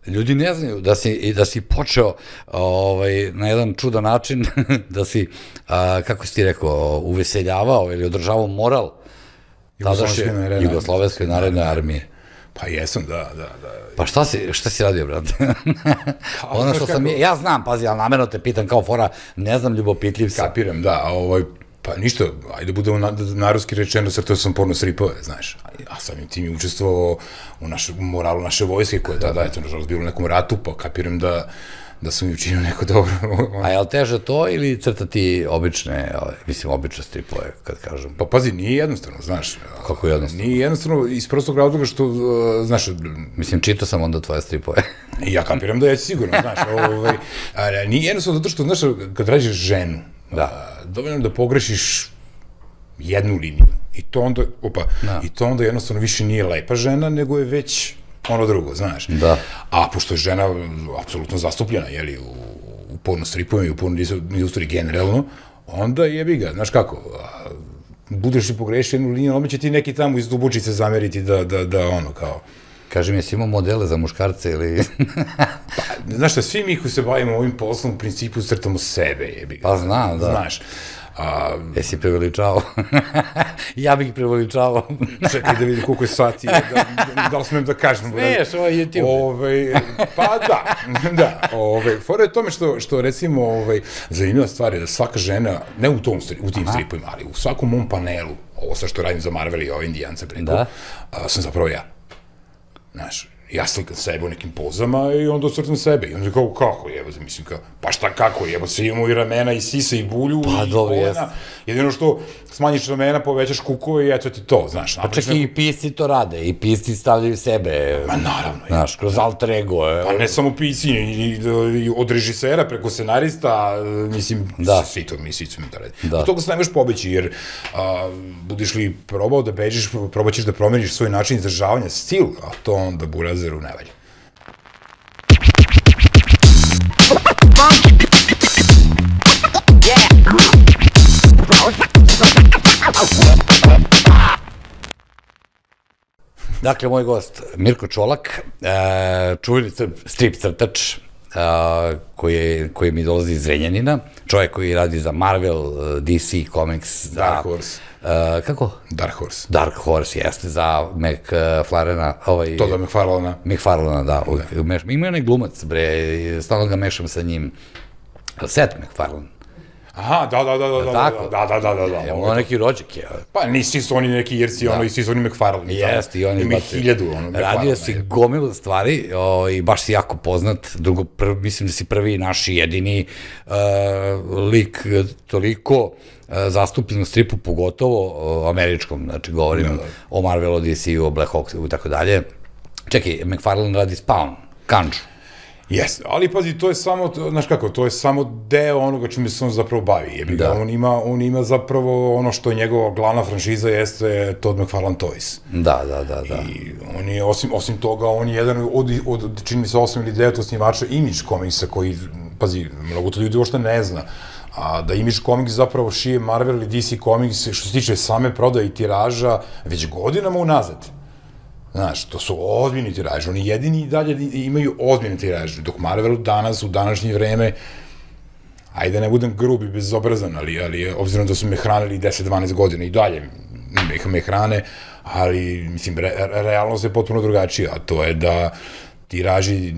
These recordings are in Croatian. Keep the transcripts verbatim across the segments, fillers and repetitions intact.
ljudi ne znaju da si, da si počeo ovaj, na jedan čudan način, da si, a, kako si ti rekao, uveseljavao ili održavao moral tadašnje Jugoslovenske narodne armije. Pa jesam, da, da, da. Pa šta si, šta si radio, brate? Ono što sam, ja znam, pazi, ali namerno te pitam kao fora, ne znam, ljubopitljiv sam. Kapiram, da, ovaj, pa ništa, ajde budemo narodski rečeno, crtao sam porno stripove, znaš, a samim tim je učestvovao u moralu naše vojske, koja je tada, eto, nažalost, bilo u nekom ratu, pa kapiram da da sam mi učinio neko dobro. A je li teže to ili crtati obične, mislim, obične stripove, kad kažem? Pa pazi, nije jednostavno, znaš. Kako jednostavno? Nije jednostavno iz prostog razloga što, znaš... Mislim, čitao sam onda tvoje stripove. Ja kapiram da je sigurno, znaš. Nije jednostavno zato što, znaš, kad radiš ženu, dovoljno da pogrešiš jednu liniju. I to onda, opa, i to onda jednostavno više nije lepa žena, nego je već ono drugo, znaš. Da. A pošto je žena apsolutno zastupljena, jeli, u porno stripovima i u porno industriji generalno, onda jebi ga, znaš kako, budeš li pogrešio jednu liniju, odmah će ti neki tamo iz dubučice zameriti da ono kao... Kaži mi, jesi imao modele za muškarce ili... Pa, znaš šta, svi mi koji se bavimo ovim poslom u principu crtamo sebe, jebi ga. Pa znam, da. Znaš. Jesi preveličavao? Ja bih preveličavao. Čekaj da vidim koliko je sati, da li smem da kažem. Smiješ, ovo je YouTube. Pa da, da. Fora je tome što, recimo, zanimljiva stvar je da svaka žena, ne u tim stripovima, ali u svakom mom panelu, ovo sa što radim za Marvel i ove Indijance preko, sam zapravo ja. Znaš, ja slikam sebe u nekim pozama i onda ocrtam sebe. I onda kao, kako jebo se, mislim kao, pa šta kako jebo se, imamo i ramena i sise i bulju i kolena. Jedino što smanjiš ramena, povećaš kukove i eto ti to, znaš. Pa čak i pisci to rade, i pisci stavljaju sebe. Ma naravno. Znaš, kroz alter ego. Pa ne samo pisci, i od režisera preko scenarista, mislim, svi to mi, svi su mi to radi. Od toga se ne možeš pobeći, jer budiš li probao da beđeš, probaćeš da promeniš svoj način izražavanja, stil, a to onda burazeru ne valja. Dakle, moj gost, Mirko Čolak, čuveni strip crtač, koji mi dolazi iz Zrenjanina, čovjek koji radi za Marvel, D C Comics, Dark Horse. Kako? Dark Horse. Dark Horse, jeste, za McFarlana. Toda McFarlana. McFarlana, da. Ima onaj glumac, bre, stalno ga mešam sa njim. Seth MacFarlane. Aha, da, da, da, da, da, da, da, da, da. Evo neki rođak je. Pa nisi su oni neki jerci, ono, i svi su oni McFarlane. Jeste, i oni ima hiljadu, ono, McFarlane. Radio si gomilu stvari i baš si jako poznat. Drugo, mislim da si prvi naš jedini lik toliko zastupljen u stripu, pogotovo američkom, znači govorim o Marvelu, D C-u, o Black Hawksu i tako dalje. Čekaj, McFarlane radi Spawn, Kanđu. Jes, ali pazi, to je samo, znaš kako, to je samo deo onoga čime se on zapravo bavi. On ima zapravo ono što je njegova glavna franšiza jeste Todd McFarlane Toys. Da, da, da. I on je, osim toga, on je jedan od, čini mi se, osam ili devet osnivača Image komiksa koji, pazi, mnogo to ljudi uopšte ne zna, a da Image komiks zapravo šije Marvel i D C komiks što se tiče same prodaje i tiraža već godinama unazad. Znaš, to su ozbiljni tiraži, oni jedini i dalje imaju ozbiljne tiraže, dok Marvel danas, u današnje vreme, ajde ne budem grub i bezobrazan, ali obzirom da su me hranili deset dvanaest godina i dalje me hrane, ali, mislim, realnost je potpuno drugačija, a to je da tiraži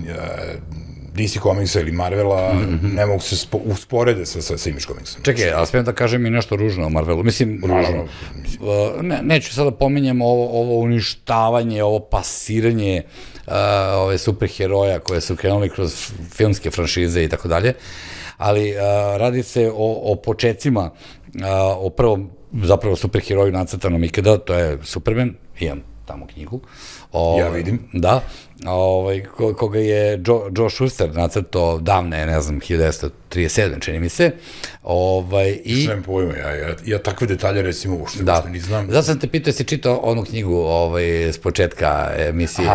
D C komiksa ili Marvela ne mogu se usporede sa Image komiksom. Čekaj, ali smijem da kažem i nešto ružno o Marvelu. Mislim, ružno. Neću sada pominjem ovo uništavanje, ovo pasiranje ove superheroja koje su krenuli kroz filmske franšize i tako dalje, ali radi se o početcima, o prvom zapravo superheroju nacrtanom ikada, to je Superman, imam tamo knjigu. Ja vidim. Da, koga je Joe Shuster nacrtao davne, ne znam, hiljadu devetsto trideset sedme, čini mi se. Što nemam pojma, ja takve detalje recimo uopšte ne znam. Zato sam te pitao, jesi čitao onu knjigu s početka emisije.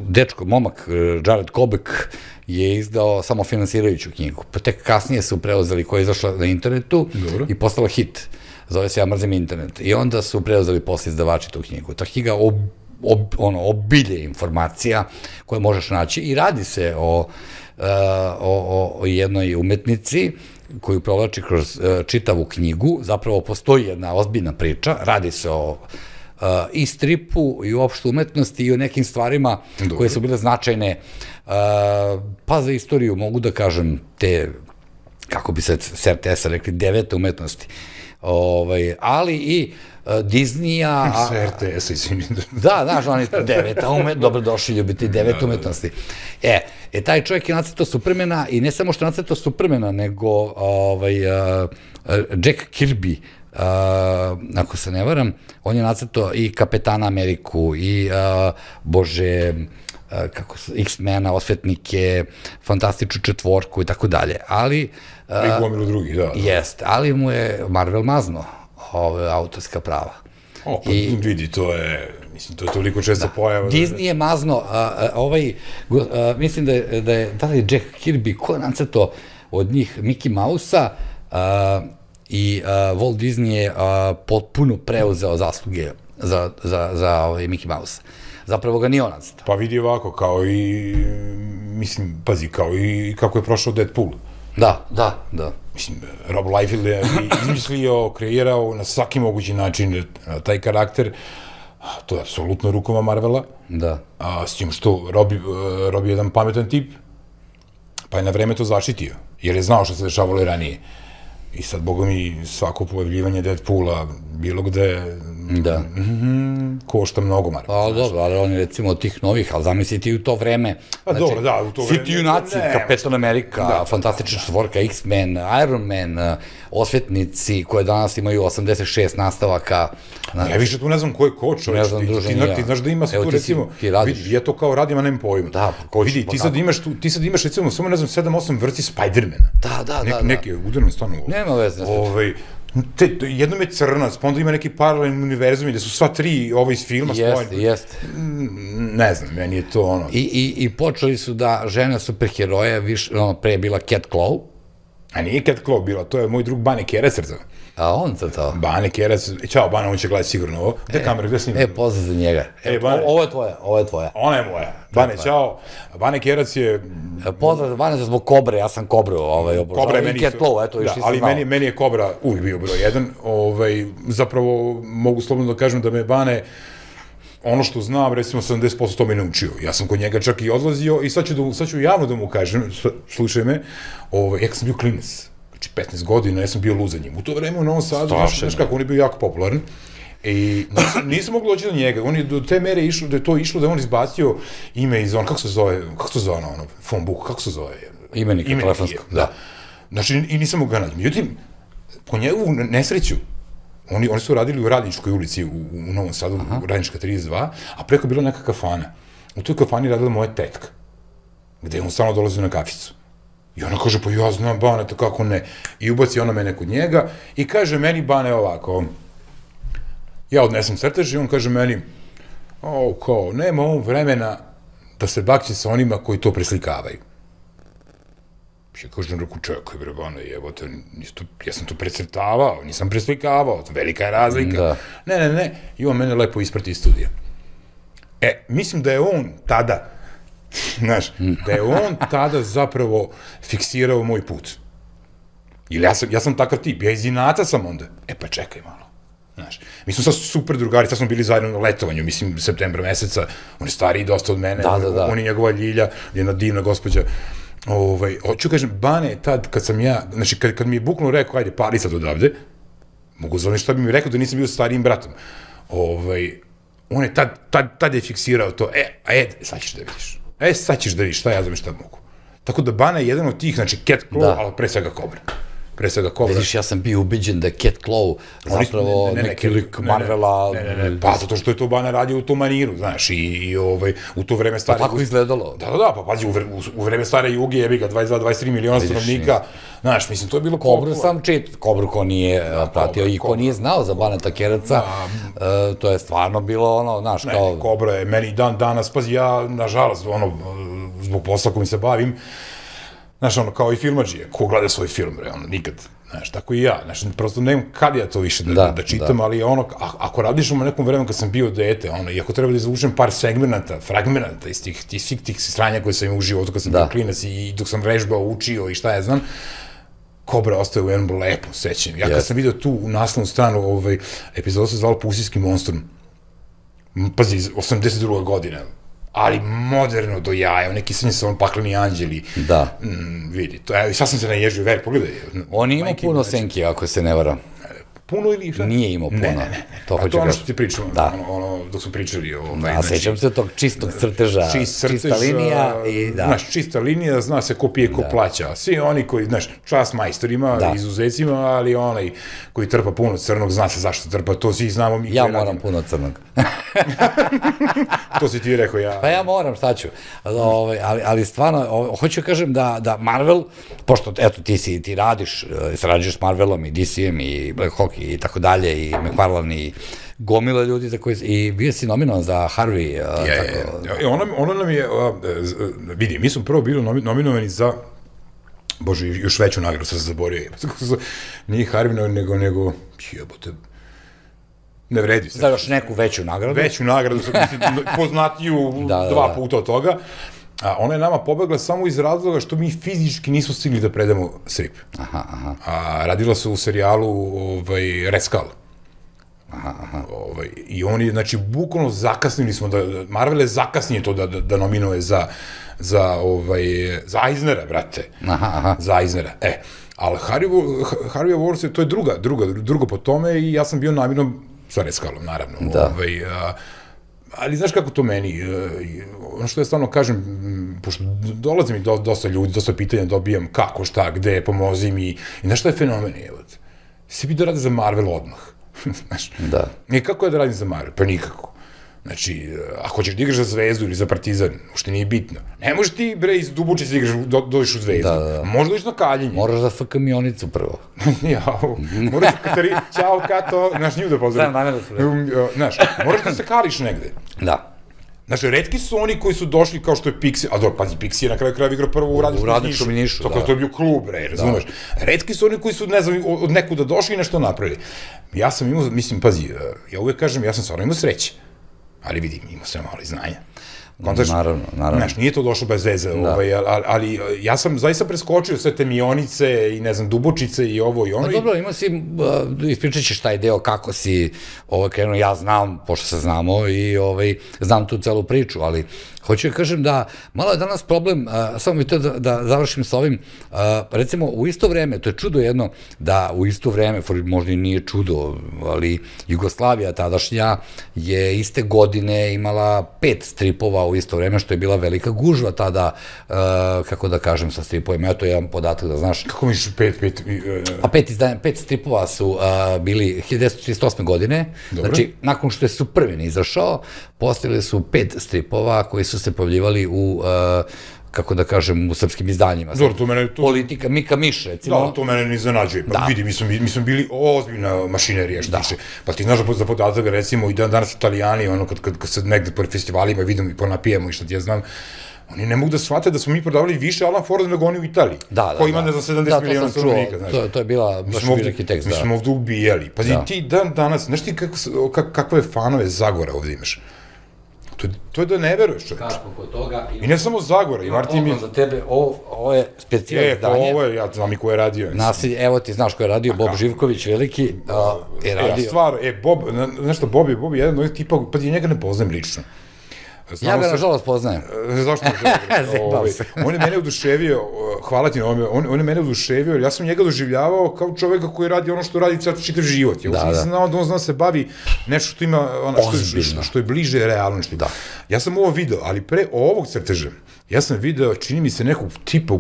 Dečko, momak, Jared Kobek, je izdao samo finansirajuću knjigu. Pa tek kasnije su preuzeli, koja je izašla na internetu i postala hit. Zove se Ja mrzim internet. I onda su preuzeli posle izdavači tu knjigu. Ta knjiga ob, ono, obilje informacija koje možeš naći i radi se o, uh, o, o jednoj umetnici koju provlači kroz uh, čitavu knjigu, zapravo postoji jedna ozbiljna priča, radi se o uh, i stripu i uopšte umetnosti i o nekim stvarima Dobre. koje su bile značajne, uh, pa za istoriju mogu da kažem te, kako bi se s R T S-a rekli, devete umetnosti, ovaj, ali i Disneya... S R T S-a, izvini. Da, znaš, oni deveta umetnosti, dobro došli ljubiti devet umetnosti. E, e, taj čovjek je nacrtao Supermana i ne samo što je nacrtao Supermana, nego ovaj, uh, Jack Kirby, uh, ako se ne varam, on je nacrtao i Kapetana Ameriku, i, uh, bože, uh, kako su, X-mena, Osvetnike, Fantastičnu četvorku i tako dalje, ali... Uh, I gomilu drugih, da. Jest, ali mu je Marvel mazno ove autorska prava. O, pa I, vidi, to je, mislim, to je toliko često da, pojava. Disney je mazno, a, a, ovaj, a, mislim da je, da je, da li je Jack Kirby, ko je nacrtao od njih Mickey Mouse-a a, i a, Walt Disney je a, potpuno preuzeo zasluge za, za, za ovaj Mickey Mouse. Zapravo ga nije on nacrtao. Pa vidi ovako, kao i, mislim, pazi, kao i kako je prošao Deadpool. Da, da, da. Mislim, Rob Liefeld je izmislio, kreirao na svaki mogući način taj karakter. To je apsolutno rukama Marvela. Da. A, s tim što Rob, Rob je jedan pametan tip, pa je na vreme to zaštitio, jer je znao što se dešavalo i ranije. I sad, boga mi, svako pojavljivanje Deadpoola, bilo gde, da. Mm, košta mnogo Marvela. Pa dobro, ali oni recimo od tih novih, ali zamisliti u to vreme. Pa znači, dobro, da, u to vreme. Svi ti junaci, Kapetan Amerika, da, Fantastična četvorka, X-Men, Iron Man, Osvetnici, koje danas imaju osamdeset šest nastavaka. Znači, ja više tu ne znam ko je ko, čovječ. Ne znam, druže, ti, ti, ti znaš da ima se tu, recimo, vidi, ja to kao radim, a nemam pojma. Da, pa ko vidi, ti sad imaš tu, ti sad imaš, recimo, samo ne znam, sedam osam vrsti Spidermana. Da, da, da. Neke, udarno, stvarno. Nema veze. Ovaj, te, jednom je crnac, pa onda ima neki paralelni univerzum gde su sva tri ovo iz filma spojene. Jeste, jeste. Ne znam, meni je to ono... I, i, i počeli su da žena superheroja, više, ono, pre je bila Cat Claw. A nije Cat Claw bila, to je moj drug Bane Kerac crtao. A on crtao? Bane Kerac, čao Bane, on će gledati sigurno ovo. Gde kamera, gde snimam? E, pozdrav za njega. E, Bane, ovo je tvoja, ovo je tvoja. Ona je moja. Bane, čao. Bane Kerac je... Pozdrav za Bane zbog Kobre, ja sam Kobru ovaj, obožao. Kobra je meni... I Cat Claw, eto, još da, ali meni, meni je Kobra uvijek bio broj jedan. Ovaj, zapravo, mogu slobodno da kažem da me Bane, ono što znam, recimo sedamdeset posto to me naučio. Ja sam kod njega čak i odlazio i sad ću, da, sad ću javno da mu kažem, slušaj me, ovaj, ja sam bio klinac. Znači, petnaest godina, ja sam bio luz za njim. U to vreme u Novom Sadu, znaš kako, on je bio jako popularan. I nisam, nisam mogla doći do njega. On je do te mere išlo, da je to išlo, da je on izbacio ime iz on, kako se zove, kako se zove ono, ono phone book, kako se zove? Imenik, Imenik telefonsko, da. da. Znači, i nisam mogla naći. Međutim, po njegovu nesreću, oni, oni su radili u Radničkoj ulici u, u Novom Sadu, Aha. u Radnička trideset dva, a preko je bila neka kafana. U toj kafani radila moja tetka, gde on stalno dolazio na kaficu. I ona kaže, pa ja znam Bane, to kako ne. I ubaci ona mene kod njega i kaže meni Bane ovako, ja odnesem crtež i on kaže meni, o, kao, nema ovom vremena da se bakće sa onima koji to preslikavaju. Ja kažem, reku, čekaj, bre, Bane, evo te, ja sam to precrtavao, nisam preslikavao, velika je razlika. Da. Ne, ne, ne, i on mene lepo isprati iz studija. E, mislim da je on tada, znaš, da je on tada zapravo fiksirao moj put. Ili ja sam, ja sam takav tip, ja iz inata sam onda. E pa čekaj malo, znaš. Mi smo sad super drugari, sad smo bili zajedno na letovanju, mislim, septembra meseca, on je stariji dosta od mene, da, da, da. on je njegova Ljilja, jedna divna gospođa. Ovaj, hoću kažem, Bane je tad, kad sam ja, znači, kad, kad mi je buknuo rekao, ajde, pali sad odavde, mogu zovem šta bi mi rekao da nisam bio starijim bratom. Ovaj, on je tad, tad, tad je fiksirao to, e, a ed, sad ćeš da vidiš. E, sad ćeš da vidiš, šta ja znam šta mogu. Tako da Bana je jedan od tih, znači Cat Claw, da. Ali pre svega Kobra. Pre svega Kobra. Vidiš, ja sam bio ubiđen da je Cat Claw zapravo ne, ne, ne, neki lik Marvela. Ne, ne, ne, pa zato što je to Bana radio u tom maniru, znaš, i, i ovaj, u to vreme stare... Pa tako izgledalo. Da, da, da, pa pazi, u, vre, u, u vreme stare Juge, jebi ga, dvadeset dva dvadeset tri miliona stanovnika, znaš, mislim, to je bilo... Kobru sam čit, Kobru ko nije pratio i ko nije znao za Baneta Kereca, to je stvarno bilo ono, znaš, kao... Ne, Kobra je meni dan danas, pazi, ja, nažalost, ono, zbog posla kojim se bavim, znaš, ono, kao i filmadžije, ko gleda svoj film, bre, ono, nikad, Znaš, tako i ja, znaš, prosto nemam kad ja to više da, da čitam, ali ono, ako radiš u nekom vremenu kad sam bio dete, ono, i ako treba da izvučem par segmenata, fragmenata iz tih, tih, svih tih sranja koje sam imao u životu kad sam bio klinac i dok sam vežbao, učio i šta ja znam, Kobra ostaje u jednom lepom sećanju. Ja kad sam vidio tu u naslovnu stranu, ovaj, epizoda se zvala Pusijski monstrum, pazi, osamdeset druga godina, ali moderno do jaja, neki srnji sa on pakleni anđeli. Da. Mm, vidi, to, evo, sad sam se naježio, veri, pogledaj. On je imao puno senki, ako se ne vara. Puno ili šta? Nije imao puno. Ne, ne, ne. To hoću to ono što ti pričamo, ono, ono, dok smo pričali o... A sećam se tog čistog crteža, čista linija i da. Znaš, čista linija, zna se ko pije, ko plaća. Svi oni koji, znaš, čast majstorima, izuzecima, ali onaj koji trpa puno crnog, zna se zašto trpa, to svi znamo mi. Ja moram puno crnog. To si ti rekao, ja... Pa ja moram, šta ću. Ali stvarno, hoću kažem da Marvel, pošto, eto, ti si, ti radiš, sarađuješ s Marvelom i D C-em i Black Hawk i tako dalje, i McFarlane i gomila ljudi za koji... I bio si nominovan za Harvey. Je, je. Ono nam je... Vidi, mi smo prvo bili nominovani za... Bože, još veću nagradu sam se zaborio. Nije Harvey, nego... nego jebote... Ne vredi se. Za još neku veću nagradu. Veću nagradu, poznatiju dva puta od toga. Ona je nama pobegla samo iz razloga što mi fizički nismo stigli da predamo strip. Aha, aha. Radila se u serijalu Red Skull. Aha, aha. I oni, znači, bukvalno zakasnili smo, Marvel je zakasnije to da nominuje za za Eisnera, brate. Aha, aha. Za Eisnera, e. Ali Harvey Awards, to je druga, drugo po tome i ja sam bio namjerno sa Red Skullom, naravno. Da. Ali znaš kako to meni, ono što ja stvarno kažem, pošto dolazi mi dosta ljudi, dosta pitanja dobijam kako, šta, gde, pomozi mi, i znaš šta je fenomen, evo, si bi da radi za Marvel odmah, znaš. Da. I kako je da radim za Marvel? Pa nikako. Znači, ako hoćeš da igraš za Zvezdu ili za Partizan, ušte nije bitno. Ne možeš ti, bre, iz Dubučice igraš, dođeš u Zvezdu. Možda dođeš na Kaljenje. Moraš za F K Mionicu prvo. Jao, moraš da Katari, ćao, Kato, znaš, nju da pozdravim. Znam, namjerno se. Znaš, moraš da se kališ negde. Da. Znaš, retki su oni koji su došli kao što je Pixi, a dobro, pazi, Pixi je na kraju kraja igrao prvo u Radničkom Nišu. Tako da to je bio klub, bre, razumeš. Retki su oni koji su, ne znam, od nekuda došli i nešto napravili. Ja sam imao, mislim, pazi, ja uvek kažem, ja sam stvarno imao sreće. Ali vidim, imao sam malo i znanja. Naravno, naravno. Znaš, nije to došlo bez veze, ali ja sam zaista preskočio sve te Mionice i, ne znam, Dubočice i ovo i ono. Pa dobro, imao si, ispričat ćeš taj deo kako si krenuo, ja znam, pošto se znamo i znam tu celu priču, ali hoću da kažem da malo je danas problem, samo mi to da završim sa ovim, recimo u isto vreme, to je čudo jedno, da u isto vreme, možda i nije čudo, ali Jugoslavija tadašnja je iste godine imala pet stripova u isto vreme, što je bila velika gužva tada, kako da kažem, sa stripovima. Eto je jedan podatak da znaš. Kako misliš pet, pet? A pet stripova su bili hiljadu devetsto trideset osme godine, znači nakon što je Superman izašao, postavili su pet stripova koji su se pojavljivali u, kako da kažem, u srpskim izdanjima. Dobro, to mene... Politika, Mika Miš, recimo. Da, to mene ne iznenađuje. Pa vidi, mi smo bili ozbiljna mašinerija, što tiče. Pa ti znaš za podatak, recimo, i danas Italijani, ono, kad se negde po festivalima vidimo i ponapijemo i što ti ja znam, oni ne mogu da shvate da smo mi prodavali više Alan Forda nego oni u Italiji. Da, da, da. Koji ima, ne znam, sedamdeset miliona stanovnika, znaš. To je bila baš veliki tekst, da. Mi smo ovde ubijali. Pazi, ti dan danas, znaš ti kakve fanove Zagora ovde imaš? To je da ne veruješ, čovječ. Kako kod toga... I ne samo Zagora, i Martin mi... Za tebe, ovo je specijalno izdanje. E, pa ovo je, ja znam i ko je radio. Nasilje, evo ti znaš ko je radio, Bob Živković, veliki, je radio... Ja, stvar, e, Bob, znaš što, Bob je, Bob je jedan od tipa, pa ti njega ne poznajem lično. Ja ga nažalost poznajem. Zašto ne On je mene oduševio, hvala ti na ovome, on je mene oduševio, jer ja sam njega doživljavao kao čoveka koji radi ono što radi čitav život. Ja sam znao da on zna se bavi nešto što ima, što je bliže realnosti. Ja sam ovo video, ali pre ovog crteža, ja sam video, čini mi se nekog tipa,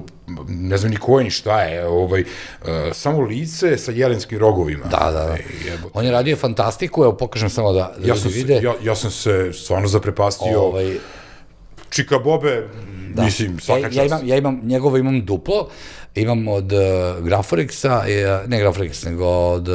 ne znam ni ko je ni šta je, samo lice sa jelenskim rogovima. Da, da, da. On je radio fantastiku, evo pokažem samo da ljudi vide. Ja sam se stvarno zaprepastio. Čika Bobe, mislim, svaka čast. Ja imam, njegovo imam duplo, imam od Graforexa, ne Graforex, nego od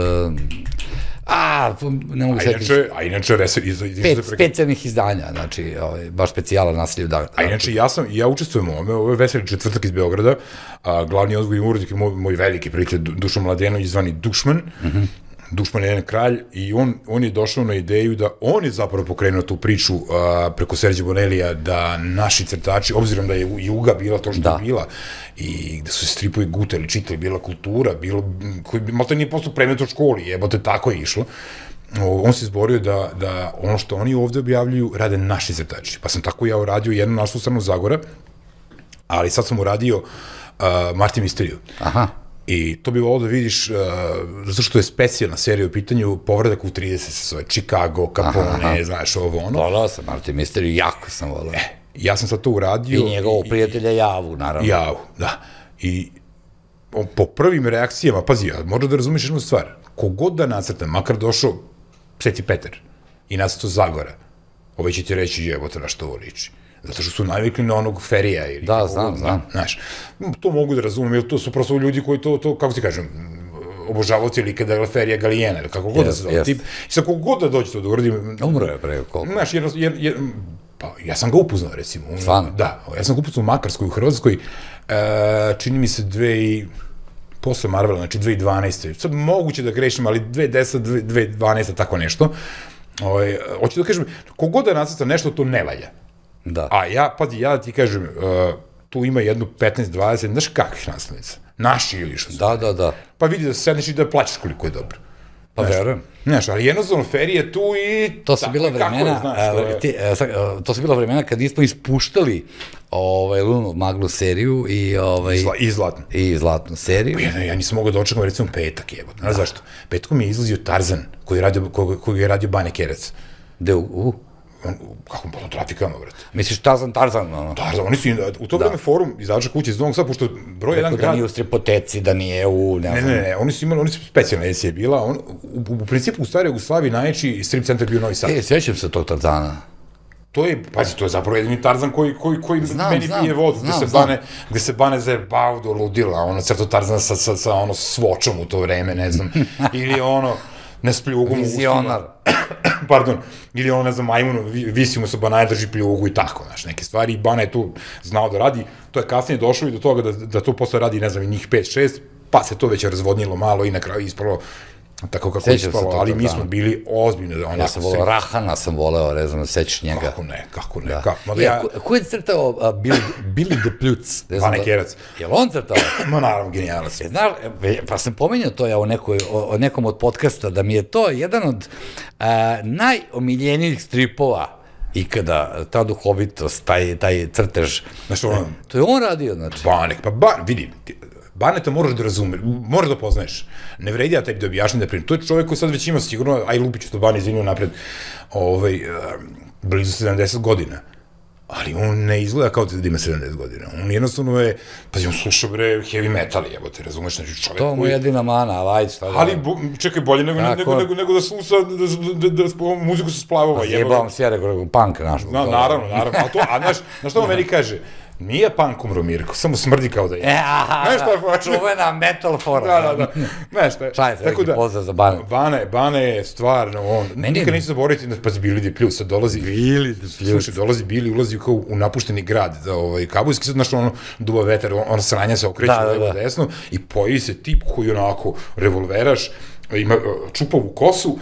A, ne mogu A setiti. inače, a inače, Veselj, iz, iz, Pet specijalnih izdanja, znači, ovaj, baš specijala nasilju. Da, a inače, ja sam, ja učestvujem u ovome, ovo je Veselj četvrtak iz Beograda, a glavni odgovorni urednik je moj, moj veliki prijatelj Dušan Mladenović, zvani Dušman, mm -hmm. Dušman je jedan kralj i on, on je došao na ideju da on je zapravo pokrenuo tu priču a, preko Serđa Bonelija da naši crtači, obzirom da je Juga bila to što da. je bila i da su se stripovi gutali, čitali, bila kultura, bilo, koji bi malo nije postao predmet u školi, jebote, tako je išlo. On se izborio da, da ono što oni ovde objavljuju rade naši crtači. Pa sam tako ja uradio jednu našu stranu Zagora, ali sad sam uradio uh, Martin Misteriju. Aha. I to bi volao da vidiš, uh, zato što je specijalna serija u pitanju, Povratak u trideset se zove, Chicago, Capone, aha, aha. znaš, ovo ono. Volao sam Martin Misteriju, jako sam volao. E, ja sam sad to uradio. I njegovog prijatelja Javu, naravno. Javu, da. I on, po prvim reakcijama, pazi, ja, možda da razumiješ jednu stvar, kogod da nacrtam, makar došao Sveti Petar i nacrtao Zagora, ovaj će ti reći, jebote, na što ovo liči. Zato što su navikli na onog Ferija. Ili da, znam, znam. Znaš, to mogu da razumem, jer to su prosto ljudi koji to, to kako ti kažem, obožavavci ili kada Ferija Galijena, ili kako god yes, da se zove yes. tip. I sad kako god da dođe to da uradim... Umro je pre, koliko? Znaš, jer, jer, jer, pa ja sam ga upoznao, recimo. Stvarno? Da, ja sam ga upoznao u Makarskoj, u Hrvatskoj, e, čini mi se dve i... posle Marvela, znači dve hiljade dvanaeste. Sad moguće da grešim, ali dve hiljade desete, dve hiljade dvanaeste, tako nešto. Ove, hoću da kažem, kogod da nacrta nešto, to ne valja. Da. A ja, pazi, ja da ti kažem, uh, tu ima jednu petnaest dvadeset, znaš kakvih nastavnica? Naši ili što su. Da, da, da. Pa vidi da sedneš i da plaćaš koliko je dobro. Pa verujem. Znaš, ali jednostavno Feri je tu i... To su bila vremena, znaš, a, ti, a, to su bila vremena kad nismo ispuštali ovaj, Lunu Maglu seriju i... Ovaj, Zla, I Zlatnu. I Zlatnu seriju. Ja, ja nisam mogao da očekam, recimo, petak, jebo. Znaš zašto? Petkom je izlazio Tarzan, koji je radio, ko, koji je radio Bane Kerac. Gde u... u? On, kako on trafikama, brate. Misliš Tarzan, Tarzan, ono? Tarzan, oni su, u to vreme forum izađa kuće iz Novog Sada, pošto broj jedan grad... Da nije u stripoteci, da nije u... Ne, ne, ne, ne, oni su imali, oni su specijalna edicija bila, on, u, u principu u staroj Jugoslaviji najveći strip centar bio Novi Sad. E, sjećam se tog Tarzana. To je, pazi, to je zapravo jedini Tarzan koji, koji, koji znam, meni znam, pije vodu, znam, gde se znam. bane, gde se bane zajebao do ludila, ono, crto Tarzana sa, sa, sa ono, svočom u to vreme, ne znam, ili ono, ne s pljugom u Vizionar. Pardon, ili ono, ne znam, majmunu, visi mu se Banaje, drži pljugu i tako, znaš, neke stvari, i Bana je tu znao da radi, to je kasnije došlo i do toga da, da to posle radi, ne znam, i njih pet šest, pa se to već razvodnilo malo i na kraju ispalo tako kako je ispalo, ali mi smo bili ozbiljno. Ja sam voleo Rahana, sam voleo, ne znam, sećaš njega. Kako ne, kako ne, da. kako. Ja, ko, ko je crtao uh, Billy, Billy the Plutz? Bane Kerac. Je li on crtao? Ma naravno, genijalac. E, znaš, pa sam pomenjao to ja u nekoj, o, o nekom od podcasta, da mi je to jedan od uh, najomiljenijih stripova ikada, ta duhovitost, taj, taj crtež. Znaš, ono, to je on radio, znači. Banek, pa ba, vidi, Baneta moraš da razumeš, moraš da poznaješ. Ne vredi ja tebi da objašnjam da primim. To je čovjek koji sad već ima sigurno, aj Lupiću to Bane izvinio napred, ovaj, blizu sedamdeset godina. Ali on ne izgleda kao da ima sedamdeset godina. On jednostavno je, pazi, on sluša bre heavy metal, jebo te, razumeš, znači čovjek koji... To mu je jedina mana, ali ajde, šta da... Ali, bo, čekaj, bolje nego, nego, nego, nego da sluša, da, da, da, da muziku se splavova, jebo. Zjebavam se ja, rekao, punk naš. Na, naravno, naravno, a to, a znaš, znaš što on meni kaže? Nije punk umro, Mirko, samo smrdi kao da je. E, aha, da, čuvena metal fora. Da, da, da. Znaš šta? Šta je se neki pozdrav za Bane? Bane, Bane je stvarno, on, Meni nikad neću zaboraviti, pa Billy the Plutz, sad dolazi, Billy the Plutz. Slušaj, dolazi Billy, ulazi kao u napušteni grad, da, ovaj, kabulski, sad, znaš, ono, duva vetar, on, on sranja se okreće da, levo da. desno i pojavi se tip koji onako revolveraš, ima čupavu kosu,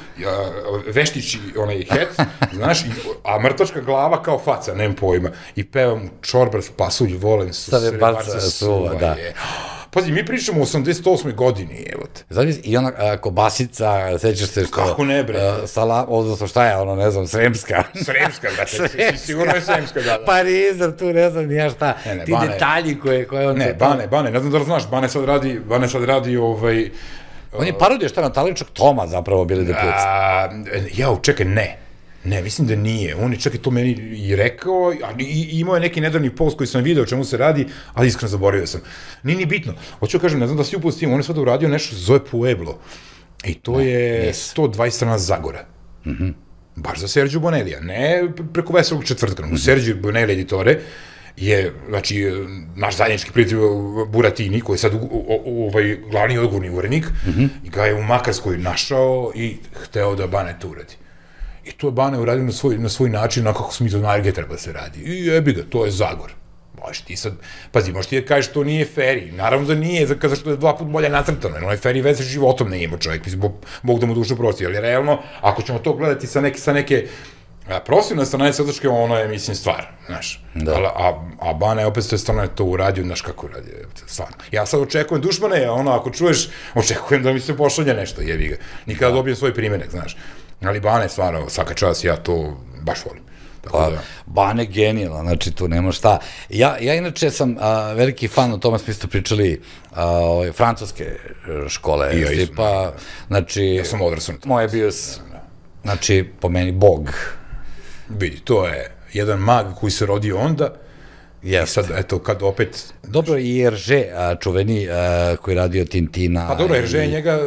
veštići onaj het, znaš, a mrtvačka glava kao faca, nemam pojma, i pevam čorbar, pasulj, volen su, Stave barca suva, da. Je. Pazi, mi pričamo o osamdeset osmoj godini, evo te. Zavis, i ona a, kobasica, sećaš se što... Kako ne, bre? A, sala, odnosno šta je, ono, ne znam, Sremska. Sremska, brate, sigurno je Sremska, da, da. Parizer, tu ne znam nija šta, ne, ne, ti Bane, detalji koje, koje on... Ne, Bane, Bane, ne znam da li znaš, Bane sad radi, Bane sad radi, ovaj... On je parodio šta na Taličak Toma zapravo Billy the Plutz. Jao, čekaj, ne. Ne, mislim da nije. On je čak i to meni i rekao, a i, imao je neki nedavni post koji sam video o čemu se radi, ali iskreno zaboravio sam. Nije ni bitno. Hoću kažem, ne znam da si upao s tim, on je sada uradio nešto zove Pueblo. I to ne, je nis. sto dvadeset strana Zagora. Mhm. Baš za Serđu Bonelija. Ne preko Veselog četvrtka, mm -hmm. u Serđu Bonelija editore. je, znači, naš zajednički prijatelj Buratini, koji je sad ovaj glavni odgovorni urednik, i ga je u Makarskoj našao i hteo da Bane to uradi. I to je Bane uradio na svoj, na svoj način, na kako smo mi to najgde treba se radi. I jebi ga, to je Zagor. Možeš ti sad, pazi, možeš ti da kažeš to nije feri, naravno da nije, zato što je dva put bolje nacrtano, jer onaj feri veze životom ne ima čovjek, mislim, Bog da mu dušu prosti, ali realno, ako ćemo to gledati sa neke, sa neke profesionalne strane crtačke, ono je, mislim, stvar, znaš, a Bane opet s te strane to uradio, znaš kako uradio, stvarno. Ja sad očekujem Dušmane, ono, ako čuješ, očekujem da mi se pošalje nešto, jebi ga, nikada dobijem svoj primjerak, znaš, ali Bane, stvarno, svaka čast, ja to baš volim. Pa, Bane genijala, znači tu nema šta. Ja, ja inače sam a, veliki fan, o tome smo isto pričali, a, ove, francuske škole. I ja isam, pa, znači, ja sam odrasan. Moj je bio, znači, po meni, bog. Vidi, to je jedan mag koji se rodio onda, i sad, eto, kad opet... Dobro, i Hergé, čuveni, koji je radio Tintina... Pa dobro, Hergé je njega...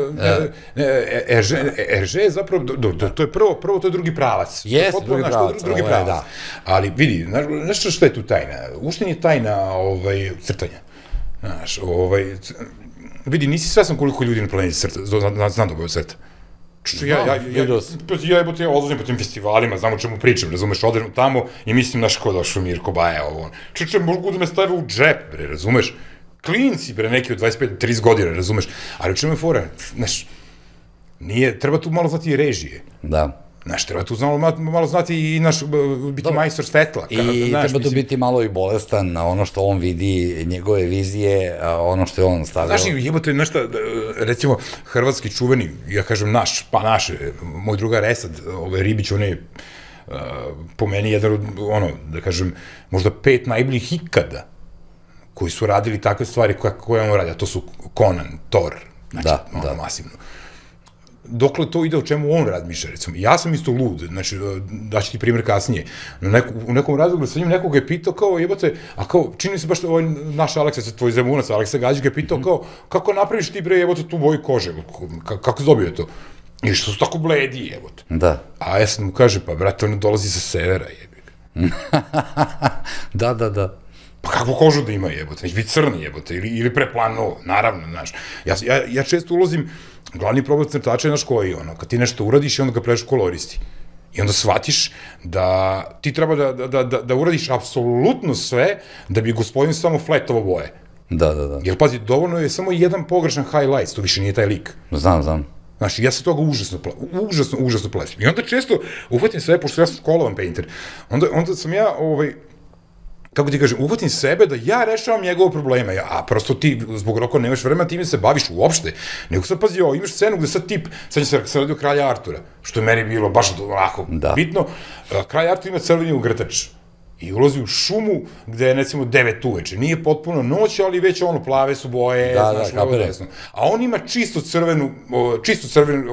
Hergé je zapravo, to je prvo, prvo to je drugi pravac. Jes, drugi pravac, drugi pravac. Ali vidi, znaš što je tu tajna? Ušte nije tajna crtanja. Znaš, vidi, nisi svesan koliko ljudi na planeti crta, znam da boju crta. Ja, ja, ja, ja jebote, ja odlazim po tim festivalima, znam o čemu pričam, razumeš, odem tamo i mislim, znaš, ko došao Mirko Baja, ovo, čuče, mogu da me stave u džep, bre, razumeš, klinci, bre, neki od dvadeset pet do trideset godina, razumeš, ali u čemu je fora, znaš, nije, treba tu malo znati i režije. Da. Znaš, treba tu malo znati i naš, biti majstor svetla. I treba tu biti malo i bolestan na ono što on vidi, njegove vizije, ono što je on stavio. Znaš, jebote, nešto, recimo, hrvatski čuveni, ja kažem naš, pa naše, moj drugar Esad, ovaj Ribić, on je po meni jedan od, ono, da kažem, možda pet najboljih ikada koji su radili takve stvari koje on radi, a to su Conan, Thor, znači, ono, masivno. Dokle to ide o čemu on razmišlja, recimo. Ja sam isto lud, znači, daću ti primjer kasnije. U nekom razlogu sa njim nekoga je pitao kao, jebate, a kao, čini se baš da ovaj naš Aleksa, tvoj zemunac, Aleksa Gađić ga je pitao kao, kako napraviš ti, bre, jebote, tu boju kože, kako se dobio to? I što su tako bledi, jebote. Da. A ja sam mu kaže, pa, brate, on dolazi sa severa, jebik. Da, da, da. Pa kakvu kožu da ima, jebote, neće biti crni, jebote, ili preplano, naravno, znaš. Ja često ulazim, glavni problem crtača je naš koji, ono, kad ti nešto uradiš i onda ga preš koloristi. I onda shvatiš da ti treba da uradiš apsolutno sve da bi gospodin samo fletovo boje. Da, da, da. Jer, pazi, dovoljno je samo jedan pogrešan highlights, to više nije taj lik. Znam, znam. Znaš, ja se toga užasno, užasno, užasno plesim. I onda često uhvatim sve, pošto ja sam skolovan painter, onda sam ja, ovaj, kako ti kažem, uhvatim sebe da ja rešavam njegove probleme, a prosto ti zbog roka nemaš vremena, ti mi se baviš uopšte, nego sad pazi ovo, imaš scenu gde sad tip, sad će se radio Kralja Artura, što je meni bilo baš onako bitno, Kralj Artur ima crveni ugrtač i ulazi u šumu gde je, recimo, devet uveče, nije potpuno noć, ali već ono, plave su boje, znaš, ovo desno, a on ima čisto crvenu, čisto crvenu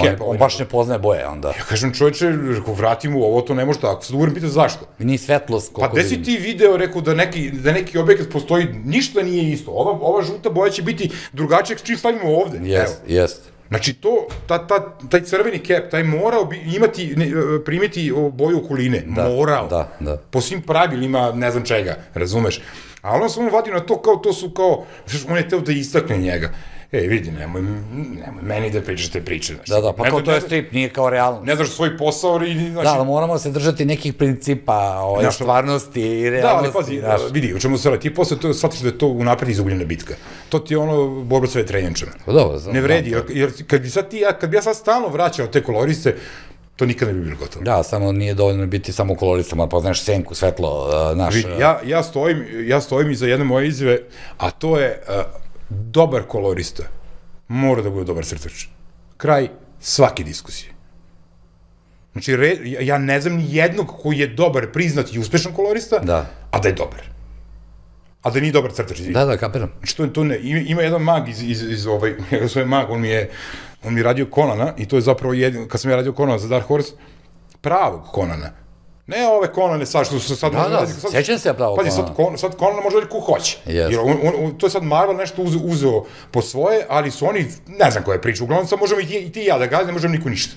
kep. On baš ne poznaje boje onda. Ja kažem, čovječe, vrati mu ovo, to ne može tako, sad uvrem pita zašto. I nije svetlost koliko vidim. Pa gde si ti video, rekao, da neki objekat postoji, ništa nije isto, ova žuta boja će biti drugačija, čim stavimo ovde. Jest, jest. Znači, to, taj crveni kep, taj morao imati, primiti boju okoline, morao. Da, da. Po svim pravilima, ne znam čega, razumeš. Ali on samo vadio na to kao, to su kao, on je teo da istakne njega. Ej, vidi, nemoj, nemoj meni da pričaš te priče. Da, da, pa kao to je strip, nije kao realno. Ne znaš svoj posao i... Da, ali moramo se držati nekih principa, stvarnosti i realnosti. Da, ali pazi, vidi, o čemu se radi, ti posle shvatiš da je to unapred izgubljena bitka. To ti je ono borba sve trenjačama. Pa dobro, znam. Ne vredi, jer kad bi sad ti, kad bi ja sad stalno vraćao te koloriste, to nikad ne bi bilo gotovo. Da, samo nije dovoljno biti samo kolorista, mora poznaš senku, svetlo, naš... Vidi, ja stojim iza jedne moje izjave, a to je... dobar kolorista mora da bude dobar crtač. Kraj svake diskusije. Znači, ja ne znam ni jednog koji je dobar, priznat i uspešan kolorista, a da je dobar. A da nije dobar crtač. Da, da, kapiram. Znači, to ne, ima jedan mag iz ovaj, njega svoje mag, on mi je, on mi je radio Conana i to je zapravo jedin, kad sam ja radio Conana za Dark Horse, pravog Conana. Ne ove Conane sad što su sad... Da, da, sjećam se ja pravo Conana. Pazi, sad Conana može raditi ko hoće. Jer to je sad Marvel nešto uzeo po svoje, ali su oni, ne znam koja je priča, uglavnom sad možemo i ti i ja da gazi, ne možemo niko ništa.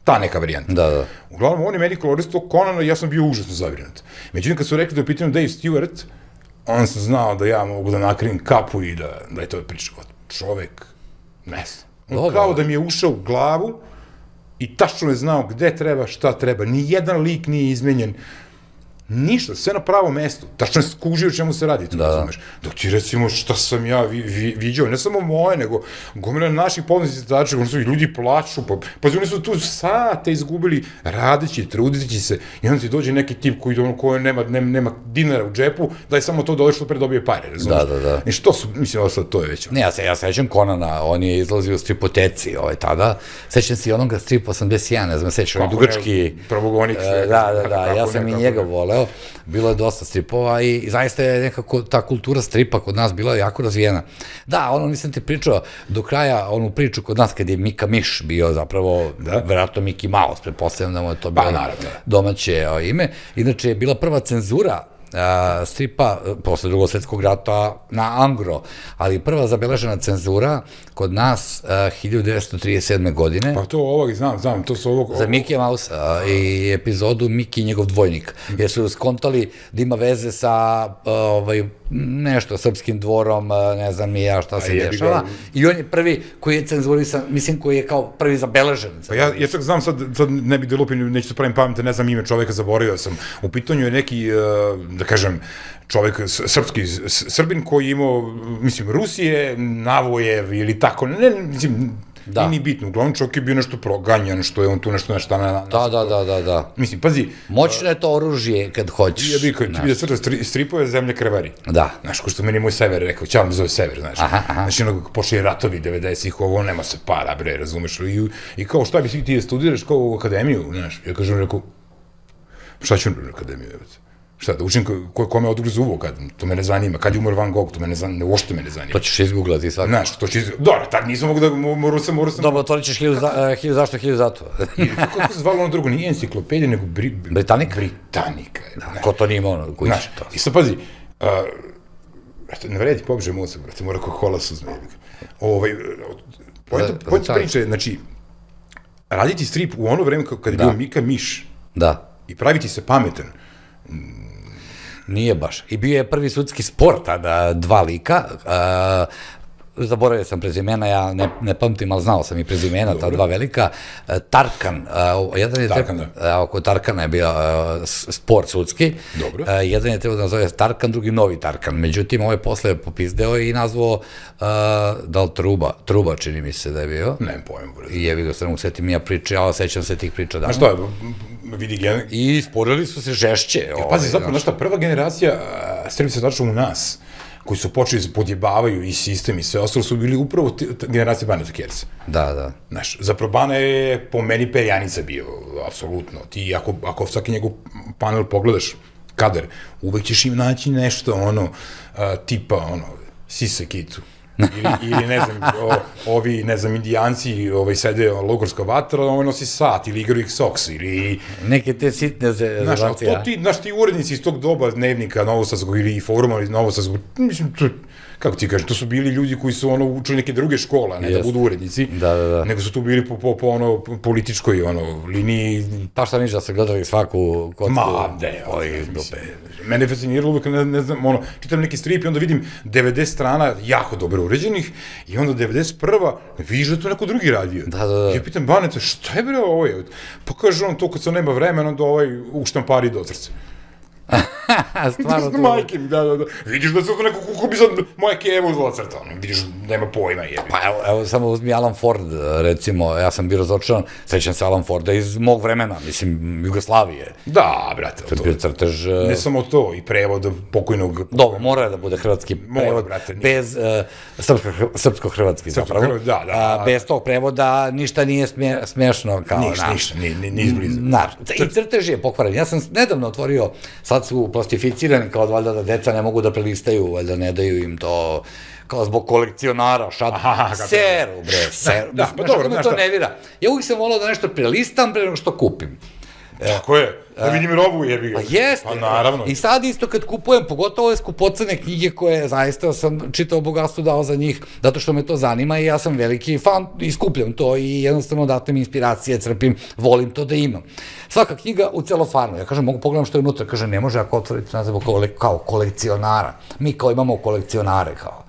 ta neka varijanta. Da, da. Uglavnom, on je meni koloristao Conana i ja sam bio užasno zabrinut. Međutim, kad su rekli da je u pitanju Dave Stewart, on sam znao da ja mogu da nakrim kapu i da, da je to priča. Čovek, ne znam. On kao da mi je ušao u glavu i tačno je znao gde treba, šta treba. Nijedan lik nije izmenjen. Ništa, sve na pravo mesto. Tačno je skužio čemu se radi, tu razumeš. Dok ti recimo šta sam ja viđao, ne samo moje, nego gomila naših polovnih citača, oni su i ljudi plaču, pa oni su tu sate izgubili radeći, trudeći se, i onda ti dođe neki tip koji nema dinara u džepu, da je samo to da što pre dobije pare, razumeš. Da, da, da. I što su, mislim, ovo sad to je već. Ne, ja sećam Conana, on je izlazio u stripoteci tada, sećam se i onoga stripa osamdeset jedan, ne znam, sećam, on je dugački. Pravogonik. Da, da, da, ja sam i njega voleo. Bilo je dosta stripova i zaista je nekako ta kultura stripa kod nas bila jako razvijena. Da, ono nisam ti pričao do kraja onu priču kod nas kad je Mika Miš bio zapravo, verovatno Miki Mouse, pretpostavljam da mu je to bilo domaće ime. Inače je bila prva cenzura stripa posle drugog svetskog rata na Angro, ali prva zabeležena cenzura kod nas hiljadu devetsto trideset sedme godine. Pa to ovog, znam, znam, to su ovog... Za Miki Mouse i epizodu Miki i njegov dvojnik, jer su skontali da ima veze sa nešto srpskim dvorom, ne znam ni ja šta se dešava, i on je prvi koji je cenzurisan, mislim koji je kao prvi zabeležen. Pa ja čak znam, sad ne bih da lupim, neću se pravim pametno, ne znam ime čoveka, zaboravio sam, u pitanju je neki, da kažem, čovek, srpski Srbin koji je imao, mislim, Rusije, Navojev ili tako, ne, mislim, nije ni bitno, uglavnom čovjek je bio nešto proganjan, što je on tu nešto nešto na... Da, da, da, da, da. Mislim, pazi... Moćno je to oružje kad hoćeš. Ja bih, ti bi da crta stripove zemlje krvari. Da. Znaš, ko što meni moj Sever rekao, ćao mi zove Sever, znaš. Znači, ono, počeli ratovi devedesetih, ovo, nema se para, bre, razumeš, i kao, šta bi ti da studiraš kao u akademiju, znaš, ja kažem, rekao, šta ću u akademiju, šta, da učim kome odgrizu uvo, to me ne zanima, kad je umor Van Gogh, to me ne zanima, uopšte me ne zanima. To ćeš izgooglati svakako. Znaš, to ćeš izgooglati, dobro, tad nisam mogu da, moru sam, moru sam... Dobro, otvorit ćeš hilju zašto, hilju zato. Kako se zvalo ono drugo, nije enciklopedija, nego... Britanika? Britanika. Ko to nije imao, koji će to? I sad, pazi, ne vredi, pobeže mozak, brate, mora kako kola suzme. Pojenta priče, znači, raditi strip u ono vreme kada je bio Mika Miš i praviti se pametan, nije baš. I bio je prvi sudski spor tada, dva lika, zaboravio sam prezimena, ja ne pamtim, ali znao sam i prezimena, ta dva velika. Tarkan, jedan je trebao, oko Tarkana je bio spor sudski, jedan je trebao da nazove Tarkan, drugi Novi Tarkan. Međutim, ovo je posle popizdeo i nazvao, da li Truba, Truba čini mi se da je bio. Nemam pojma. I jebi ga, sve setim mi ja priče, ali sećam se tih priča davno. Znaš što je, vidi gen... I sporili su se žešće. Pazi, zapravo, znaš šta, prva generacija strip se tačno u nas, koji su počeli da podjebavaju i sistem i sve ostalo, su bili upravo generacije Baneta Kersa. Da, da. Znaš, zapravo Bana je po meni perjanica bio, apsolutno. Ti, ako svaki njegov panel pogledaš, kadar, uvek ćeš im naći nešto, ono, tipa, ono, Sise Kitu. Ili, ne znam, ovi, ne znam, indijanci sede logorska vatra, ovo nosi sat, ili igraju X-Ox, ili... Neke te sitne zelancije, a? Znaš, ti urednici iz tog doba dnevnika Novosadskog ili foruma Novosadskog, mislim, kako ti kažem, to su bili ljudi koji su ono učili neke druge škole, a ne da budu urednici, nego su tu bili po ono političkoj liniji. Pa šta niš da se gledali svaku kocku? Ma, ne, mene je fasciniralo uvek, ne znam, ono, čitam neki strip i onda vidim devedeset strana jako dobro uređenih i onda devedeset prva vidiš da je to neko drugi radio. Da, da, da. Ja pitam Baneta, šta je bre ovo je? Pa kaže on to kad se nema vremena, onda ovaj uštampari do crce. Stvarno to... Majke mi, da, da, da. Vidiš da se to neko kako bi sad moja Keva uzela crta, vidiš, nema pojma, jebi. Pa evo, samo uzmi Alan Ford, recimo, ja sam bio razočaran, sećam se Alan Forda iz mog vremena, mislim, Jugoslavije. Da, brate, to je bio crtež... Ne samo to, i prevod pokojnog... Dobro, mora da bude hrvatski prevod, bez srpsko-hrvatski zapravo. Da, da. Bez tog prevoda ništa nije smešno kao... Ništa, ništa, ni izbliza. I crtež je pokvaren. Ja sam nedavno otvorio, sad su plastificirani kao valjda da deca ne mogu da prelistaju, valjda ne daju im to kao zbog kolekcionara, šat, seru bre, seru. Da, pa dobro, znaš šta. Ja uvijek sam volao da nešto prelistam pre nego što kupim. Tako je, da vidim robu jebi ga. Pa jeste. Pa naravno. I sad isto kad kupujem, pogotovo ove skupocene knjige koje zaista sam čitao bogatstvo dao za njih, zato što me to zanima i ja sam veliki fan i skupljam to i jednostavno datem inspiracije, crpim, volim to da imam. Svaka knjiga u celofanu, ja kažem, mogu pogledam što je unutra, kaže, ne može ako otvoriti nazivu kao kolekcionara. Mi kao imamo kolekcionare, kao.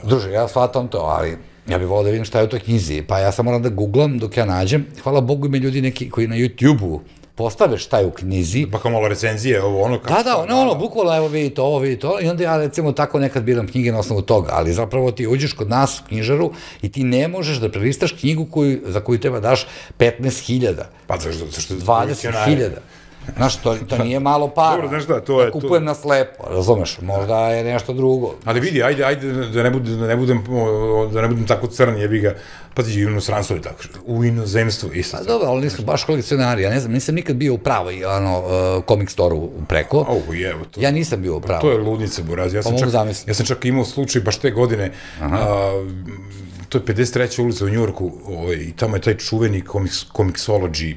Druže, ja shvatam to, ali ja bih volao da vidim šta je u toj knjizi, pa ja sam moram da googlam dok ja nađem. Hvala Bogu ima ljudi neki koji na YouTube-u postave šta je u knjizi. Pa kao malo recenzije, ovo ono... Da, da, ono, ono, bukvalno, evo vidi to, ovo vidi to, i onda ja recimo tako nekad biram knjige na osnovu toga, ali zapravo ti uđeš kod nas u knjižaru i ti ne možeš da prelistaš knjigu za koju treba daš petnaest hiljada. Pa zašto? dvadeset hiljada. Znaš, to nije malo para. Dobro, znaš šta, to je... Da kupujem na slepo, razumeš, možda je nešto drugo. Ali vidi, ajde, ajde, da ne budem, da ne budem tako crn, jebi ga, pazi, u inostranstvu je tako, u inozemstvu isto. Pa dobro, ali nisu baš kolekcionari, ja ne znam, nisam nikad bio u pravoj, ono, comic store-u preko. Au, jevo, to... Ja nisam bio u pravoj. To je ludnica, buraz, ja sam čak, ja sam čak imao slučaj, baš te godine, to je pedeset treća ulica u Njujorku, i tamo je taj čuveni Comixology,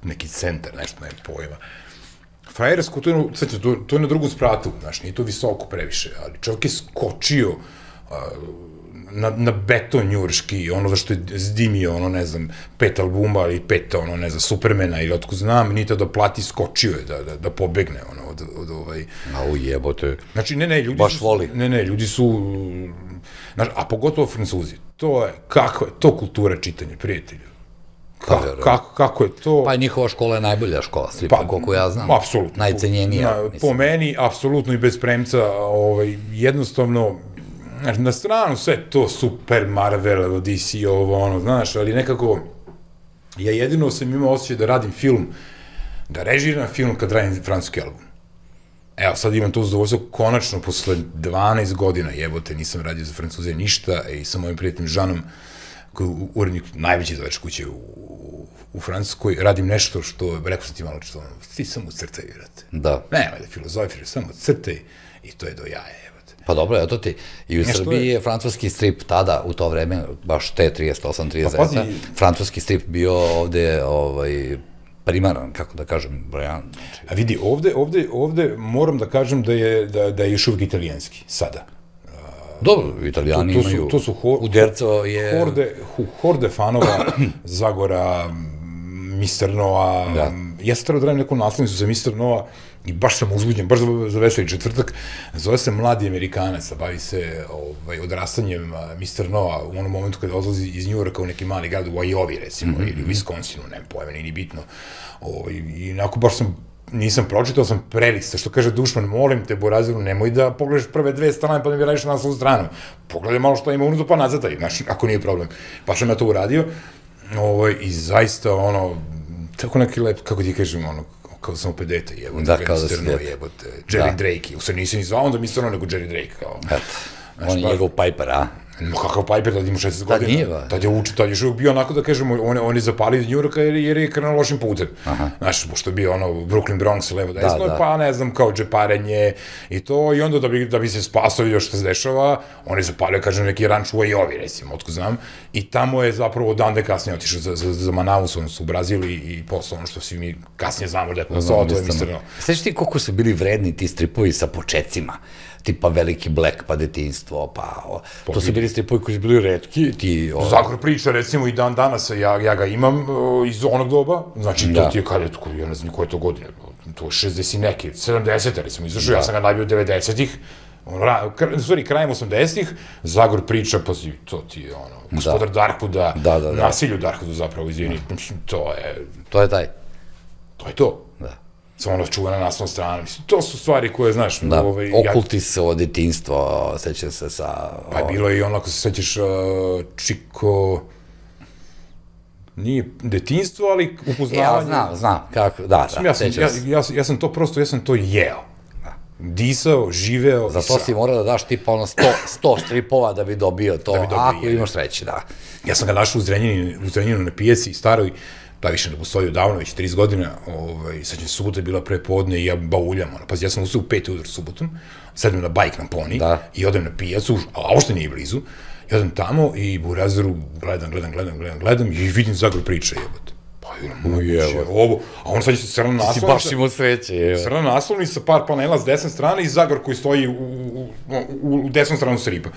neki centar, nešto, ne pojma. Frajersko, to je na drugu spratu, znaš, nije to visoko previše, ali čovjek je skočio na beton njurški, ono zašto je zdimio, ono, ne znam, pet albuma ili pet, ono, ne znam, Supermana ili otko znam, nije to da plati, skočio je da pobegne, ono, od ovaj... A ujebote, znači, ne, ne, ljudi su... Baš voli. Ne, ne, ljudi su... A pogotovo Francuzi, to je, kako je, to kultura čitanja, prijatelju. Kako je to... Pa njihova škola je najbolja škola, slipa, koliko ja znam. Apsolutno. Najcenjenija. Po meni, apsolutno i bez premca, jednostavno, na stranu sve to super, Marvel, D C, ovo, ono, znaš, ali nekako, ja jedino sam imao osjećaj da radim film, da režiram film kad radim francuski album. Evo, sad imam to zadovoljstvo, konačno, posle dvanaest godina, jebote, nisam radio za Francuze ništa i sa mojim prijateljim Žanom, koji je urednik najveće izdavačke kuće u Francuskoj, radim nešto što, rekao sam ti malo što, ti samo crtaj, vrate. Da. Nemoj da filozofiraš, samo crtaj i to je do jaja, evo te. Pa dobro, eto ti, i u Srbiji je francuski strip tada, u to vreme, baš te trideset osam trideset devet, francuski strip bio ovde, ovaj, primaran, kako da kažem, brojan. A vidi, ovde, ovde, ovde moram da kažem da je, da je još uvijek italijanski, sada. Dobro, italijani imaju, Uderzo je... Horde fanova, Zagora, mister Noa, ja sam trebao da radim neku naslovnicu za mister Noa i baš sam uzbuđen, baš za Veseli četvrtak, zove se Mladi Amerikanac, a bavi se odrastanjem mister Noa u onom momentu kada odlazi iz Njujorka u neki mali grad u Iowi, recimo, ili u Wisconsinu, nema pojma, nije ni bitno. I onako baš sam nisam pročitao, sam prelista, što kaže Dušman, molim te, Boraziru, nemoj da pogledaš prve dve strane pa da mi radiš na naslovnu stranu. Pogledaj malo što ima unutra pa nazataj, znaš, ako nije problem. Pa sam ja to uradio i zaista, ono, tako neki lep, kako ti kažem, ono, kao sam opet dete, jebote, Vensterno, jebote, Jerry Drake, u stvari nisam ni zvao onda mister Noa, nego Jerry Drake, kao. Eto, on je njegov Piper, a? Kakav Piper, tada ima šesnaest godina. Tad je učio, tad je još uvijek bio onako da kažemo, on je zapalio iz Njujorka jer je krenuo lošim putem. Znaš, pošto je bio ono Brooklyn, Bronx, levo desno, pa ne znam, kao džeparenje i to, i onda da bi se spasao još što se dešava, on je zapalio, kažem, neki ranč u Iowi, recimo, otko znam, i tamo je zapravo dan da je kasnije otišao za Manaus, on su u Brazili i posle ono što svi mi kasnije znamo da je posao, to je mister Noa. Sveći ti koliko su bili vredni ti stripovi sa počecima? Tipa Veliki Black, pa Detinjstvo, pa... To su bili stripovi koji su bili retki, ti... Zagor priča, recimo, i dan danas, ja ga imam iz onog doba, znači, to ti je kada, ja ne znam koje je to godine, to je šezdeset neke, sedamdesete, recimo, izašao, ja sam ga najbio devedesetih, u stvari, krajem osamdesetih, Zagor priča, pa to ti je, ono, Gospodar Darkwooda, nasilju Darkwoodu, zapravo, izvini, to je... To je taj. To je to. Da. Samo ono čuva na naslovnoj strani. To su stvari koje, znaš... Da, okultistvo, detinjstvo, sećam se sa... Pa je bilo i ono, ako se sećaš, Čiko... Nije detinjstvo, ali upoznavanje... Ja znam, znam, kako, da, da, sećam se. Ja sam to prosto, ja sam to jeo. Disao, živeo... Za to si morao da daš tipa ono sto stripova da bi dobio to, ako imaš sreće, da. Ja sam ga našao u Zrenjaninu na pijaci, staroj, ta više ne postoji odavno, već trideset godina, sad će subota je bila pre podne i ja bauljam, pazi, ja sam ustao u pet ujutro subotom, sedem na bajk na poni i odem na pijacu, a ošte nije blizu, i odem tamo i Burazeru gledam, gledam, gledam, gledam, gledam i vidim Zagor priča, jebote. Pa Moguće, ovo, a on sad je crna naslovnica. Ti si baš imao sreće, evo. Crna naslovnica, par panela s desne strane i Zagor koji stoji u, u, u, u desnu stranu stripa.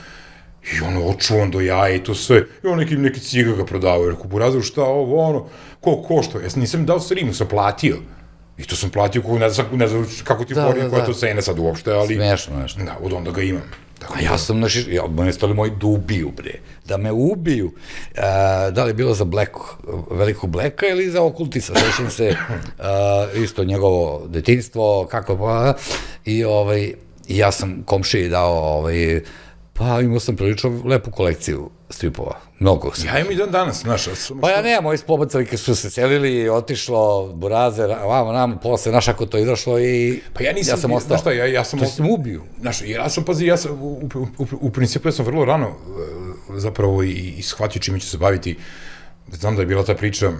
I ono, očuvan do jaja i to sve. I on neki, neki ciga ga prodavao. Rekao, Burazeru, šta ovo, ono, ko košta? Ja sam nisam dao strimu, sam platio. I to sam platio, ne znam, ne znam kako ti porim, koja je to cena sad uopšte, ali... Smešno nešto. Da, od onda ga imam. A ja sam, znaš, mene stali moji da ubiju, bre. Da me ubiju. Da li je bilo za Black, velikog Blacka ili za Okultisa? Srećem se isto njegovo detinjstvo, kako pa... I ovaj, ja sam komšiji dao, ovaj, pa imao sam prilično lepu kolekciju stripova. Mnogo sam. Ja imam i dan danas, znaš. Pa ja nemam, moji spobacalike su se selili, otišlo, Burazer, vamo nam, posle, znaš, ako to izašlo i pa ja nisam, ja sam ostao. Znaš šta, ja, ja sam... To si sam ubiju. Znaš, ja sam, pazi, ja sam, u, u, u, u principu, ja sam vrlo rano zapravo i, i shvatio čime ću se baviti. Znam da je bila ta priča,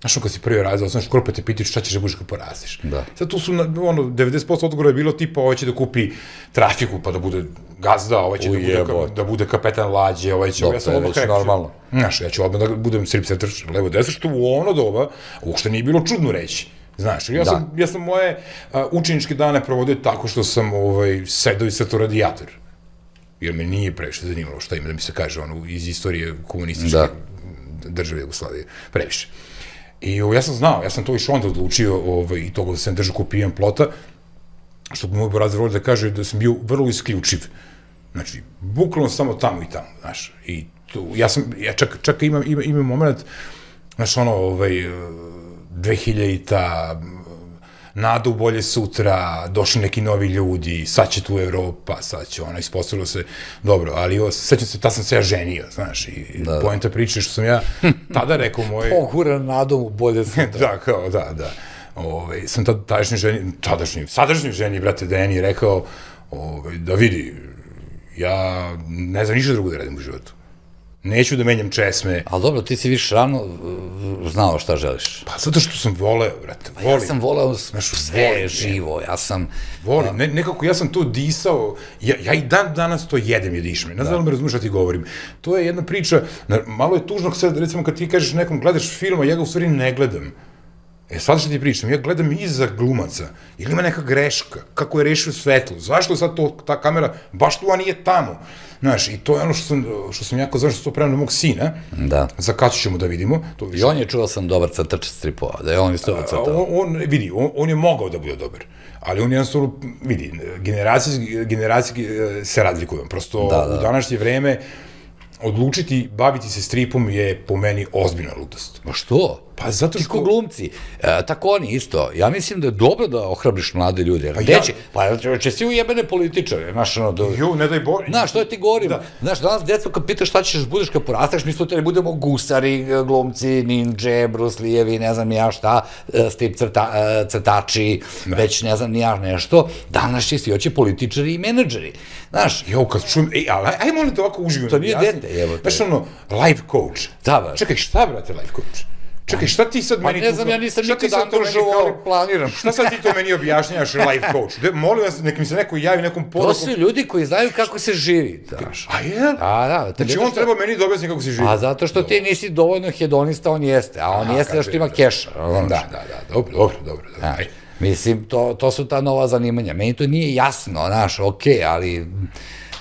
znaš, kad si prvi razred, znaš, školu pa te pitaju šta ćeš da budeš kad porastiš. Da. Sad tu su, ono, devedeset posto odgovora je bilo tipa, ovaj će da kupi trafiku, pa da bude gazda, ovaj će da bude, da bude kapetan lađe, ovaj će... Ja sam odmah rekao, normalno. Znaš, ja ću odmah da budem strip setter, levo desno, što u ono doba uopšte nije bilo čudno reći. Znaš, ja sam, ja sam moje učeničke dane provodio tako što sam ovaj, sedao i crtao radijator. Jer me nije previše zanimalo šta ima da mi se kaže, ono, iz istorije komunističke države Jugoslavije. Previše. I ja sam znao, ja sam to išao onda odlučio ovaj, i toga da sam držao kopijan plota, što bi moj Burazer volio da kaže da sam bio vrlo isključiv. Znači, bukvalno samo tamo i tamo, znaš. I to, ja sam, ja čak, čak imam, imam, imam moment, znaš, ono, ovaj, dvehiljadita, nada u bolje sutra, došli neki novi ljudi, sad će tu Evropa, sad će ona, ispostavilo se, dobro, ali ovo, sećam se, ta sam se ja ženio, znaš, i poenta priče što sam ja tada rekao moje... Poguran nadom u bolje sutra. Da, kao, da, da. Ove, sam tada tadašnji ženi, tadašnji, sadašnji ženi, brate Deni, rekao, ove, da vidi, ja ne znam ništa drugo da radim u životu. Neću da menjam česme. Ali dobro, ti si više rano znao šta želiš. Pa zato što sam voleo, brate, volim. Ja sam voleo sve živo, ja sam... Volim, nekako ja sam to disao, ja i dan danas to jedem i dišem. Ne znam da me razumiješ šta ti govorim. To je jedna priča, malo je tužno sad, recimo kad ti kažeš nekom gledaš film, a ja ga u stvari ne gledam. E, sad što ti pričam, ja gledam iza glumaca, ili ima neka greška, kako je rešio svetlo, zašto sad to, ta kamera, baš tu, a nije tamo. Znaš, i to je ono što sam, što sam jako znaš, što to prema mog sina, da. Za Kaću ćemo da vidimo. To I on je čuo sam dobar crtač stripova, da je on isto crtao. On, on, vidi, on, on je mogao da bude dobar, ali on jednostavno, vidi, generacije, generacije se razlikuju, prosto da, da. U današnje vreme odlučiti baviti se stripom je po meni ozbiljna ludost. Ma što? Pa zato što... Ti ko glumci, e, tako oni isto. Ja mislim da je dobro da ohrabriš mlade ljude. Pa ja... Pa će svi ujebene političare, znaš, ono... Do... Jo, ne daj bolje. Znaš, što je ti govorim? Da. Znaš, danas djeco kad pitaš šta ćeš budeš kad porastaš, mi smo te ne budemo gusari, glumci, ninja, bruslijevi, ne znam ja šta, strip crta, crtači, da. Već ne znam ni ja nešto. Danas će svi hoće političari i menadžeri. Znaš... Jo, kad čujem, ej, ali aj molim te ovako uživim. To nije dete, evo te. Znaš, ono, life coach. Da, baš. Čekaj, šta, brate, life coach? Čekaj, šta ti sad meni... Pa ne znam, ja nisam nikad angažovao, ali planiram. Šta sad ti to meni objašnjavaš, life coach? Molim vas, nek mi se neko javi nekom porukom... To su ljudi koji znaju kako se živi, znaš. A je? A, da. Znači on treba meni da objasni kako se živi. A zato što ti nisi dovoljno hedonista, on jeste. A on jeste što ima keša. Da, da, da, dobro, dobro, dobro. Mislim, to su ta nova zanimanja. Meni to nije jasno, znaš, okej, ali...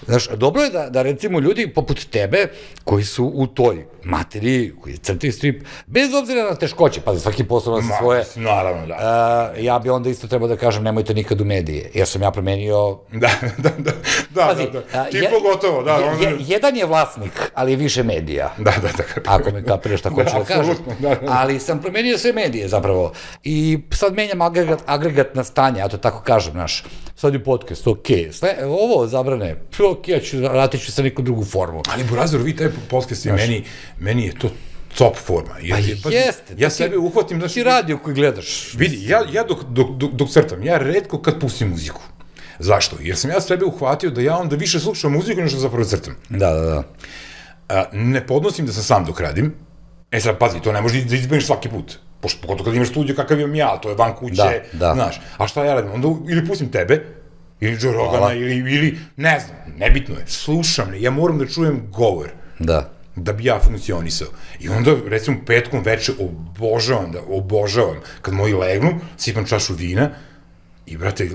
Znaš, dobro je da, da recimo ljudi poput tebe, koji su u toj materiji, koji crtaju strip, bez obzira na teškoće, pazi, svaki posao nosi svoje... Naravno, da. Uh, ja bi onda isto trebao da kažem, nemojte nikad u medije, jer sam ja promenio... Da, da, da, da, pazi, da, da. Ti je, pogotovo, da. Je, onda... jedan je vlasnik, ali je više medija. Da, da, da. Ako me kapiraš šta hoću da, da kažem. Da, da. Ali sam promenio sve medije, zapravo. I sad menjam agregat, agregatna stanja, ja to tako kažem, znaš. Sad je podcast, okej, okay. Ovo zabrane, okej, ja ću, vratit ću sa neku drugu formu. Ali, Burazer, vi taj podcast je meni, meni je to top forma. Pa jeste. Ja sebe uhvatim, znači... Ti radio koji gledaš. Vidi, ja dok, dok, dok, dok crtam, ja redko kad pustim muziku. Zašto? Jer sam ja sebe uhvatio da ja onda više slušam muziku nego što zapravo crtam. Da, da, da. A, ne podnosim da sam sam dok radim. E sad, pazi, to ne možeš da izbeniš svaki put. Pogotovo kad imaš studio kakav imam ja, to je van kuće, da, da. Znaš. A šta ja radim? Onda ili pustim tebe, ili Joe Rogana, ili, ili, ne znam, nebitno je, slušam, ja moram da čujem govor. Da. da bi ja funkcionisao. I onda, recimo, petkom veče obožavam, da, obožavam, kad moji legnu, sipam čašu vina i, brate,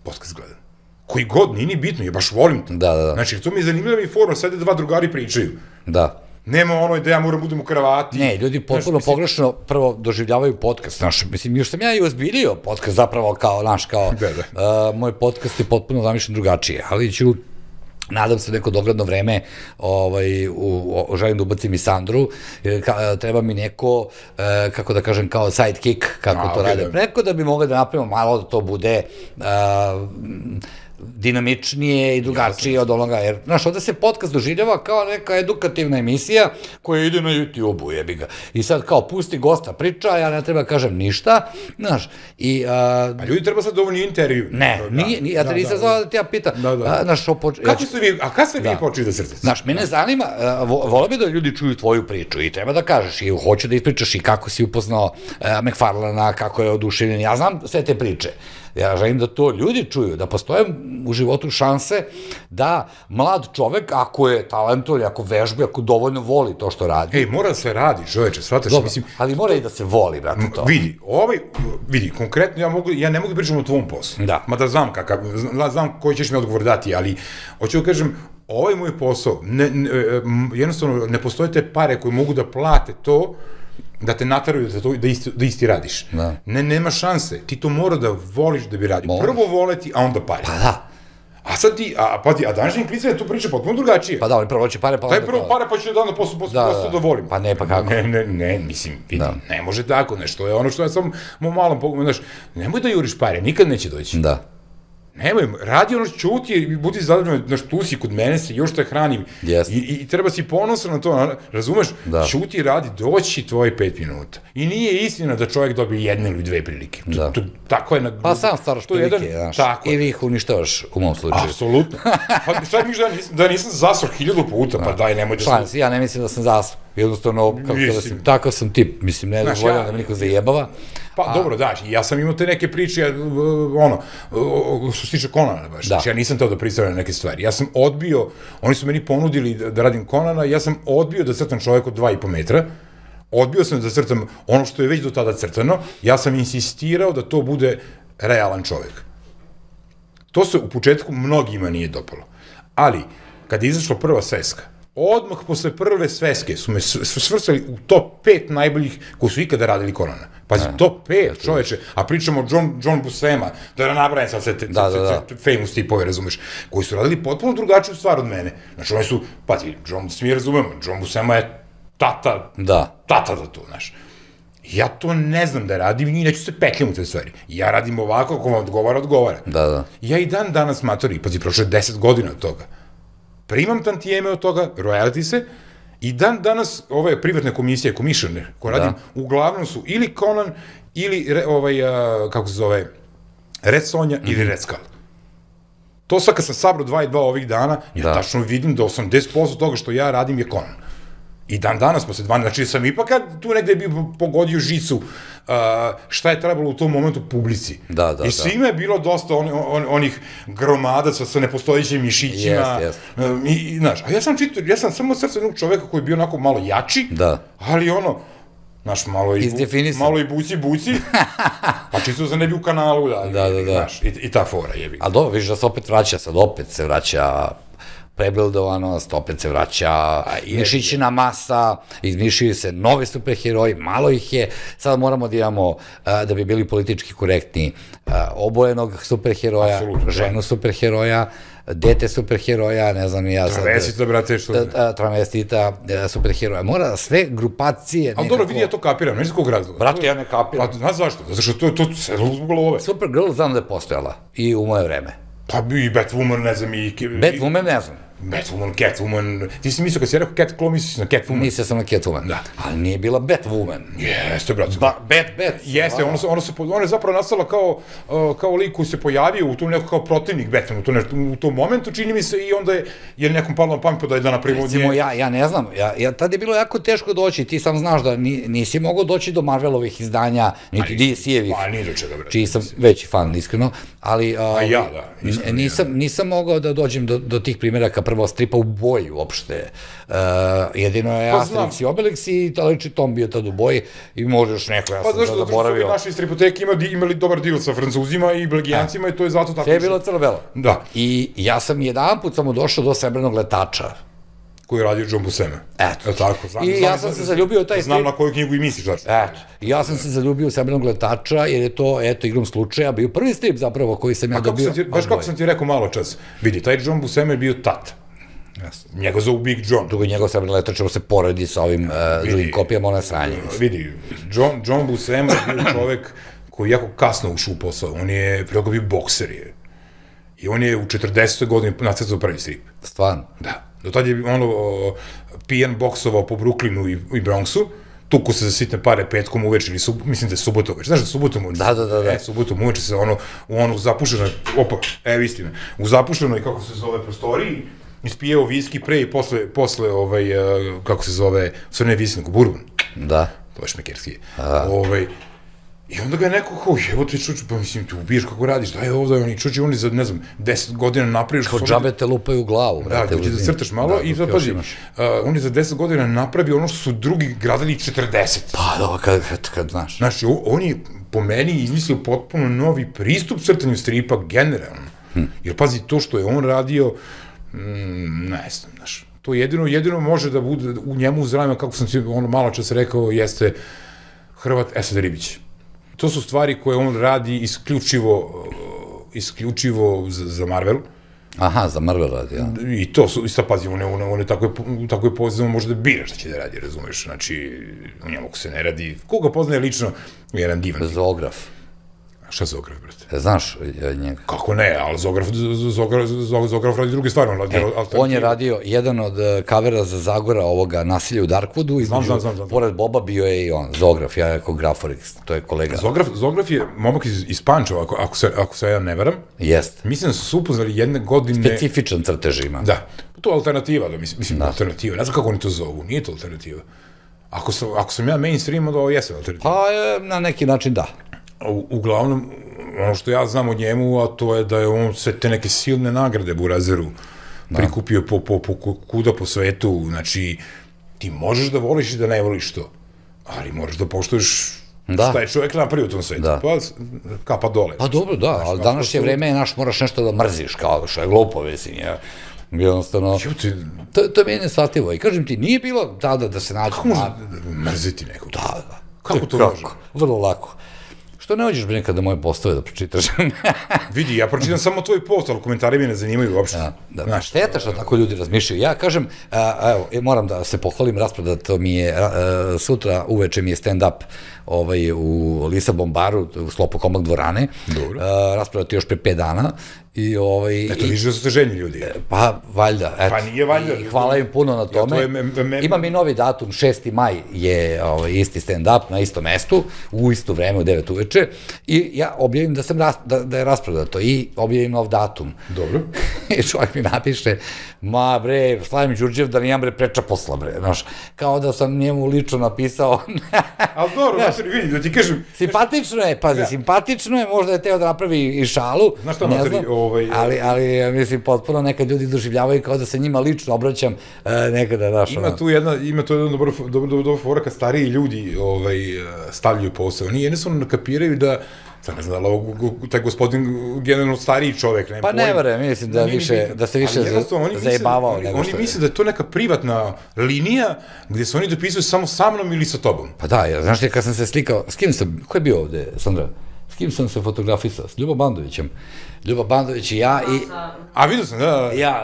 podcast gledam. Koji god, nije ni bitno, ja baš volim to. Da, da, da. Znači, to mi je zanimljiva i forma, sada dva drugari pričaju. Da. Nema ono da ja moram budem u kravati. Ne, ljudi potpuno pogrešno prvo doživljavaju podcast, znaš, mislim, još sam ja i ozbiljio podcast zapravo kao, znaš, kao, moj podcast je potpuno zamišljen drugačije, ali ću, nadam se neko dogledno vreme, želim da ubacim i Sandru, treba mi neko, kako da kažem, kao sidekick, kako to rade preko, da bi mogli da napravimo malo da to bude dinamičnije i drugačije od onoga, jer, znaš, ovde se podcast doživljava kao neka edukativna emisija koja ide na YouTube-u, jebi ga. I sad kao pusti gosta priča, ja ne treba kažem ništa, znaš, i... A ljudi treba sad dovoljni intervju. Ne, nije, ja te nisam znao da ti ja pitam. Znaš, kako ste vi, a kada ste vi počeli da srce? Znaš, mene zanima, volio bi da ljudi čuju tvoju priču i treba da kažeš, i hoću da ispričaš i kako si upoznao McFarlana, kako je oduševljen, ja znam sve te priče. Ja želim da to ljudi čuju, da postoje u životu šanse da mlad čovek, ako je talentovan, ako vežbi, ako dovoljno voli to što radi. Ej, mora da se radi, čoveče, shvataš, mislim... Ali mora i da se voli, brate, to. Vidi, ovaj, vidi, konkretno ja mogu, ja ne mogu da pričam o tvom poslu. Da. Mada znam kakav, znam koji ćeš mi odgovor dati, ali hoću da kažem, ovaj moj posao, jednostavno ne postoje te pare koje mogu da plate to, da te nataraju da isti radiš. Ne, nema šanse. Ti to mora da voliš da bi radio. Prvo voleti, a onda pare. Pa da. A sad ti, a pa ti, a današnji klica tu priča potpuno drugačije. Pa da, ali prvo će pare, pa onda... Daj prvo pare, pa ću da posle posle da volim. Pa ne, pa kako? Ne, ne, ne, mislim, vidi, ne može tako nešto. Je ono što ja sam mu malom pogledam, znaš, nemoj da juriš pare, nikad neće doći. Da. Nemoj, radi ono čuti i budi zadržan, znaš, tu si kod mene se, još te hranim. I treba si ponosan na to, razumeš? Čuti, radi, doći tvoji pet minuta. I nije istina da čovjek dobije jedne ili dve prilike. Tako je... Pa sam staraš prilike, znaš, ili ih uništavaš u mom slučaju. Apsolutno. Pa šta mi da nisam zasro hiljadu puta, pa daj, nemoj da... Šans, ja ne mislim da sam zasro. Jednostavno, takav sam tip, mislim, ne dozvoljam da mi niko zajebava. Pa dobro, daš, ja sam imao te neke priče, ono, što se tiče Conana, baš, znači ja nisam teo da pristavljam neke stvari. Ja sam odbio, oni su meni ponudili da radim Conana, ja sam odbio da crtam čovjek od dva i po metra, odbio sam da crtam ono što je već do tada crtano, ja sam insistirao da to bude realan čovjek. To se u početku mnogima nije dopalo. Ali, kad je izašla prva sveska, odmah posle prve sveske su me svrstali u top pet najboljih koji su ikada radili Conana. Pazi, top pet, čoveče, a pričamo o John Buscema, da je nabrajem sad sve te famous tipove, razumeš, koji su radili potpuno drugačiju stvar od mene. Znači, oni su, pazi, John, svi mi razumemo, John Buscema je tata, tata za to, znaš. Ja to ne znam da radim i neću se petljam u te stvari. Ja radim ovako, ako vam odgovara, odgovara. Da, da. Ja i dan danas matori, pazi, prošlo je deset godina od toga. Primam tantijeme od toga, royalty se, i dan danas ove privatne komisije, commissioner, koje radim, uglavnom su ili Conan, ili, kako se zove, Red Sonja ili Red Skull. To sad kad sam sabrao dva i dva ovih dana, ja tačno vidim da osamdeset posto toga što ja radim je Conan. I dan danas posle dvanaest, znači sam ipak tu negde bi pogodio žicu šta je trebalo u tom momentu publici. Da, da, da. I svima je bilo dosta onih gromadaca sa nepostojećim mišićima. I, znaš, a ja sam čitao, ja sam samo srce jednog čoveka koji je bio onako malo jači, ali ono, znaš, malo i buci-buci, pa čisto za ne bi u kanalu, znaš, i ta fora jebi. Ali dobro, vidiš da se opet vraća, sad opet se vraća prebildovanost, opet se vraća mišićina masa, izmišljaju se nove superheroji, malo ih je, sad moramo da imamo, da bi bili politički korektni, obojenog superheroja, ženu superheroja, dete superheroja, ne znam i ja sad... Travestita, brate, što... Travestita, superheroja, mora sve grupacije nekako... Ali dobro, vidi, ja to kapiram, neći kog razloga. Brate, ja ne kapiram. Pa, znaš zašto? Zato što to se uzbogalo ove. Supergirl znam da je postojala i u moje vreme. Pa i Batwoman, ne znam, i... Batwoman, ne znam. Batwoman, Catwoman, ti si mislio kad si rekao Catclaw, misliš na Catwoman? Mislio sam na Catwoman, da. Ali nije bila Batwoman. Jeste, brate. Bat, Bat. Jeste, ona je zapravo nastala kao lik koji se pojavio u tom nekako kao protivnik Batmanu u tom momentu, čini mi se, i onda je nekom palo na pamet da je da napravimo... Recimo, ja ne znam, tad je bilo jako teško doći, ti sam znaš da nisi mogao doći do Marvelovih izdanja, niti D C-evih. Pa nije do čega, brate. Čiji sam veći fan, iskreno, ali... A ja, da. Nisam mogao da dođem do tih primjeraka prvo stripa u boji uopšte. Jedino je Asterix i Obelix i Taliči Tom bio tad u boji i možeš neko, ja sam sad zaboravio. Pa znaš da su naši stripoteki imali dobar deal sa Francuzima i Belgijancima i to je zato tako... Sve je bilo crno-belo. Da. I ja sam jedan put samo došao do Srebrnog letača. Koji je radio John Buscema. Eto. Tako, znam, I ja sam se zaljubio u taj strip. Znam na koju knjigu i misliš, znači. Eto. I ja sam se zaljubio u Srebrnog letača, jer je to, eto, igrom slučaja, bio prvi strip zapravo koji sam ja dobio. Baš kako sam ti rekao malo čas. Vidi, taj John Buscema je bio tata. Njega zovu Big John. Drugo, njegov Srebrni letač se poredi sa ovim drugim kopijama, ona sranje. Vidi, John Buscema je bio čovek koji jako kasno ušao u posao. On je preko bio bokser je. I on je u četrdesetoj godini nacrtao prvi strip. Stvarno? Da. Do tad je ono pijan boksovao po Brooklynu i Bronxu, tuku se za sitne pare petkom uveč ili mislim da je subotom uveč. Znaš da subotom uveč? Da, da, da. E, subotom uveč se ono, u ono zapušenoj, opa, evo istina, u zapušenoj, kako se zove, prostoriji, ispijeo viski pre i posle, posle, ovaj, kako se zove, sve ne viski, nego bourbon. Da. To je šmekerski. Ovaj, i onda ga je neko kao, evo ti čuči, pa mislim, ti ubiješ kako radiš, daj ovdje, oni čuči, oni za, ne znam, deset godina napraviš... Kao džabe te lupaju u glavu. Da, ti da crtaš malo i sad pazi, on je za deset godina napravio ono što su drugi gradili četrdeset. Pa, dobro, kad, kad, znaš. Znači, on je po meni izmislio potpuno novi pristup crtanju stripa generalno. Jer pazi, to što je on radio, ne znam, znaš, to jedino, jedino može da bude u njemu zdravima, kako sam ti ono malo čas rekao, jeste Hrvat Esad Ribić. To su stvari koje on radi isključivo, isključivo za Marvel. Aha, za Marvel radi, ja. I to su, isto pazi, on je tako je poznano, možda bira šta će da radi, razumeš, znači, u njemu se ne radi, koga poznaje lično, jedan divan. Zoograf. Šta Zograf, brate? Znaš njega? Kako ne, ali Zograf radi druge stvari. On je radio jedan od kavera za Zagora ovoga Nasilja u Darkwoodu. Znam, znam, znam. Pored Boba bio je i on, Zograf, ja jako Graforix, to je kolega. Zograf je momak iz Pančeva, ako se ja ne veram. Jest. Mislim da su se upoznali jedne godine... Specifičan crtež ima. Da, to je alternativa, mislim, alternativa. Ne znam kako oni to zovu, nije to alternativa. Ako sam ja mainstream, onda ovo jesam alternativa. Pa, na neki način da. Uglavnom, ono što ja znam o njemu, a to je da je on sve te neke silne nagrade Burazeru prikupio po kuda po svetu, znači, ti možeš da voliš i da ne voliš to, ali moraš da poštuješ šta je čovjek napravio u tom svetu, pa kapa dole. Pa dobro, da, ali današnje vreme je naš, moraš nešto da mrziš, kao što je glupo, mislim, ja. Jednostavno, to je meni neshvatljivo i kažem ti, nije bilo tada da se nađe... Kako može mrziti nekog? Da, da. Kako to može? Vrlo lako. Što ne hođeš nekada moje postove da pročitaš? Vidi, ja pročitam samo tvoj post, ali komentari mi ne zanimaju uopšte. Šteta što tako ljudi razmišljaju. Ja kažem, evo, moram da se pohvalim, rasprodato mi je, sutra uveče mi je stand-up u Lisabon baru, u sklopu Komad dvorane. Dobro. Rasprodato još pre pet dana. Eto, vidiš da su te željni ljudi. Pa, valjda. Pa nije valjda. Hvala im puno na tome. Imam i novi datum, šesti maj je isti stand-up na istom mestu, u isto vreme, u devet uveče, i ja objavim da je rasprodato i objavim nov datum. Dobro. I čovjek mi napiše, ma bre, Slavim Đurđev da nijem bre preča posla bre, znaš, kao da sam njemu lično napisao. Ali dobro, znači, vidi, da ti kažem... Simpatično je, pazi, simpatično je, možda je teo da napravi i šalu, ne znam, ali, mislim, potpuno nekad ljudi doživljavaju kao da se njima lično obraćam nekada, znaš. Ima tu jedna, ima tu jedna dobra fora kad stariji ljudi stavljaju posao. Oni jednostavno nakapiraju da, sad ne znam, da taj gospodin generalno stariji čovek, nema pojma. Pa ne vere, mislim da se više zajebavao nego što je. Oni misle da je to neka privatna linija gde se oni dopisuju samo sa mnom ili sa tobom. Pa da, znaš ti kad sam se slikao, s kim sam, ko je bio ovde, Sandra? S kim sam se fotografisao? S Ljubom Bandovićem. Ljuba Bandović i ja i... A, vidio sam, da. Ja,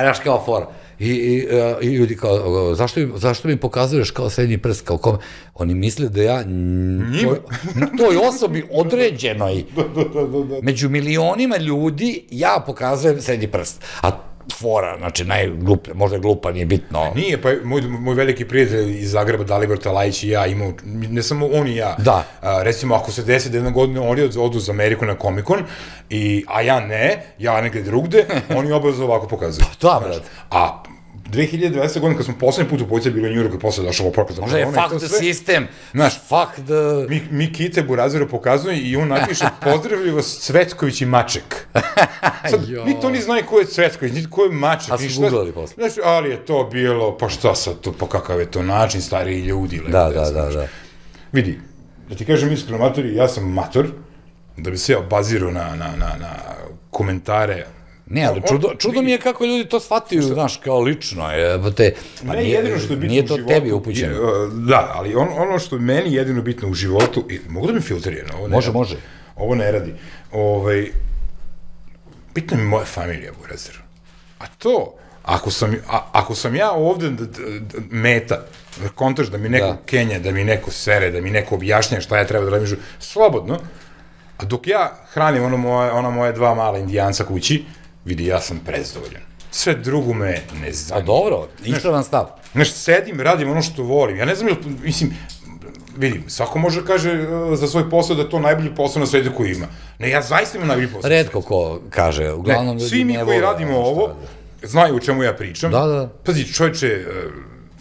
znaš kao fora. I ljudi kao, zašto mi pokazuješ kao srednji prst, kao kome? Oni misle da ja toj osobi određenoj, među milionima ljudi, ja pokazujem srednji prst. A fora, znači najgluplja, možda je glupa, nije bitno. Nije, pa moj veliki prijatelj iz Zagreba, Dalibor Talajić i ja imao, ne samo on i ja, recimo ako se desi da jedna godina oni odu za Ameriku na Comic-Con, a ja ne, ja negde drugde, oni obavezno ovako pokazuju. Da, brad. A dve hiljade dvadesete. godine, kad smo poslednji put u policija bili u Njujorku i posle došao oporka za Možda je fuck the system, fuck the... Mi, mi Kite Burazeru pokazuju i on napiše pozdravljivo Cvetković i Maček. Sad, mi to ni znaju ko je Cvetković, niti ko je Maček. A su googlali posle. Znaš, ali je to bilo, pa šta sad to, pa kakav je to način, stariji ljudi. Da, da, da, da. Vidi, da ti kažem iskreno, matori, ja sam mator, da bi se ja obazirao na, na, na, na komentare. Ne, ali čudo, čudo mi je kako ljudi to shvataju, znaš, kao lično, je, te, pa ne, nije, jedino što je bitno nije to u životu, tebi upućeno. Da, ali on, ono što je meni jedino bitno u životu, i, mogu da mi filtrije, ovo ne Može, radi, može. Ovo ne radi. Ovaj, bitno mi moja familija, Burazer. A to, ako sam, a, ako sam ja ovde d, d, d, meta, kontaš da mi neko da. Kenja, da mi neko sere, da mi neko objašnja šta ja treba da radim, slobodno, a dok ja hranim ono moje, ona moje dva mala indijanca kući, vidi, ja sam prezadovoljan. Sve drugo me ne zanima. A dobro, ispravan stav. Znaš, sedim, radim ono što volim. Ja ne znam, mislim, vidim, svako može da kaže uh, za svoj posao da je to najbolji posao na svetu koji ima. Ne, ja zaista imam najbolji posao. Redko ko kaže, uglavnom... Ne, svi mi koji radimo ovo, znaju o čemu ja pričam. Da, da. Pazi, čovječe, uh,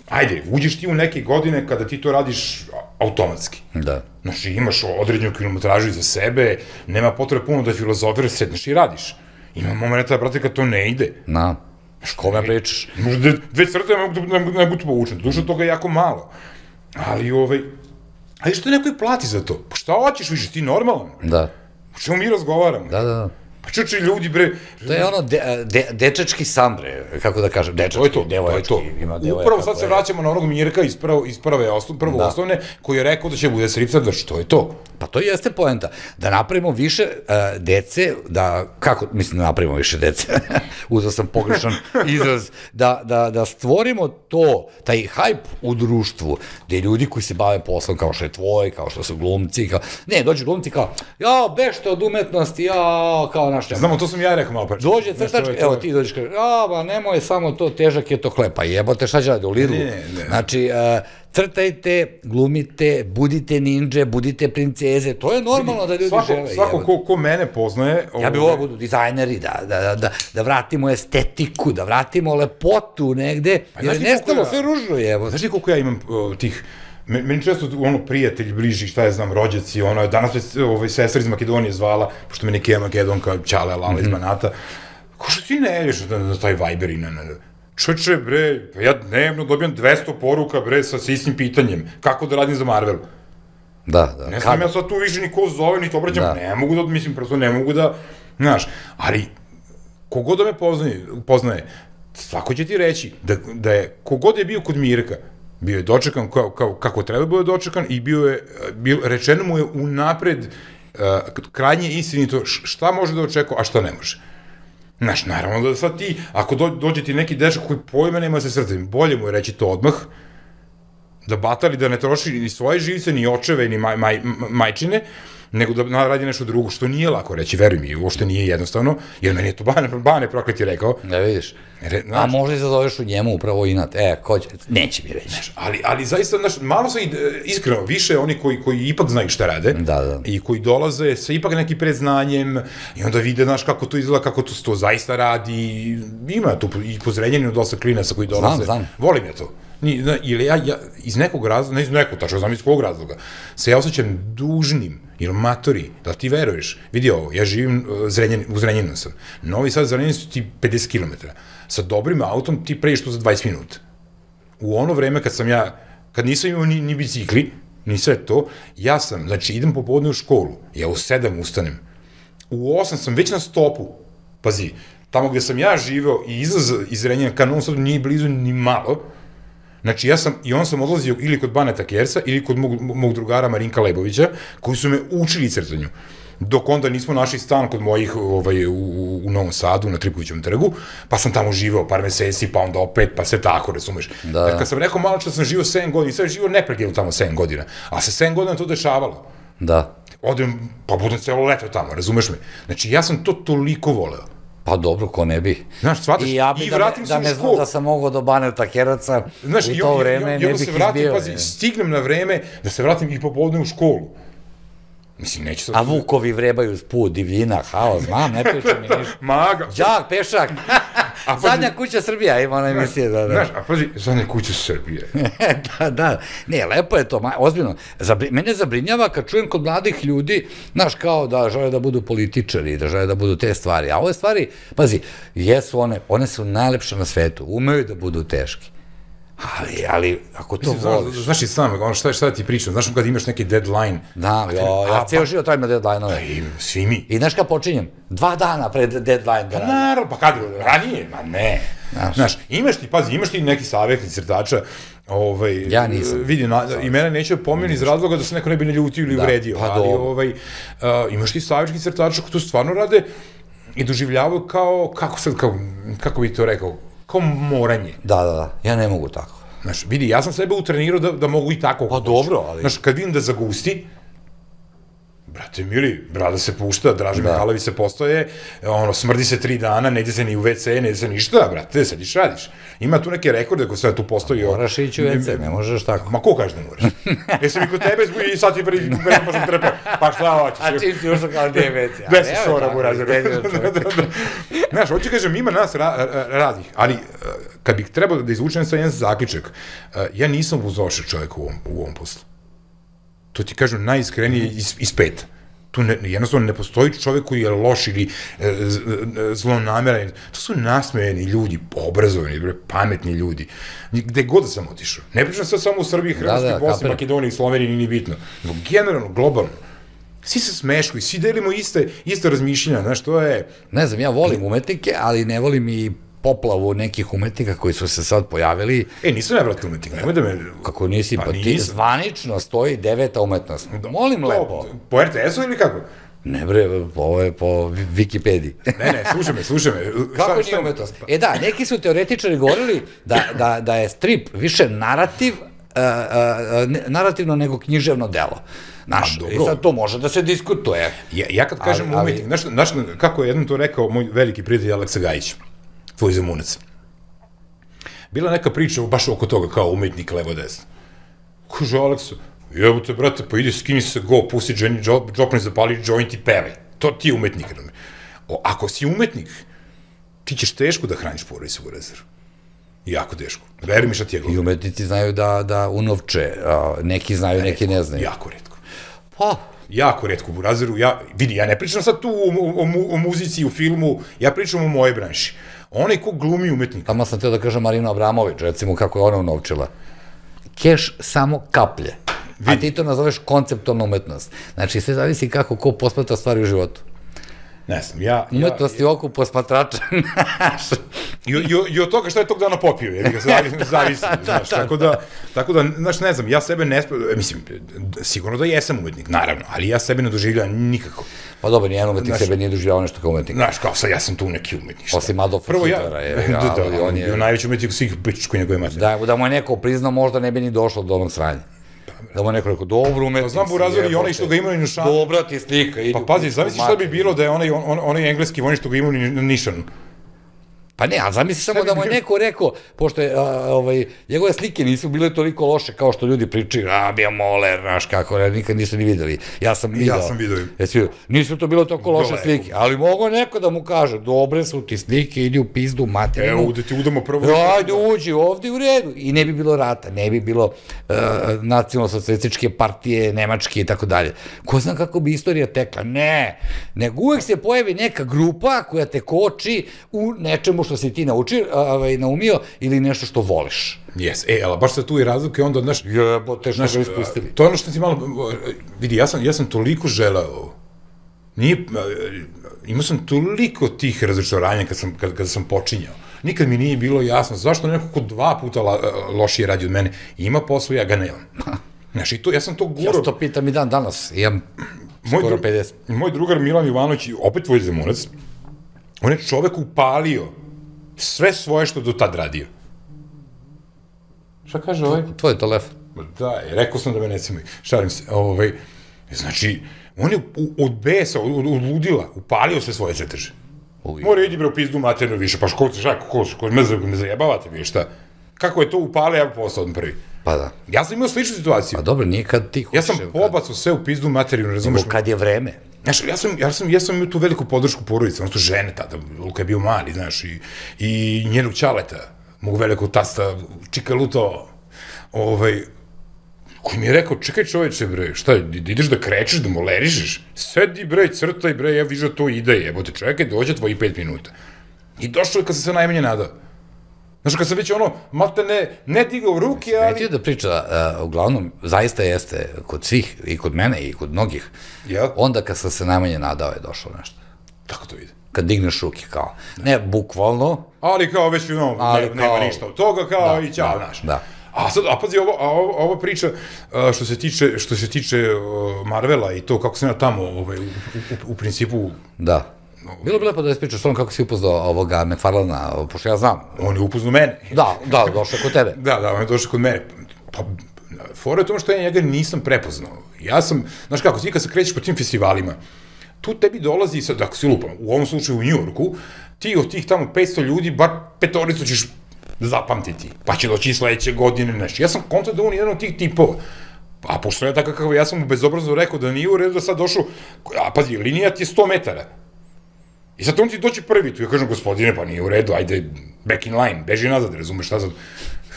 ajde, uđeš ti u neke godine kada ti to radiš automatski. Da. Znači, imaš određenu kilometražu iza sebe, nema potrebe puno da filozofiraš, sedneš i radiš. Ima momenta, brate, kad to ne ide. Na, kome pričaš? Možda dve crte ne mogu to povučen, duša toga je jako malo. Ali, ovaj, ali što neko i plati za to? Pa šta hoćeš više, ti normalan? Da. O čemu mi razgovaramo? Da, da, da. Pa čuči ljudi, bre... To je ono de, de, dečački san, bre, kako da kažem, dečački, to je to, devojački. To je to. Upravo sad se vraćamo na onog Mirka iz, prvo, iz prve osnov, prvo da. osnovne, koji je rekao da će bude stripser, da što je to? Pa to jeste poenta, da napravimo više uh, dece, da, kako, mislim da napravimo više dece, uzao sam pogrešan izraz, da, da, da stvorimo to, taj hajp u društvu, gde ljudi koji se bave poslom kao što je tvoj, kao što su glumci, kao, ne, dođu glumci kao, jao, bešte od umetnosti, jao, kao naš nema. Znamo, to sam ja rekao malo pa. Dođe crtačka, evo ti dođeš, kaže, a, ba, nemoj samo to, težak je to hleb, pa jebote, šta će radi u Lidlu? Ne, ne. Znači, uh, crtajte, glumite, budite ninđe, budite princeze, to je normalno da ljudi svako, žele. Svako ko, ko mene poznaje... Ja bih volao budu dizajneri, da, da, da, da vratimo estetiku, da vratimo lepotu negde, jer je nestalo sve ružno, jevo. Znaš ti koliko ja imam uh, tih... Meni često, ono, prijatelji, bliži, šta je znam, rođaci, ono, danas već ovaj, sestra iz Makedonije zvala, pošto me neki je Makedonka, Ćale, Lala iz Banata, ko što ti ne ješ na, na taj Viber i na... na čoče, bre, ja dnevno dobijam dvesta poruka, bre, sa istim pitanjem, kako da radim za Marvel. Da, da. Ne znam ja sad tu više ni ko zove, ni to obraćam, ne mogu da, mislim, prosto ne mogu da, znaš, ali, kogod da me poznaje, poznaje, svako će ti reći da, da je, kogod je bio kod Mirka, bio je dočekan kao, kao, kako treba bio dočekan i bio je, bio, rečeno mu je unapred uh, krajnje istinito šta može da očekuje, a šta ne može. Znaš, naravno da sad ti, ako do, dođe ti neki dečak koji pojma nema se srce, bolje mu je reći to odmah, da batali, da ne troši ni svoje živce, ni očeve, ni maj, maj, majčine, nego da radi nešto drugo, što nije lako reći, veruj mi, uopšte nije jednostavno, jer meni je to Bane, Bane prokleti rekao. Ne vidiš. Re, a možda i zazoveš u njemu upravo inat, e, ko će, neće mi reći. Znaš, ali, ali zaista, znaš, malo se, iskreno, više oni koji, koji ipak znaju šta rade, da, da. I koji dolaze sa ipak neki predznanjem, i onda vide, znaš, kako to izgleda, kako to, to zaista radi, ima tu i pozrenjenje dosta klinaca koji dolaze. Znam, znam. Volim ja to. Ni, na, ili ja, ja iz nekog razloga, ne iz nekog, tačno znam iz kog razloga, se ja osjećam dužnim, ili matori, da ti veruješ, vidi ovo, ja živim uh, Zrenjan, u Zrenjaninu sam, Novi Sad, Zrenjanin su ti pedeset kilometara, sa dobrim autom ti pređeš tu za dvadeset minuta. U ono vreme kad sam ja, kad nisam imao ni, ni bicikli, ni sve to, ja sam, znači idem popodne u školu, ja u sedam ustanem, u osam sam već na stopu, pazi, tamo gde sam ja živeo i izlaz iz Zrenjanina ka Novom Sadu nije blizu ni malo. Znači, ja sam, i on sam odlazio ili kod Baneta Kersa, ili kod mog, mog drugara Marinka Lebovića, koji su me učili crtanju. Dok onda nismo našli stan kod mojih ovaj, u, u Novom Sadu, na Tripovićevom trgu, pa sam tamo živeo par meseci, pa onda opet, pa sve tako, razumeš. Da. Jer kad sam rekao malo što sam živeo sedam godina, sad živeo neprekidno tamo sedam godina, a se sedam godina to dešavalo. Da. Odem, pa budem celo leto tamo, razumeš me. Znači, ja sam to toliko voleo. Pa dobro, ko ne bi. Znaš, shvataš, i, ja bi i da vratim ne, se da u ne školu. Da sam mogao do Baneta Keraca znaš, u to vreme, ne bih izbio. Vratim, pazi, stignem na vreme da se vratim i popodne u školu. Mislim, neću sad... A Vukovi vrebaju s put, divljina, haos, znam, ne pričam mi ništa. Maga. Đak, pešak. Zadnja kuća Srbija, ima ona emisija, da, da. Znaš, a pazi, zadnja kuća Srbije. Da, da, ne, lepo je to, ozbiljno. Mene zabrinjava kad čujem kod mladih ljudi, znaš, kao da žele da budu političari, da žele da budu te stvari, a ove stvari, pazi, jesu one, one su najlepše na svetu, umeju da budu teški. Ali, ali, ako to voliš... Znaš i sam, ono šta, šta ti pričam, znaš kad imaš neki deadline... Da, ja cijelo život trajim na deadline-ove. Svi mi. I znaš kad počinjem? Dva dana pred deadline. Pa naravno, pa kad ranije? Ma ne. Znaš, imaš ti, pazi, imaš ti neki savjetni crtača, ovaj... Ja nisam. Vidi, i mene neće pomeni iz razloga da se neko ne bi ne ljutio ili uvredio, ali ovaj, imaš ti savjetni crtača koji to stvarno rade i doživljavaju kao, kako sad, kako bi to rekao, kao moranje. Da, da, da, ja ne mogu tako. Znaš, vidi, ja sam sebe utrenirao da, da mogu i tako. Pa dobro, ali... Znaš, kad vidim da zagusti, brate mili, brada se pušta, Draže Mihajlović se postoje, ono, smrdi se tri dana, ne ide se ni u ve ce, ne ide se ništa, brate, sediš, radiš. Ima tu neke rekorde koje sve tu postoji. Moraš ići u ve ce, ne možeš tako. Ma ko kaže da moraš? Jesi mi kod tebe i sad ti prvi pa sam trpeo, pa šta hoćeš? A čim si ušao kao gdje je ve ce? Gde si šora mu razred? Znaš, hoću kažem, ima nas raznih, ali kad bih trebao da izvučem sa jedan zaključak, ja nisam buzošao čovjek u ovom poslu. To ti kažem najiskrenije iz peta. Tu jednostavno ne postoji čovjek koji je loš ili zlonameran. To su nasmejeni ljudi, obrazovani, pametni ljudi. Gde god da sam otišao. Ne pričam sad samo u Srbiji, Hrvatskoj, Bosni, Makedoniji, Sloveniji, nije bitno. Generalno, globalno. Svi se smeškuju, svi delimo iste razmišljenja, znaš, to je... Ne znam, ja volim umetnike, ali ne volim i poplavu nekih umetnika koji su se sad pojavili. E, nisam ja, brate, umetnik, nemoj da me... Kako nisi, pa ti zvanično stoji deveta umetnost. Molim lepo. Po er te esu ili kako? Ne bre, ovo je po Wikipediji. Ne, ne, slušaj me, slušaj me. Kako nije umetnost? E da, neki su teoretičari govorili da je strip više narativ, narativno nego književno delo. Znaš, i sad to može da se diskutuje. Ja kad kažem umetnik, znaš kako je jednom to rekao moj veliki prijatelj Aleksa Gajić, tvoj Zemunac. Bila neka priča baš oko toga, kao umetnik levo-desno. Kaže Aleksa, jebote, brate, pa idi skini se go, pusti Jenny Joplin, zapali joint i pevaj. To ti je umetnik. Ako si umetnik, ti ćeš teško da hraniš porodicu u rezervu. Jako teško. Veri mi šta ti je govorio. I umetnici znaju da unovče, neki znaju, neki ne znaju. Jako retko. Pa... Jako retko u razeru. Vidi, ja ne pričam sad tu o muzici, u filmu, ja pričam o moje branši. Onaj ko glumi umetnika. Tamo sam teo da kažem Marina Abramović, recimo kako je ona unovčila. Keš samo kaplje. A ti to nazoveš konceptualna umetnost. Znači, sve zavisi kako ko posmatra stvari u životu. Ne znam, ja... Umetnost je oko posmatrača. I od toga šta je tog dana popio, jer ga zavisi, znaš, tako da, tako da, znaš, ne znam, ja sebe ne, mislim, sigurno da jesam umetnik, naravno, ali ja sebe ne doživljam nikako. Pa dobro, nijedan umetnik sebe nije doživljavao nešto kao umetnik. Znaš, kao sad, ja sam tu neki umetnik. Osim Adolfa Hitlera, je. Da, da, on je bio najveći umetnik svih pičku njegove matere. Da mu je neko priznao, možda ne bi ni došlo do onog sranja. Da mu je neko rekao, dobro umetnik si. Znam bu razvili i onaj što ga imaju na Nišanu. Dobra ti slika. Pa pazi, zamisli šta bi bilo da je onaj engleski vojnik što ga imaju na Nišanu. Pa ne, a zamisli samo da mu je neko rekao, pošto je, njegove slike nisu bile toliko loše kao što ljudi pričaju, a, bio moler, znaš kako, nikad nisu ni videli. Ja sam vidio. Ja sam vidio. Nisu to bilo toliko loše slike, ali mogo neko da mu kaže, dobre su ti slike, idi u pizdu, materinu. Evo, da ti udamo prvo. Ajde, uđi, ovdje u redu. I ne bi bilo rata, ne bi bilo nacionalno-socijalističke partije, nemačke i tako dalje. Ko zna kako bi istorija tekla? Ne, nego uvek se pojavi neka grupa koja te koči u nečemu što si ti naumio ili nešto što voliš. Jes, e, ali baš se tu i razlike onda, znaš... Jebote, što ga ispustili. To je ono što ti malo... Vidi, ja sam toliko želeo ovo. Nije... Imao sam toliko tih razočaranja kada sam počinjao. Nikad mi nije bilo jasno zašto neko ko dva puta lošije radi od mene ima posao, ja ga nemam. Znaš, i to, ja sam to guro... Ja sam to pitam i dan danas, imam skoro pedeset. Moj drugar Milan Jovanović, opet tvoj Zemunac, on je čovek upalio sve svoje što do tad radio. Šta kaže ovaj? Tvoj telefon. Da, rekao sam da me ne cimaju. Šalim se. Znači, on je od besa, od ludila, upalio sve svoje crteže. Mora idi bre u pizdu maternu više, pa školci, šta, ko me zajebavate vi, šta? kako je to upale, ja postao odmah prvi. Pa da. Ja sam imao sličnu situaciju. Pa dobro, nije kad ti hoćeš. Ja sam pobacao sve u pizdu materiju, ne razumeš? Nego kad je vreme. Znaš, ja sam, ja sam, ja sam imao tu veliku podršku porodice, ono to žene tada, Luka je bio mali, znaš, i, i njenog ćaleta, mog velikog tasta, Čika Luto, ovaj, koji mi je rekao, čekaj čoveče, bre, šta, ideš da krećeš, da molerišeš? Sedi, bre, crtaj, bre, ja viža to ide, jebote, čekaj, dođe tvoji pet minuta. I došlo je kad sam se najmanje nadao. Znaš, kad sam već ono, malte ne, ne digao ruke, ali... Smetio da priča, uh, uglavnom, zaista jeste kod svih, i kod mene, i kod mnogih, Jel? onda kad sam se najmanje nadao je došlo nešto. Tako to ide. Kad digneš ruke, kao. Ne, bukvalno. Ali kao već, no, Ali ne, nema kao- ništa od toga, kao Da, i ćao, da, znaš. da. A sad, a pazi, ovo, a ovo, ova priča, a, što se tiče, što se tiče uh, Marvela i to kako sam ja tamo, ovaj, u, u, u principu, Da. Bilo bi lepo da ispričaš o tom kako si upoznao ovoga McFarlana, pošto ja znam. on je upoznao mene. Da, da, došao kod tebe. Da, da, on je došao kod mene. Pa, fora je u tome što ja njega nisam prepoznao. Ja sam, znaš kako, ti kad se krećeš po tim festivalima, tu tebi dolazi, sad, ako si lupam, u ovom slučaju u Njujorku, ti od tih tamo petsto ljudi, bar petoricu ćeš zapamtiti, pa će doći i sledeće godine, nešto. Ja sam konta da on je jedan od tih tipova. A pošto je tako kako ja sam mu bezobrazno rekao da nije u redu da sad došao, a pazi, linija ti je sto metara. I sad on ti doći prvi tu, ja kažem, gospodine, pa nije u redu, ajde, back in line, beži nazad, razumeš šta sad?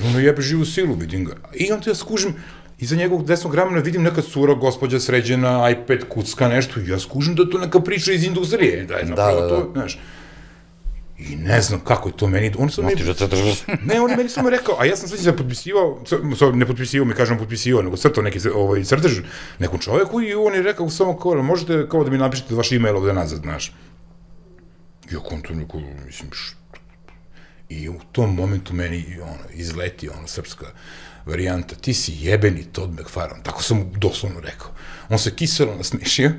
Ono jebe živu silu, vidim ga. I onda ja skužim, iza njegovog desnog ramena vidim neka cura, gospođa sređena, iPad kucka, nešto, i ja skužim da to neka priča iz industrije, da je napravo da, da. to, znaš. I ne znam kako je to meni, on sam meni... Mostiš da crtaš. Ne, on je meni samo rekao, a ja sam sveći da potpisivao, ne potpisivao, mi kažem potpisivao, nego crtao neki ovaj, crtež nekom čoveku i on je rekao samo kao, možete kao da mi napišete vaš e-mail ovde nazad, znaš. Ja kontam neko, mislim, što? I u tom momentu meni ono, izleti ono, srpska varijanta, ti si jebeni Todd McFarlane, tako sam mu doslovno rekao. On se kiselo nasmešio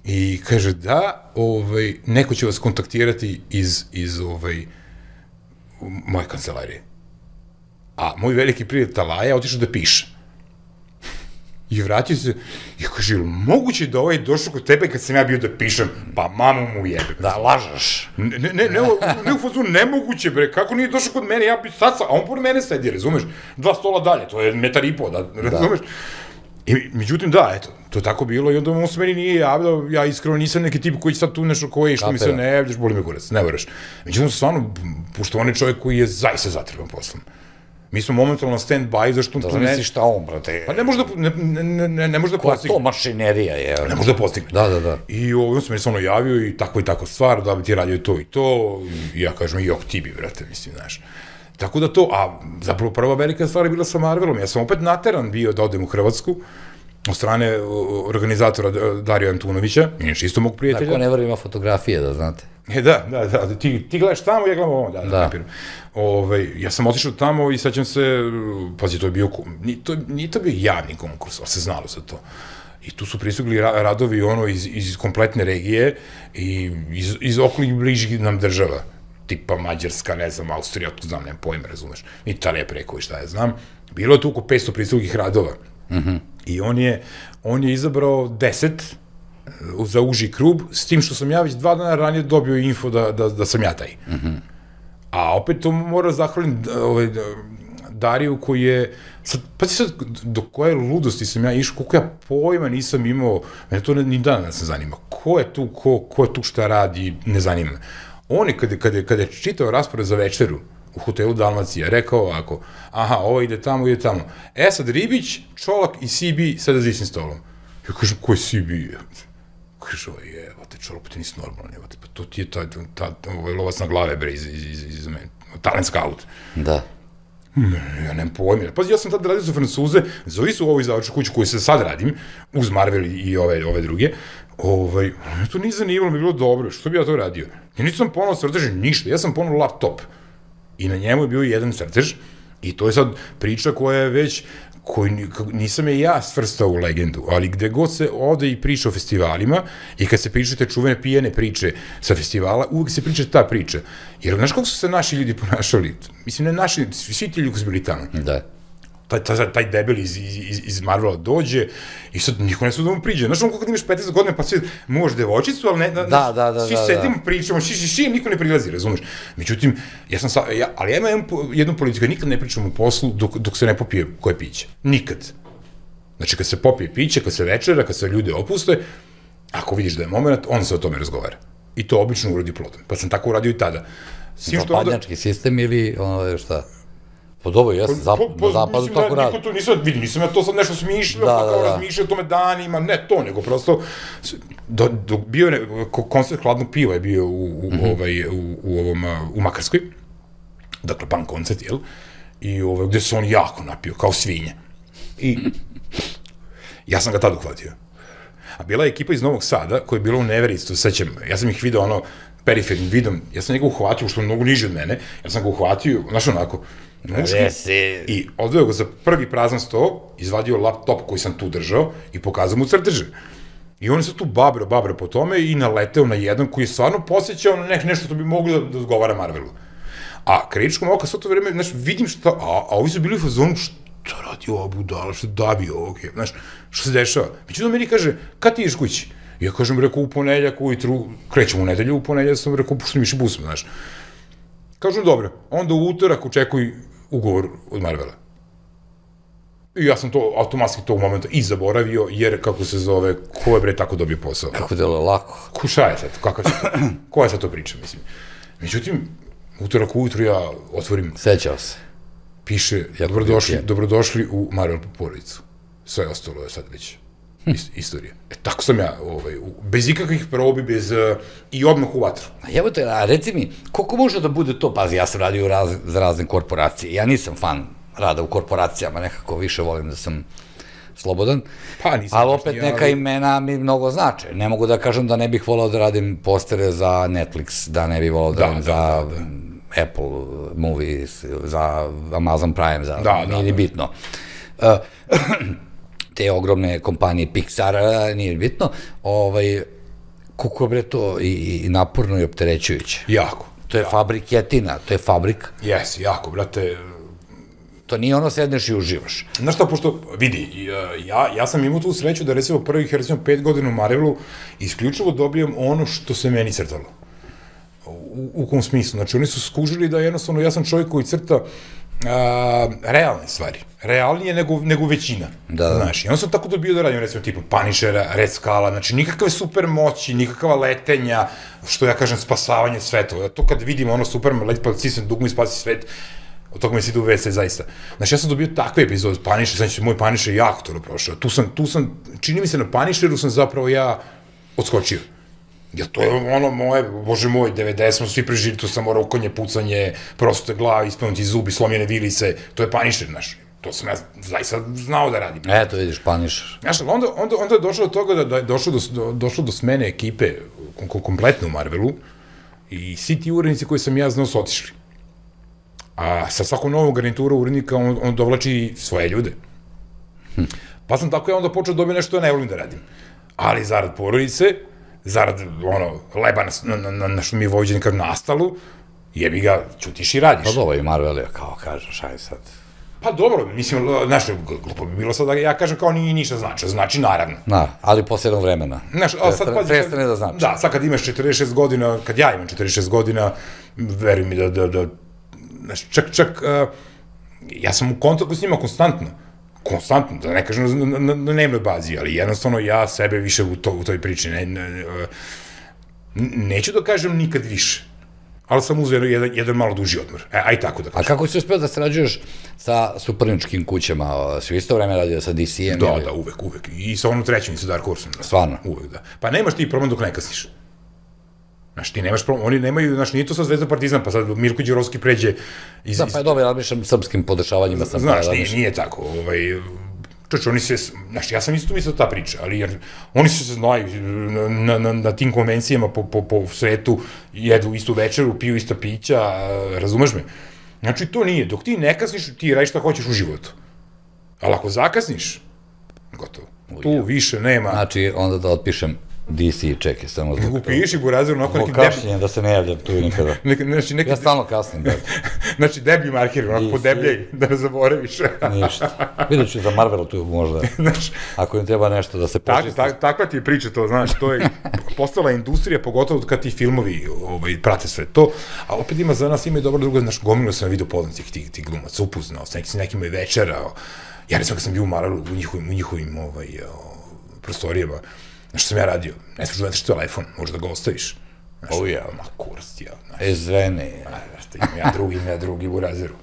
i kaže da, ovaj, neko će vas kontaktirati iz, iz ovaj, moje kancelarije. A moj veliki prijatelj Talaja otišao da piše. I vratio se i kaže, ili moguće da ovaj došao kod tebe kad sam ja bio da pišem? Pa mamu mu jebe. Da, lažeš. Ne, ne, ne, ne, ne u fazu, nemoguće, bre, kako nije došao kod mene, ja bi sad sam, a on pored mene sedi, razumeš, dva stola dalje, to je metar i po, da, razumeš? I, međutim, da, eto, to je tako bilo i onda on se meni nije javljao, ja iskreno nisam neki tip koji sad tu nešto koji, što mi se ne javljaš, boli me kurac, ne veraš. Međutim, stvarno, pošto on je čovjek koji je zaista zatreban poslom. Mi smo momentalno na stand-by, zašto Da tu ne... zamisliš šta on, brate. Pa ne može da, ne, ne, ne, ne može da Koja postigne. to mašinerija je. Ne može da postigne. Da, da, da. I on se meni samo javio i tako i tako stvar, da bi ti radio to i to, i ja kažem, jok ti bi, brate, mislim, znaš. Tako da to, a zapravo prva velika stvar je bila sa Marvelom, ja sam opet nateran bio da odem u Hrvatsku, od strane organizatora Darija Antunovića, inače isto mog prijatelja. Tako ne vrlo ima fotografije, da znate. E, da, da, da, ti, ti gledaš tamo, ja gledam ovo, da, da, Da. kapiram. Ove, ja sam otišao tamo i sećam se, pazi, to je bio, nije to, nije to bio javni konkurs, ali se znalo za to. I tu su pristigli ra radovi ono iz, iz kompletne regije i iz, iz okolih bližih nam država, tipa Mađarska, ne znam, Austrija, tu znam, nemam pojma, razumeš, Italija preko i šta ja znam. Bilo je tu oko petsto pristiglih radova. Mm-hmm. I on je, on je izabrao deset za uži krug, s tim što sam ja već dva dana ranije dobio info da, da, da sam ja taj. Mm-hmm. A opet to mora zahvalim ovaj, Dariju koji je, sad, pa ti sad, do koje ludosti sam ja išao, koliko ja pojma nisam imao, mene to ni dana ne se zanima, ko je tu, ko, ko je tu šta radi, ne zanima me. On je, kada, kada, kada je čitao raspored za večeru u hotelu Dalmacija, rekao ovako, aha, ovo ide tamo, ide tamo. E sad Ribić, Čolak i C B sada za istim stolom. Ja kažem, ko je C B? Kaže, ovo je, evo te Čolak, pa ti nisi normalan, evo te, pa to ti je ta, ta, ta ovaj lovac na glave, bre, iz, iz, iz, iz mene, talent scout. Da. Ja nemam pojma. Pazi, ja sam tada radio za Francuze, zove su u ovoj izdavačku kuću koju se sad radim, uz Marvel i ove, ove druge, ovaj, me to nije zanimalo, mi je bilo dobro, što bi ja to radio? Ja nisam ponovno crtež ništa, ja sam ponovno laptop. I na njemu je bio jedan crtež, i to je sad priča koja je već, koju nisam je ja svrstao u legendu, ali gde god se ode i priča o festivalima, i kad se pričate čuvene pijene priče sa festivala, uvek se priča ta priča. Jer znaš kako su se naši ljudi ponašali? Mislim, ne naši, svi ti ljudi koji su bili tamo. Da. taj, taj, taj debel iz, iz, iz Marvela dođe i sad niko ne su da mu priđe. Znaš, ono kako imaš petnaest godina pa sve, možeš devojčicu, ali ne, da, da, da, svi da, sedimo, da. pričamo, ši, ši, ši, niko ne prilazi, razumeš? Međutim, ja sam sa, ja, ali ja imam jednu politiku, nikad ne pričam u poslu dok, dok se ne popije koje piće. Nikad. Znači, kad se popije piće, kad se večera, kad se ljude opuste, ako vidiš da je moment, onda se o tome razgovara. I to obično uradi plodom. Pa sam tako uradio i tada. Zapadnjački sistem ili ono šta? Pa dobro, jes, na zapadu tako radi. Niko to nisam, vidi, nisam ja to sad nešto smišljao, pa kao razmišljao o tome danima, ne to, nego prosto, bio je, koncert hladnog piva je bio u ovom, u Makarskoj, dakle, punk koncert, jel? I gde se on jako napio, kao svinje. I ja sam ga tad uhvatio. A bila je ekipa iz Novog Sada, koja je bila u Neverici, to sećam, ja sam ih video ono, perifernim vidom, ja sam njega uhvatio, što je mnogo niže od mene, ja sam ga uhvatio, znaš onako, muški, i odveo ga za prvi prazan sto, izvadio laptop koji sam tu držao i pokazao mu crteže. I on je sad tu babro, babro po tome i naleteo na jedan koji je stvarno posjećao na nešto što bi mogli da odgovara Marvelu. A kritičkom oka sve to vreme, znaš, vidim šta, a ovi su bili u fazonu, šta radi ova budala, šta dabi ovog, znaš, šta se dešava. Međutim, meni kaže, kad ti ješ kući? Ja kažem, rekao, u ponedeljak ujutru, krećemo u nedelju, u ponedeljak sam rekao, pošto mi više busmo, znaš. Kažem, dobro, onda u utorak očekuj ugovor od Marvela. I ja sam to, automatski tog momenta i zaboravio, jer, kako se zove, ko je bre tako dobio posao? Kako delo lako. Ko šta je sad, kakav će to, koja je sad to priča, mislim. Međutim, utorak ujutru ja otvorim... Sećao se. Piše, dobrodošli, dobrodošli u Marvel porodicu. Sve ostalo je sad već istorija. E, tako sam ja, bez ikakvih probi, bez, i odmah u vatru. Evo te, a reci mi, koliko može da bude to, pazi, ja sam radio za razne korporacije, ja nisam fan rada u korporacijama, nekako više volim da sam slobodan, ali opet neka imena mi mnogo znače. Ne mogu da kažem da ne bih volao da radim postere za Netflix, da ne bih volao da radim za Apple Movies, za Amazon Prime, nije ni bitno. Te ogromne kompanije Pixar, nije bitno, koliko je bre to i naporno i opterećujuće. Jako. To je fabriketina, to je fabrik. Jesi, jako, brate. To nije ono sedneš i uživaš. Znaš šta, pošto, vidi, ja sam imao tu sreću da recimo prvih, recimo, pet godina u Marvelu isključivo dobijam ono što se meni crtalo. U kom smislu? Znači, oni su skužili da jednostavno, ja sam čovjek koji crta realne stvari. Realnije nego većina. Znaš, i onda sam tako dobio da radim, recimo, tipa Punishera, Red Skulla, znači, nikakve super moći, nikakva letenja, što ja kažem, spasavanje svetova. To kad vidim ono Superman, leti pa cisnem dugmu i spasi svet, od toga mi se ide u vese, zaista. Znači, ja sam dobio takve epizode, Punisher, znači, moj Punisher jako to prošao. Tu sam, tu sam, čini mi se na Punisheru sam zapravo ja odskočio. Jer to je ono moje, bože moj, devedeset smo svi prežili, tu samo rokonje, pucanje, proste glavi, ispanuti zubi, slomljene vilice, to je Punisher, znaš. To sam ja zaista znao da radim. Eto, vidiš, Punisher. Znaš, onda je došlo do toga da je došlo do smene ekipe kompletno u Marvelu i svi ti urednici koji sam ja znao su otišli. A sa svakom novom garnituru urednika on dovlači svoje ljude. Pa sam tako ja onda počeo dobiti nešto ja ne volim da radim. Ali zarad porodice, zarad ono, leba na što mi je vođen kad nastalu, jebi ga, ćutiš i radiš. Pa dobro i Marvel je kao kažeš, aj sad. Pa dobro, mislim, znaš, glupo bi bilo sad da ja kažem kao nije ništa znači, znači naravno. Da, ali posle jednog vremena. Prestane da znači. Da, sad kad imaš četrdeset šest godina, kad ja imam četrdeset šest godina, veruj mi da, znaš, čak, čak, ja sam u kontaktu s njima konstantno. Konstantno, da ne kažem na dnevnoj bazi, ali jednostavno ja sebe više u toj priči neću da kažem nikad više, ali sam uzeo jedan malo duži odmor, aj tako da kažem. A kako si uspeo da sarađuješ sa suparničkim kućama, si u isto vreme radio sa D C-em? Da, da, uvek, uvek, i sa onom trećim, i sa Dark Horse-om. Stvarno? Uvek, da. Pa nemaš ti problem dok ne kasniš. Znaš, ti nemaš problem, oni nemaju, znaš, nije to sad Zvezda Partizan, pa sad Mirko Đurovski pređe iz... Da, pa je dobro, ja razmišljam srpskim podešavanjima. Znaš, nije tako, ovaj... Čoč, oni se, znaš, ja sam isto mislio ta priča, ali jer oni se znaju na tim konvencijama po svetu, jedu istu večeru, piju ista pića, razumeš me? Znači, to nije, dok ti ne kasniš, ti radiš šta hoćeš u životu. Ali ako zakasniš, gotovo. Tu više nema... Znači, onda da otpišem D C, čekaj, samo zbog toga. Upiši Burazer onako nekim debljem. Da se ne javljam tu nikada. Ja stalno kasnim, da. Znači, deblji marker, onako podebljaj, da ne zaboraviš. Ništa. Vidjet ću za Marvelu tu možda, ako im treba nešto da se počisti. Takva ti je priča to, znaš, to je postala industrija, pogotovo kad ti filmovi prate sve to, a opet ima za nas, ima i dobro drugo, znaš, gomilo sam video poznatih tih glumaca, upoznao, s nekima i večerao. Ja recimo kad sam bio u Marvelu, u njihovim prostorijama, znaš što sam ja radio, ne smiješ da vetiš telefon, možeš da ga ostaviš. O ja, ma kurac, ja. Ezvene. Imam ja drugi, imam ja drugi u razeru.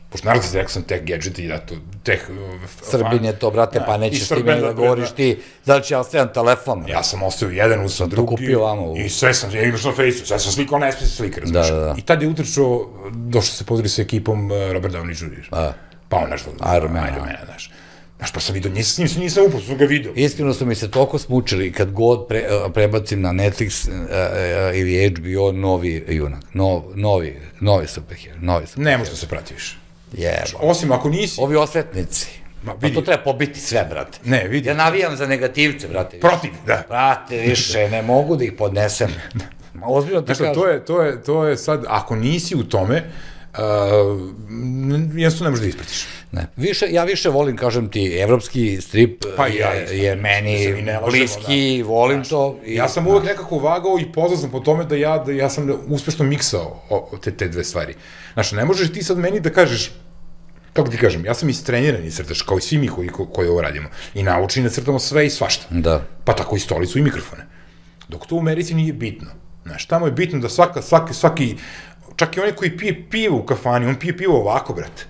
Pošto naravno ti rekao sam teh gadgeti, da to, teh... Srbin je to, brate, pa nećeš ti meni da govoriš ti, da li će ja ostavljam telefon? Ja sam ostavio jedan, usam drugi, i sve sam, ja imaš na Facebooku, sve sam slikao, ne smije se slika, razmiš. I tad je utrčao, došao se podeli sa ekipom Robert Downey junior Pa on nešto, Iron Man, znaš. Znaš, pa sam vidio, nisam s njim, nisam upao, sam ga vidio. Iskreno su mi se toliko smučili kad god prebacim na Netflix ili H B O novi junak, novi, novi superhero, novi superhero. Ne možda se prati više. Jeba. Osim ako nisi... Ovi osvetnici. Pa to treba pobiti sve, brate. Ne, vidi. Ja navijam za negativce, brate. Protiv, da. Brate, više, ne mogu da ih podnesem. Ozbiljno ti kažem. Znaš, to je sad, ako nisi u tome, jednostavno ne možeš da ispratiš. Ne, ja više volim, kažem ti, evropski strip je meni bliski, volim to. Ja sam uvek nekako vagao i poznao sam po tome da ja sam uspešno miksao te dve stvari. Znaš, ne možeš ti sad meni da kažeš, kako ti kažem, ja sam istreniran i crtaš, kao i svi mi koji ovo radimo, i naučeni da crtamo sve i svašta. Da. Pa tako i stolicu i mikrofone. Dok to u Americi nije bitno. Znaš, tamo je bitno da svaka, svaki, svaki, čak i onaj koji pije pivo u kafani, on pije pivo ovako, brate.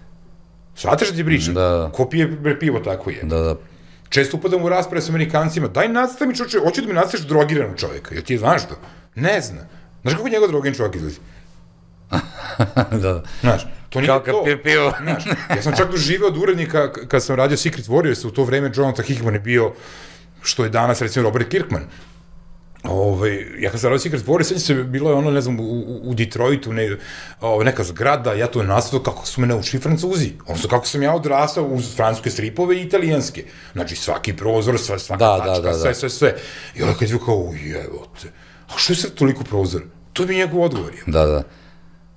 Svataš da ti pričam? Da. Ko pije pivo tako je? Da, da. Često upadam u rasprave s Amerikancima, daj nastavi mi čovječe, hoću da mi nastaviš drogiranog čovjeka, jel ti znaš to? Ne zna. Znaš kako njegov drogiran čovjek izgleda? Da. Znaš, to nije to. Kao kad pije pivo. Znaš, ja sam čak doživeo od urednika, kad sam radio Secret Warriors, u to vreme Jonathan Hickman je bio, što je danas, recimo, Robert Kirkman. Ja kad sam radio Secret Warriors, sveći se, bilo je ono, ne znam, u Detroitu, neka zgrada, ja to je nastavio kako su me naučili Francuzi. Odnosno, kako sam ja odrastao uz francuske stripove i italijanske. Znači, svaki prozor, svaka tačka, sve, sve, sve. I onda kad je kao, ujevote, a što je sad toliko prozor? To bi njegov odgovor. Da, da.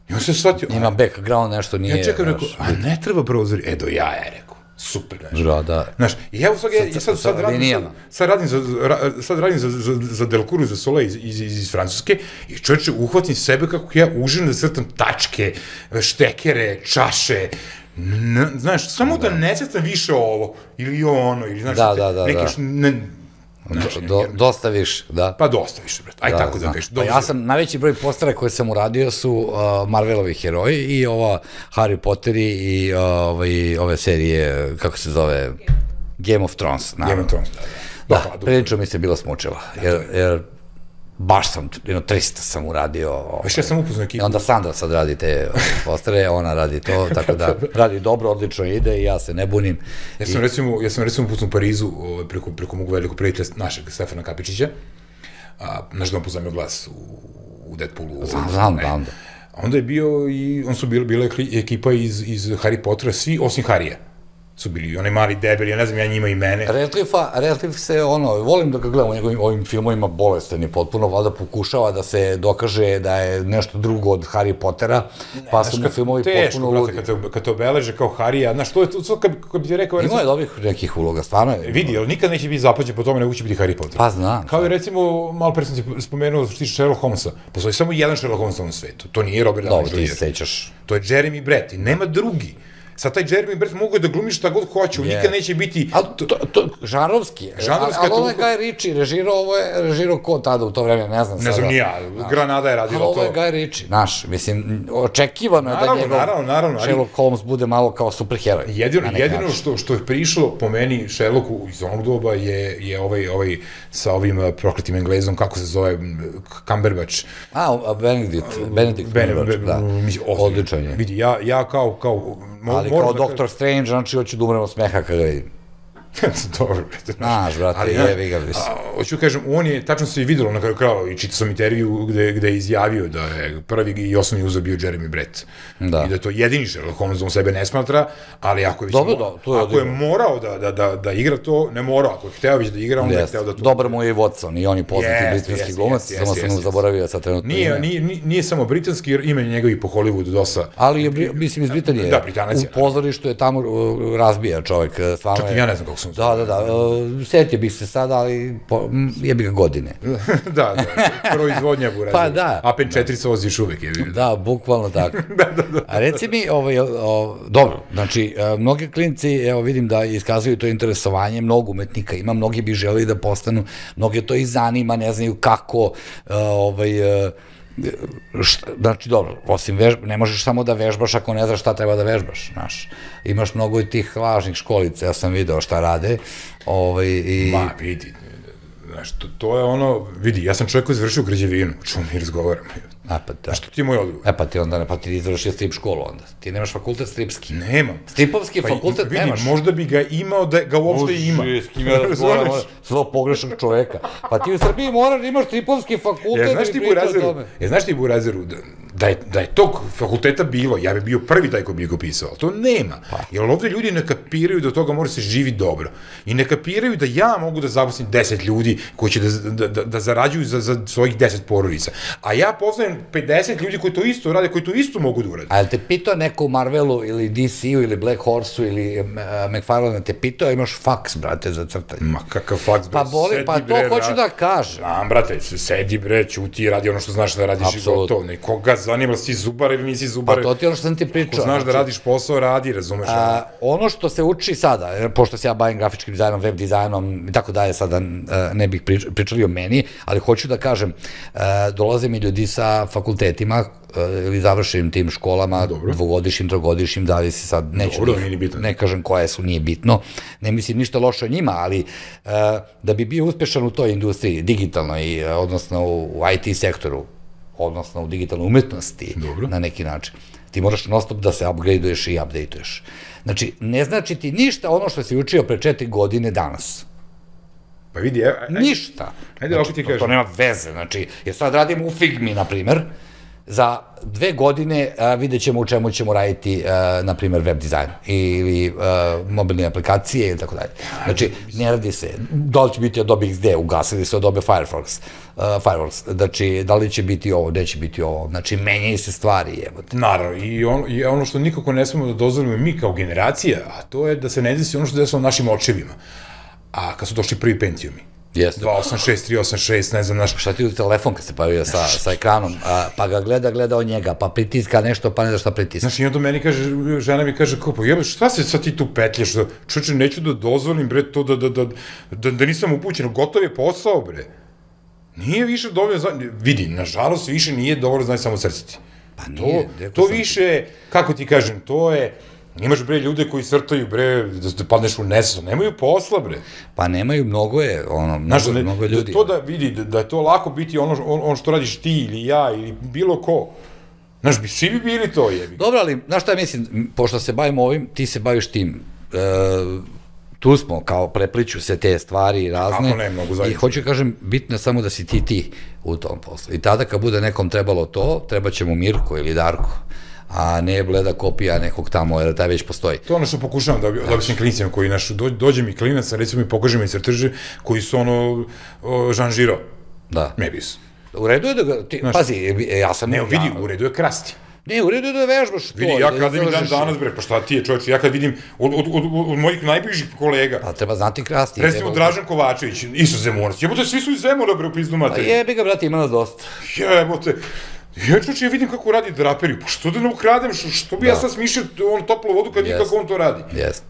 I on se shvatio... Ima background, nešto nije... Ja čekam, rekao, a ne treba prozor? E, do ja je, rekao. Super, znaš. Da. Znaš, i evo sad radim, sad radim sad radim za Delcourt, za Soleil iz Francuske i čovječe, uhvatim sebe kako ja uživam da crtam tačke, štekere, čaše, znaš, samo da ne crtam više ovo, ili ono, ili znaš, neke... Dosta više, da. Pa dosta više, brate. Aj tako da kažeš. Pa ja sam, najveći broj postara koje sam uradio su Marvelovi heroji i ova Harry Potter i ove serije, kako se zove, Game of Thrones. Game of Thrones, da. Da, prilično mi se bila smučila, jer baš sam, jedno trista sam uradio. Veš, ja sam upoznao ekipu. Onda Sandra sad radi te postare, ona radi to, tako da radi dobro, odlično ide i ja se ne bunim. Ja sam recimo, ja sam recimo upoznao u Parizu preko mog velikog prijatelja našeg Stefana Kapičića, naš dom poznao glas u Deadpoolu. Znam, znam, znam. Onda je bio i, on su bila ekipa iz Harry Pottera, svi osim Harija su bili, onaj mali debeli, ja ne znam, ja njima i mene. Radcliffe se, ono, volim da ga gledam u njegovim ovim filmovima, bolestan je potpuno, valjda pokušava da se dokaže da je nešto drugo od Harry Pottera, pa su mu filmovi potpuno ludi. Teško, brate, kad te obeleže kao Harija, znaš, to je to, kad bi ti rekao... Ima je dobrih nekih uloga, stvarno je. Vidi, ali nikad neće biti zapađen po tome, nego će biti Harry Potter. Pa znam. Kao je, recimo, malo pre sam ti spomenuo što tiče Sherlock Holmesa, postoji samo jedan Sherlock Holmes na svetu, to nije Robert Downey junior Dobro, ti se sećaš. To je Jeremy Brett i nema drugi. Sad taj Jeremy Brett mogu da glumiš šta god hoće, nikad neće biti... Ali to, žanrovski je. Ali ovo je Guy Ritchie, režirao, ovo je režirao ko tada u to vreme, ne znam sada. Ne znam ni ja, Granada je radila to. Ali ovo je Guy Ritchie, naš, mislim, očekivano je da njegov Sherlock Holmes bude malo kao superheroj. Jedino što je prišlo po meni Sherlocku iz onog doba je ovaj sa ovim prokletim Englezom, kako se zove, Cumberbatch. A, Benedict, Benedict Cumberbatch, da, odličan je. Vidi, ja kao... Ali kao Doktor Strange, znači hoću da umrem od smeha kada vidim. Dobro, znaš, brate, jevi ga, mislim. Hoću kažem, on je, tačno se i videlo na kraju krava, i čitao sam intervju gde je izjavio da je prvi i osnovni uzor bio Jeremy Brett. I da je to jedini Sherlock Holmes, on sebe ne smatra, ali ako je morao da igra to, ne morao, ako je hteo već da igra, onda je hteo da to... Dobar mu je i Watson, i on je poznati britanski glumac, samo sam mu zaboravio sad trenutno ime. Nije samo britanski, jer ima njegovi po Hollywoodu dosta. Ali je, mislim, iz Britanije. Da, Britanac je. U pozorištu je tamo razbija čovek. Čak i ja ne znam kako sam se... Da, da, da. Setio bih se sada, ali jebi ga godine. Da, da. Proizvodnja burazeru. Pa da. A P četiri se voziš uvek. Da, bukvalno tako. Da, da, da. A reci mi, dobro, znači, mnogi klinci, evo vidim da iskazuju to interesovanje, mnogo umetnika ima, mnogi bi želeli da postanu, mnogi to i zanima, ne znaju kako, ovaj... znači, dobro, osim vežba, ne možeš samo da vežbaš ako ne znaš šta treba da vežbaš, znaš. Imaš mnogo i tih lažnih školica, ja sam video šta rade. Ma, vidi, znaš, to je ono, vidi, ja sam čovjek koji završio građevinu, o čemu mi razgovaramo. A pa da. Što ti je moj odgovor? E pa ti onda ne, pa ti izvršio strip školu onda. Ti nemaš fakultet stripski. Nemam. Stripovski fakultet nemaš. Vidi, možda bi ga imao da ga uopšte ima. Uži, s kim ja razgovaram, svog pogrešnog čoveka. Pa ti u Srbiji moraš da imaš stripovski fakultet i priča o tome. Ja, znaš ti Burazeru, da je tog fakulteta bilo, ja bi bio prvi taj ko bi ga pisao, ali to nema. Jer ovde ljudi ne kapiraju da od toga mora se živi dobro. I ne kapiraju da ja mogu da zaposlim deset ljudi koji će da zarađuju za svojih deset porodica. A ja poznajem pedeset ljudi koji to isto rade, koji to isto mogu da urade. A je li te pitao neko u Marvelu ili D C-u ili Black Horse-u ili McFarlane, te pitao, imaš faks, brate, za crtanje? Ma kakav faks, brate, sedi bre. Pa to hoću da kažem. Znam, brate, sedi bre, ćuti i radi ono što znaš da radiš i gotovo. Koga zanima, si zubar ili nisi zubar. Pa to ti ono što sam ti pričao. Ko znaš da radiš posao, radi, razumeš? Ono što se uči sada, pošto se ja bavim grafičkim dizajnom, web dizajnom i tako dalje, sada ne bih pričali o meni, ali hoću da kažem, dolaze mi ljudi sa fakultetima ili završenim tim školama, dvogodišnjim, trogodišnjim, da li si sad, neću, ne kažem koje su, nije bitno, ne mislim ništa loše o njima, ali da bi bio uspešan u toj industriji, digitalnoj, odnosno u I T sektoru, odnosno u digitalnoj umetnosti, na neki način, ti moraš non stop da se upgradeuješ i updateuješ. Znači, ne znači ti ništa ono što si učio pre četiri godine danas. Pa vidi, ništa. To nema veze, znači, jer sad radimo u Figmi, na primer, za dve godine vidjet ćemo u čemu ćemo raditi, na primer, web dizajn ili mobilne aplikacije ili tako dalje. Znači, ne radi se, da li će biti Adobe X D, ugasili se Adobe Firefox, Fireworks, znači, da li će biti ovo, gde će biti ovo, znači, menjaju se stvari, jebote. Naravno, i ono što nikako ne smemo da dozvolimo mi kao generacija, a to je da se ne desi ono što desilo našim očevima, a kad su došli prvi Pentiumi. dva osam šest, tri osam šest, ne znam naš... Šta ti u telefon kad se pojavio sa ekranom, pa ga gleda, gleda od njega, pa pritiska nešto, pa ne da šta pritiska. Znaš, i onda meni kaže, žena mi kaže, kao, pa jebe, šta se sad ti tu petljaš, čoče, neću da dozvolim, bre, to da nisam upućen, gotov je posao, bre. Nije više dovoljno, vidi, nažalost, više nije dovoljno, znaj samo crciti. Pa nije. To više, kako ti kažem, to je... Imaš, bre, ljude koji crtaju, bre, da padneš u nesvest, nemaju posla, bre. Pa nemaju, mnogo je, ono, mnogo ljudi. To da vidi, da je to lako biti ono što radiš ti ili ja ili bilo ko. Znaš, svi bi bili to, jebi. Dobro, ali, znaš šta ja mislim, pošto se bavimo ovim, ti se baviš tim. Tu smo, kao prepliču se te stvari razne. Kako ne, mnogo zajedno. I hoću kažem, bitno je samo da si ti ti u tom poslu. I tada kad bude nekom trebalo to, treba će mu Mirko ili Darko, a ne bleda kopija nekog tamo, jer taj već postoji. To je ono što pokušavam da običnim klinicima koji naš, dođe mi klinac, recimo mi pokaže mi crteže koji su ono Jean Giraud. Da. Mebis. U redu je da ga, pazi, ja sam... Ne, vidi, u redu je krasti. Ne, u redu je da vežbaš to. Vidi, ja kada mi dan danas, bre, pa šta ti je čovječ, ja kad vidim od mojih najbližih kolega... Pa treba znati krasti. Recimo Dražan Kovačević, isto Zemunac. Jebote, svi su iz Zemuna, bre, u pizdu materiju. Pa jebi ga, brate, ima nas dosta. Jebote. Ja čoče, ja vidim kako radi draperiju, pa što da ne ukradem, što bi ja sad smišljao toplu vodu kad nikako on to radi?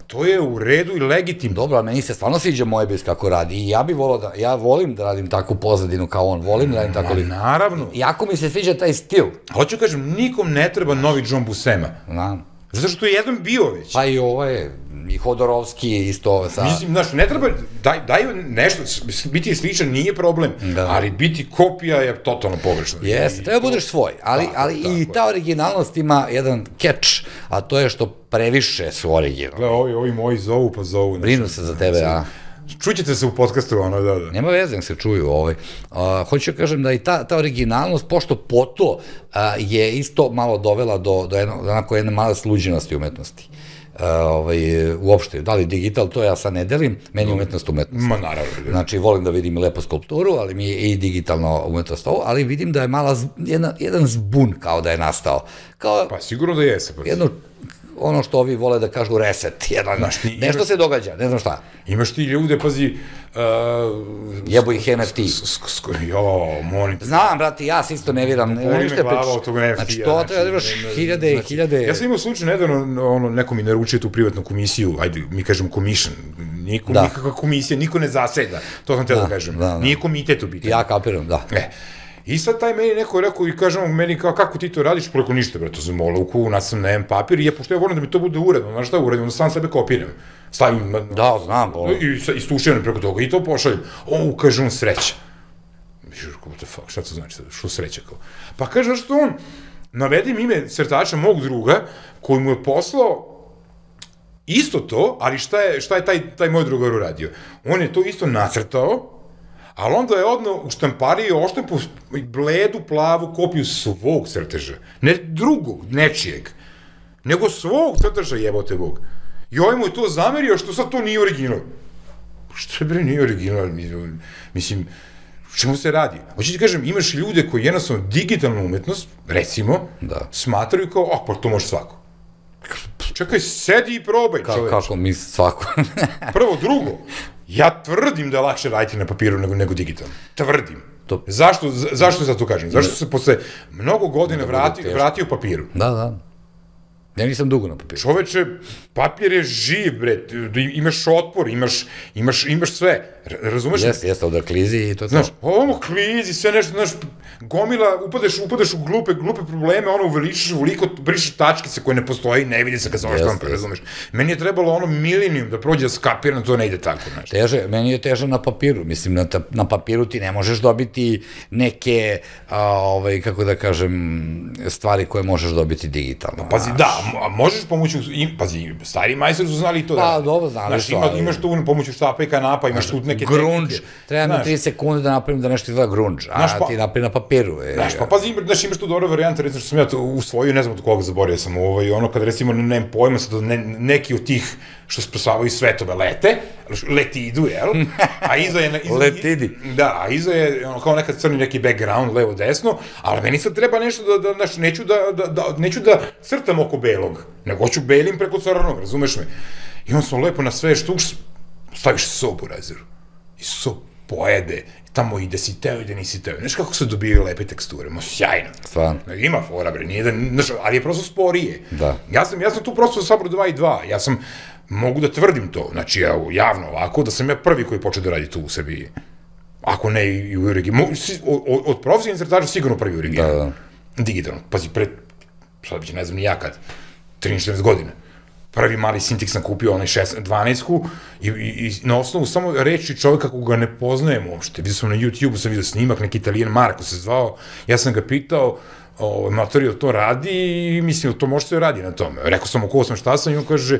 To je u redu i legitimno. Dobro, ali meni se stvarno sviđa Mojbis kako radi i ja bih volao da, ja volim da radim takvu pozadinu kao on, volim da radim tako li. Naravno. Jako mi se sviđa taj stil. Hoću kažem, nikom ne treba novi John Buscema. Znam. Zato što je jedan bio već. Pa i ovo je, i Hodorovski isto sa... Mislim, znaš, ne treba, daj, daju nešto, biti sličan nije problem, da. Ali biti kopija je totalno pogrešno. Jeste, treba budeš svoj, ali, tako, ali tako, i ta originalnost ima jedan catch, a to je što previše su originalni. Gle, ovi, ovi moji zovu pa zovu. Brinu se za tebe, a... Čućete se u podcastu, ono, da, da. Nema veze, se čuju, ovaj. Uh, hoću da kažem da i ta, ta originalnost, pošto poto uh, je isto malo dovela do, do jedno, onako jedne male sluđenosti umetnosti. Uh, ovaj, uopšte, da li digital, to ja sad ne delim, meni je umetnost umetnost. Ma naravno. Znači, volim da vidim lepo skulpturu, ali mi je i digitalno umetnost ovo, ali vidim da je mala, jedna, jedan zbun kao da je nastao. Kao, pa sigurno da jese. Pa. Jedno, ono što ovi vole da kažu reset, jedan, znaš, ti, nešto imaš, se događa, ne znam šta. Imaš ti ljude, pazi... Uh, Jebu ih en ef te. Jo, molim. Znam, brati, ja se isto ne viram. Boli me glava od tog en ef te. Znači, to treba da imaš hiljade i hiljade... Ja sam imao slučaj, nedavno, ono, neko mi naručio tu privatnu komisiju, ajde, mi kažemo commission, niko, nikakva komisija, niko ne zaseda, to sam te da kažem. Nije komitet u biti. Ja kapiram, da. E. I sad taj meni neko rekao i kažemo meni kao kako ti to radiš, preko ništa, bre, to sam olovku, nasam na jedan papir i ja, pošto ja volim da mi to bude uredno, znaš šta uredno, onda sam sebe kopiram, stavim, da, znam, i istuširam preko toga i to pošaljem, o, kaže on sreća. What the fuck, šta to znači, što sreća kao? Pa kaže što on, navedim ime crtača mog druga, koji mu je poslao isto to, ali šta je, šta je taj, taj moj drugar uradio? On je to isto nacrtao, ali onda je odno u štampariji oštampu bledu, plavu kopiju svog crteža. Ne drugog, nečijeg, nego svog crteža, jebote Bog. I ovaj mu je to zamerio što sad to nije original. Što je bre nije original? Mislim, o čemu se radi? Hoće ti kažem, imaš ljude koji jednostavno digitalnu umetnost, recimo, da. Smatraju kao, ah, pa to može svako. Čekaj, sedi i probaj, čoveč. Kako mi svako? Prvo, drugo, ja tvrdim da je lakše raditi na papiru nego, nego digitalno. Tvrdim. To... Zašto, zašto sad to kažem? Zašto se posle mnogo godina vrati, vratio papiru? Da, da. Ja nisam dugo na papiru. Čoveče, papir je živ, bre, imaš otpor, imaš, imaš, imaš sve, razumeš? Jeste, jeste, od klizi i to. Znaš, ovo klizi, sve nešto, znaš, gomila, upadeš, upadeš u glupe, glupe probleme, ono, uveličeš, uveliko, brišeš tačkice koje ne postoji, ne vidi se kad zove štampa, razumeš? Meni je trebalo ono milijum da prođe da skapiram, to ne ide tako, znaš. Teže, meni je teže na papiru, mislim, na, na papiru ti ne možeš dobiti neke, a, ovaj, kako da kažem, stvari koje možeš dobiti digitalno. Pazi, da, a možeš pomoću, pazi, stari majstori su znali i to da... Pa, dobro, znali su, ali... Imaš tu pomoću štapa i kanapa, imaš tu neke... Grunge, treba mi tri sekunde da napravim da nešto izgleda grunge, a ti napravim na papiru. Znaš, pa pazi, znaš, imaš tu dobra varijanta, recimo što sam ja to usvojio, ne znam od koga zaboravio sam, ono, kada recimo, nemam pojma sad, neki od tih što spasavaju svetove lete, letidu, jel? A iza je... Letidi. Da, a iza je kao nekad crni neki background, levo, desno, ali meni sad treba nešto da, znaš, neću da, neću da crtam oko belog, nego hoću belim preko crnog, razumeš me? I on sam lepo na sve štuk, staviš sobu u rezeru. I sob pojede, tamo ide si teo, ide nisi teo. Znaš kako se dobijaju lepe teksture, mo sjajno. Stvarno. Ima fora, bre, nije da, znaš, ali je prosto sporije. Da. Ja sam, ja sam tu prosto sabrao dva i dva, ja sam, mogu da tvrdim to, znači, ja, javno ovako, da sam ja prvi koji počeo da radi tu u Srbiji. Ako ne i u regionu. Od, od profesionalnih crtača sigurno prvi u regionu. Da, da. Digitalno. Pazi, pred, sad biće, ne znam ni ja kad, trinaest četrnaest godina. Prvi mali Cintiq sam kupio, onaj dvanaestku, i, i, i na osnovu samo reči čoveka koga ga ne poznajem uopšte. Vidio sam na YouTube-u, sam vidio snimak, neki Italijan, Marko se zvao, ja sam ga pitao, o, materijal to radi i mislim, to može se radi na tome. Rekao sam, oko sam šta sam i on kaže,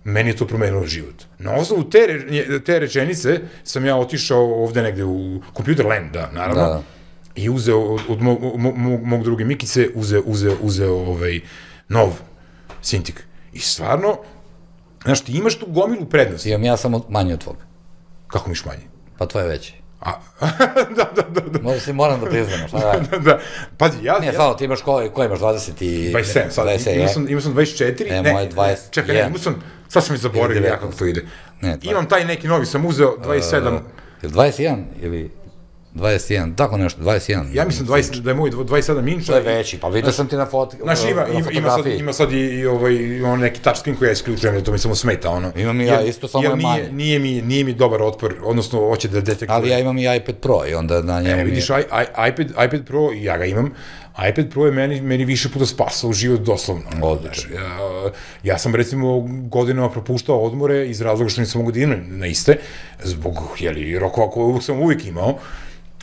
meni je to promenilo život. Na osnovu te, te rečenice sam ja otišao ovde negde u Computer Land, da, naravno, da. I uzeo od, od mog, mog, mog druge Mikice, uzeo, uzeo, uzeo ovaj nov Cintiq. I stvarno, znaš, ti imaš tu gomilu prednosti. Imam ja samo manje od tvoga. Kako miš manje? Pa tvoje veće. A, da, da, da, da. Možda si moram da priznamo, šta da? Da, da, pazi, ja... Ne, stvarno, ti imaš ko, ko imaš, dvadeset i... dvadeset sedam, sad, imao sam, imao sam dvadeset četiri, ne, moje dvadeset jedan. Čekaj, ne, imao sam, sad sam mi zaboravio ja kako to ide. Ne, imam taj neki novi, sam uzeo dvadeset sedam... Uh, ili dvadeset jedan, ili... dvadeset jedan, tako nešto, dvadeset jedan. Ja mislim dvadeset, da je moj dvadeset sedam inča. To je veći, pa vidio sam ti na, fot, znaš, ima, na fotografiji. Ima sad, ima sad i, i ovaj, on neki touchscreen koji ja isključujem, jer to mi samo smeta, ono. Imam i ja isto, samo je manje. Nije, nije, mi, nije mi dobar otpor, odnosno hoće da detektuje. Ali ja imam i iPad Pro i onda na njemu e, vidiš, je... I, I, iPad, iPad Pro, ja ga imam, iPad Pro je meni, meni više puta spasao život doslovno. Odlično. Ja, ja sam recimo godinama propuštao odmore iz razloga što nisam mogu da idem na iste, zbog, jeli, rokova koje uvijek sam uvijek imao.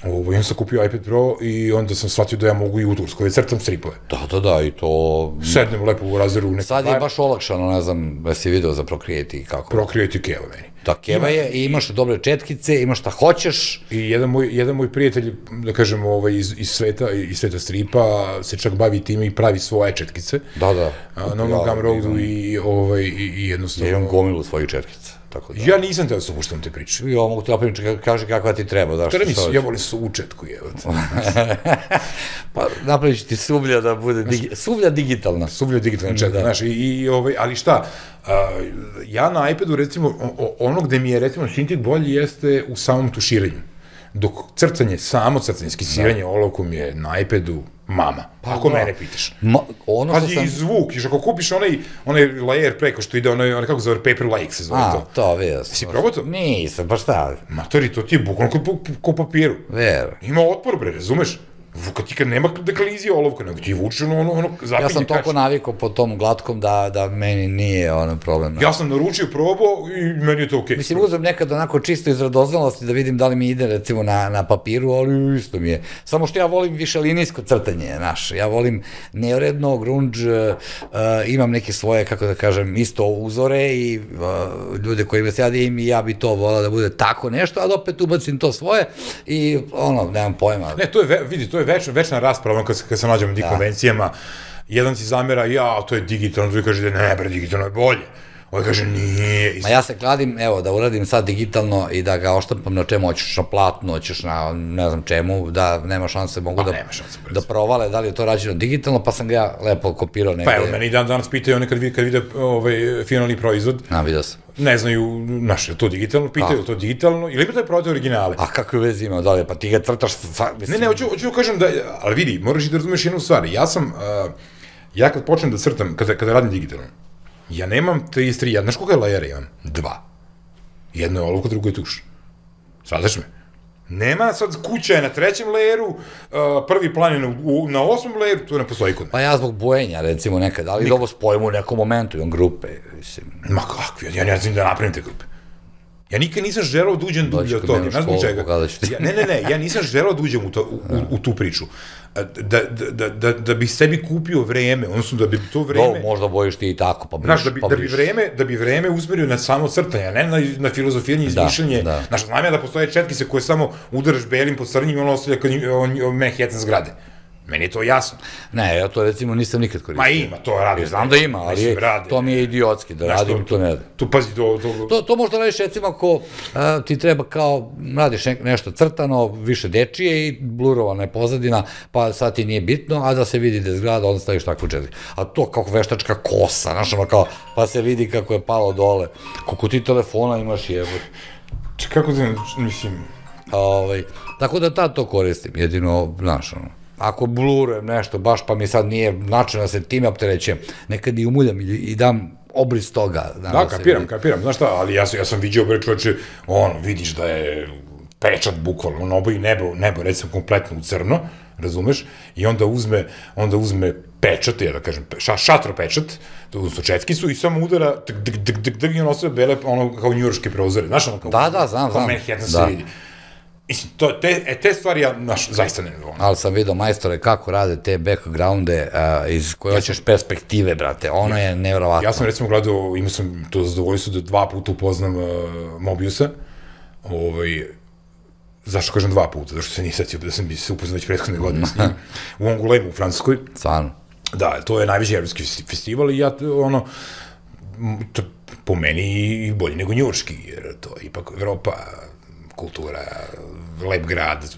Ovo, ja sam kupio iPad Pro i onda sam shvatio da ja mogu i u Turskoj, crtam stripove. Da, da, da, i to... Sednem lepo u razredu. Neki sad je baš olakšano, ne znam, da si video za Procreate i kako. Procreate i Keva meni. Da, Keva je i imaš dobre četkice, imaš šta hoćeš. I jedan moj, jedan moj prijatelj, da kažem, ovaj, iz, iz, sveta, iz sveta stripa, se čak bavi time i pravi svoje četkice. Da, da. A, na onom Gumroadu i, ovaj, i, i jednostavno... Ja imam gomilu svojih četkica. Tako da. Ja nisam teo da se upuštam te priče. Ja mogu ti opet kaži kakva ti treba. Da, Kada mi su, ja volim sučetku, evo. Pa napravit ću ti suvlja da bude, digi, suvlja digitalna. Suvlja digitalna četka, znaš, i, i, ovaj, ali šta, a, ja na iPadu, recimo, o, ono gde mi je, recimo, Cintiq bolji jeste u samom tuširanju. Dok crtanje, samo crtanje, skisiranje olovkom je na iPadu mama, pa ako da. Mene pitaš. Ma, ono Pazi, sam... i zvuk, još ako kupiš onaj, onaj layer preko što ide, onaj, onaj kako zove, Paper Lake se zove A, to. A, to, vidio sam. Si probao to? Nisam, pa šta? Matori, to ti je bukvalno ko, ko papiru. Ver. Ima otpor, bre, razumeš? Kad ti kad nema deklizije olovka, nego ti vuče ono, ono, ono zapinje. Ja sam toliko navikao po tom glatkom da, da meni nije ono problem. Ja sam naručio, probao i meni je to okej. Okay. Mislim, uzem nekad onako čisto iz radoznalosti da vidim da li mi ide recimo na, na papiru, ali isto mi je. Samo što ja volim više linijsko crtanje, znaš, ja volim neuredno, grunge, uh, imam neke svoje, kako da kažem, isto uzore i uh, ljude koji me sjadim i ja bi to volao da bude tako nešto, ali opet ubacim to svoje i ono, nemam pojma. Ne, to je, vidi, to je Več, večna rasprava, kad, kad se nađemo na tim konvencijama, jedan si zamera, ja, to je digitalno, drugi kaže da ne, bre, digitalno je bolje. Ovo kaže, nije. Ma ja se kladim, evo, da uradim sad digitalno i da ga oštampam na čemu, hoćeš na platno, hoćeš na ne znam čemu, da nema šanse, mogu da, da provale da li je to rađeno digitalno, pa sam ga ja lepo kopirao negde. Pa evo, meni dan danas pitaju one kad vide, kad vide ovaj, finalni proizvod. A, vidio sam. Ne znaju, znaš, je to digitalno, pitaju je to digitalno, ili ima taj prodaj originale. A kakve veze ima, da li, pa ti ga crtaš... Ne, ne, hoću, hoću kažem da, ali vidi, moraš i da razumeš jednu stvar, ja sam, uh, ja kad počnem da crtam, kada, kada radim digitalno, ja nemam trideset tri, ja, znaš koga je lajera imam? Dva. Jedno je olovka, drugo je tuš. Svadaš me? Nema sad, kuća je na trećem layeru, uh, prvi plan je na, u, na osmom layeru, to ne postoji kod me. Pa ja zbog bojenja, recimo, nekad, ali ovo spojimo u nekom momentu, imam grupe, mislim. Ma kakvi, ja ne znam da napravim te grupe. Ja nikad nisam želao da uđem dublje od toga, ne znam čega. Ja, ne, ne, ne, ja nisam želao da uđem u, to, u, u, u tu priču. Da, da, da, da bi sebi kupio vreme, odnosno da bi to vreme... Do, možda bojiš ti i tako, pa briš. Znaš, da bi, pa da bi vreme, da bi vreme usmerio na samo crtanje, a ne na, na filozofijanje, izmišljanje. Da, da. Znaš, znam ja da postoje četkice koje samo udaraš belim po crnjim i ono ostavlja kao Manhattan zgrade. Meni je to jasno. Ne, ja to recimo nisam nikad koristio. Ma ima, to radi. Znam da ima, ali to mi je idiotski, da radim, to ne da. Tu pazi, to... To, to možda radiš recimo ako ti treba kao, radiš nešto crtano, više dečije i blurovana je pozadina, pa sad ti nije bitno, a da se vidi da je zgrada, onda staviš takvu četkicu. A to kako veštačka kosa, znaš ono kao, pa se vidi kako je palo dole. Koliko ti telefona imaš jebo. Če, kako ti, mislim... Tako da tad to koristim, jedino, znaš ono. Ako blurujem nešto, baš pa mi sad nije način da se time opterećem, nekad i umuljam i dam obris toga. Da, kapiram, kapiram, znaš šta, ali ja sam vidio, bre čoveče, ono, vidiš da je pečat bukvalno, ono oboji nebo, nebo recimo kompletno u crno, razumeš, i onda uzme, onda uzme pečat, ja da kažem, šatro pečat, odnosno četkicu i samo udara, dik, dik, dik, dik, dik, i ono sve bele, ono kao njujorške prozore, znaš, ono kao... Da, da, znam, znam. Kao Manhattan se vidi. Mislim, to, te, e, te stvari ja, znaš, zaista ne volim. Ali sam vidio majstore kako rade te backgrounde uh, iz koje hoćeš perspektive, brate, ono je nevjerovatno. Ja sam recimo gledao, imao sam to zadovoljstvo da dva puta upoznam uh, Mobiusa, ovaj, zašto kažem dva puta, zašto se nije setio da sam bi se upoznao već prethodne godine s njim, u Angulemu u Francuskoj. Stvarno. Da, to je najveći evropski festival i ja, ono, to, po meni i bolje nego njurški, jer to je ipak Evropa, kultura, lep grad,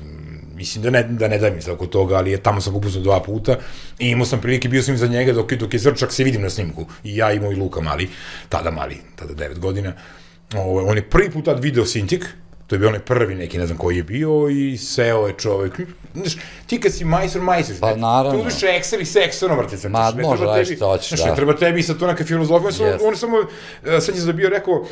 mislim da ne, da ne dajem se oko toga, ali je, tamo sam upoznao dva puta i imao sam prilike, bio sam im za njega dok, dok je Zrčak se vidim na snimku, i ja i moj Luka mali, tada mali, tada devet godina, o, on je prvi put tad video Cintiq, To je bio onaj prvi neki, ne znam koji je bio i seo je čovek. Znaš, ti kad si majstor, majstor. Pa naravno. Tu uđeš Excel i sa Excelom, vrti se. Ma, može raditi što hoćeš, da. Znaš, ne treba tebi sad to neka filozofija. On je samo, sad je zabio, rekao,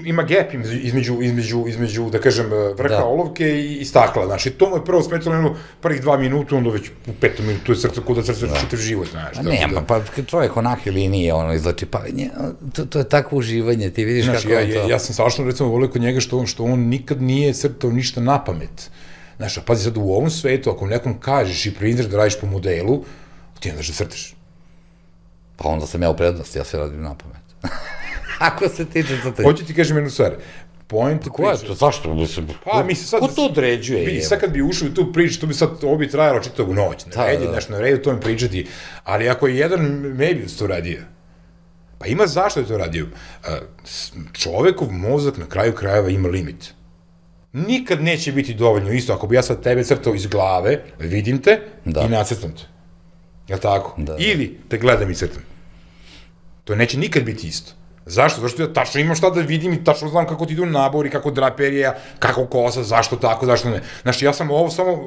ima gap između, između, između, da kažem, vrha olovke i stakla, znaš. I to mu je prvo smetalo jedno prvih dva minuta, onda već u petom minutu, to je srce, kuda srce čitav život, znaš. Nema, pa čovjek onake linije, ono, izlači, pa to je takvo uživanje, ti vidiš kako je to. Ja sam savršeno, recimo, volio kod njega što on nikad nije crtao ništa na pamet. Znaš, a pazi sad, u ovom svetu, ako nekom kažeš i priznaš da radiš po modelu, ti onda da crtaš. Pa onda sam ja u prednosti, ja sve radim na pamet. Ako se tiče crtanja. Hoću ti kažem jednu stvar. Point Ko je to? Zašto? Pa, misli sad... Ko to određuje? Vidi, sad kad bi ušao u tu priču, to bi sad, ovo bi trajalo čitavu noć. Ne redi, znaš, na redu to mi pričati. Ali ako je jedan Mebius to radio, pa ima zašto je to radio. Čovekov mozak na kraju krajeva ima limit. Nikad neće biti dovoljno isto, ako bi ja sad tebe crtao iz glave, vidim te i nacrtam te. Jel' tako? Ili te gledam i crtam. To neće nikad biti isto. Zašto? Zašto ja tačno imam šta da vidim i tačno znam kako ti idu nabori, kako draperija, kako kosa, zašto tako, zašto ne. Znaš, ja sam ovo samo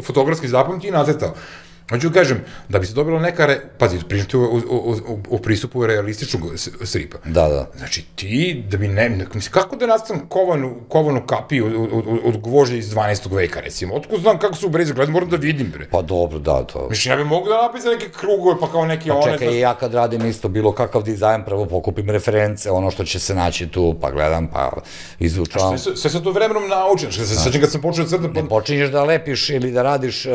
fotografski zapamtio i nacrtao. Hoću da kažem, da bi se dobila neka, pazi, pričati o pristupu realističnog stripa. Da, da. Znači, ti, da bi ne, mislim, kako da nastavim kovanu kapiju od gvožđa iz dvanaestog veka, recimo? Otko znam kako su breze, gledam, moram da vidim, bre. Pa dobro, da, to. Mislim, ja bi mogu da napisam neke krugove, pa kao neke one... Pa čekaj, ja kad radim isto bilo kakav dizajn, prvo pokupim reference, ono što će se naći tu, pa gledam, pa izučavam. Sve sam to vremenom naučen, sad kad sam počeo da crtam... Ne počinješ da lepiš ili da radiš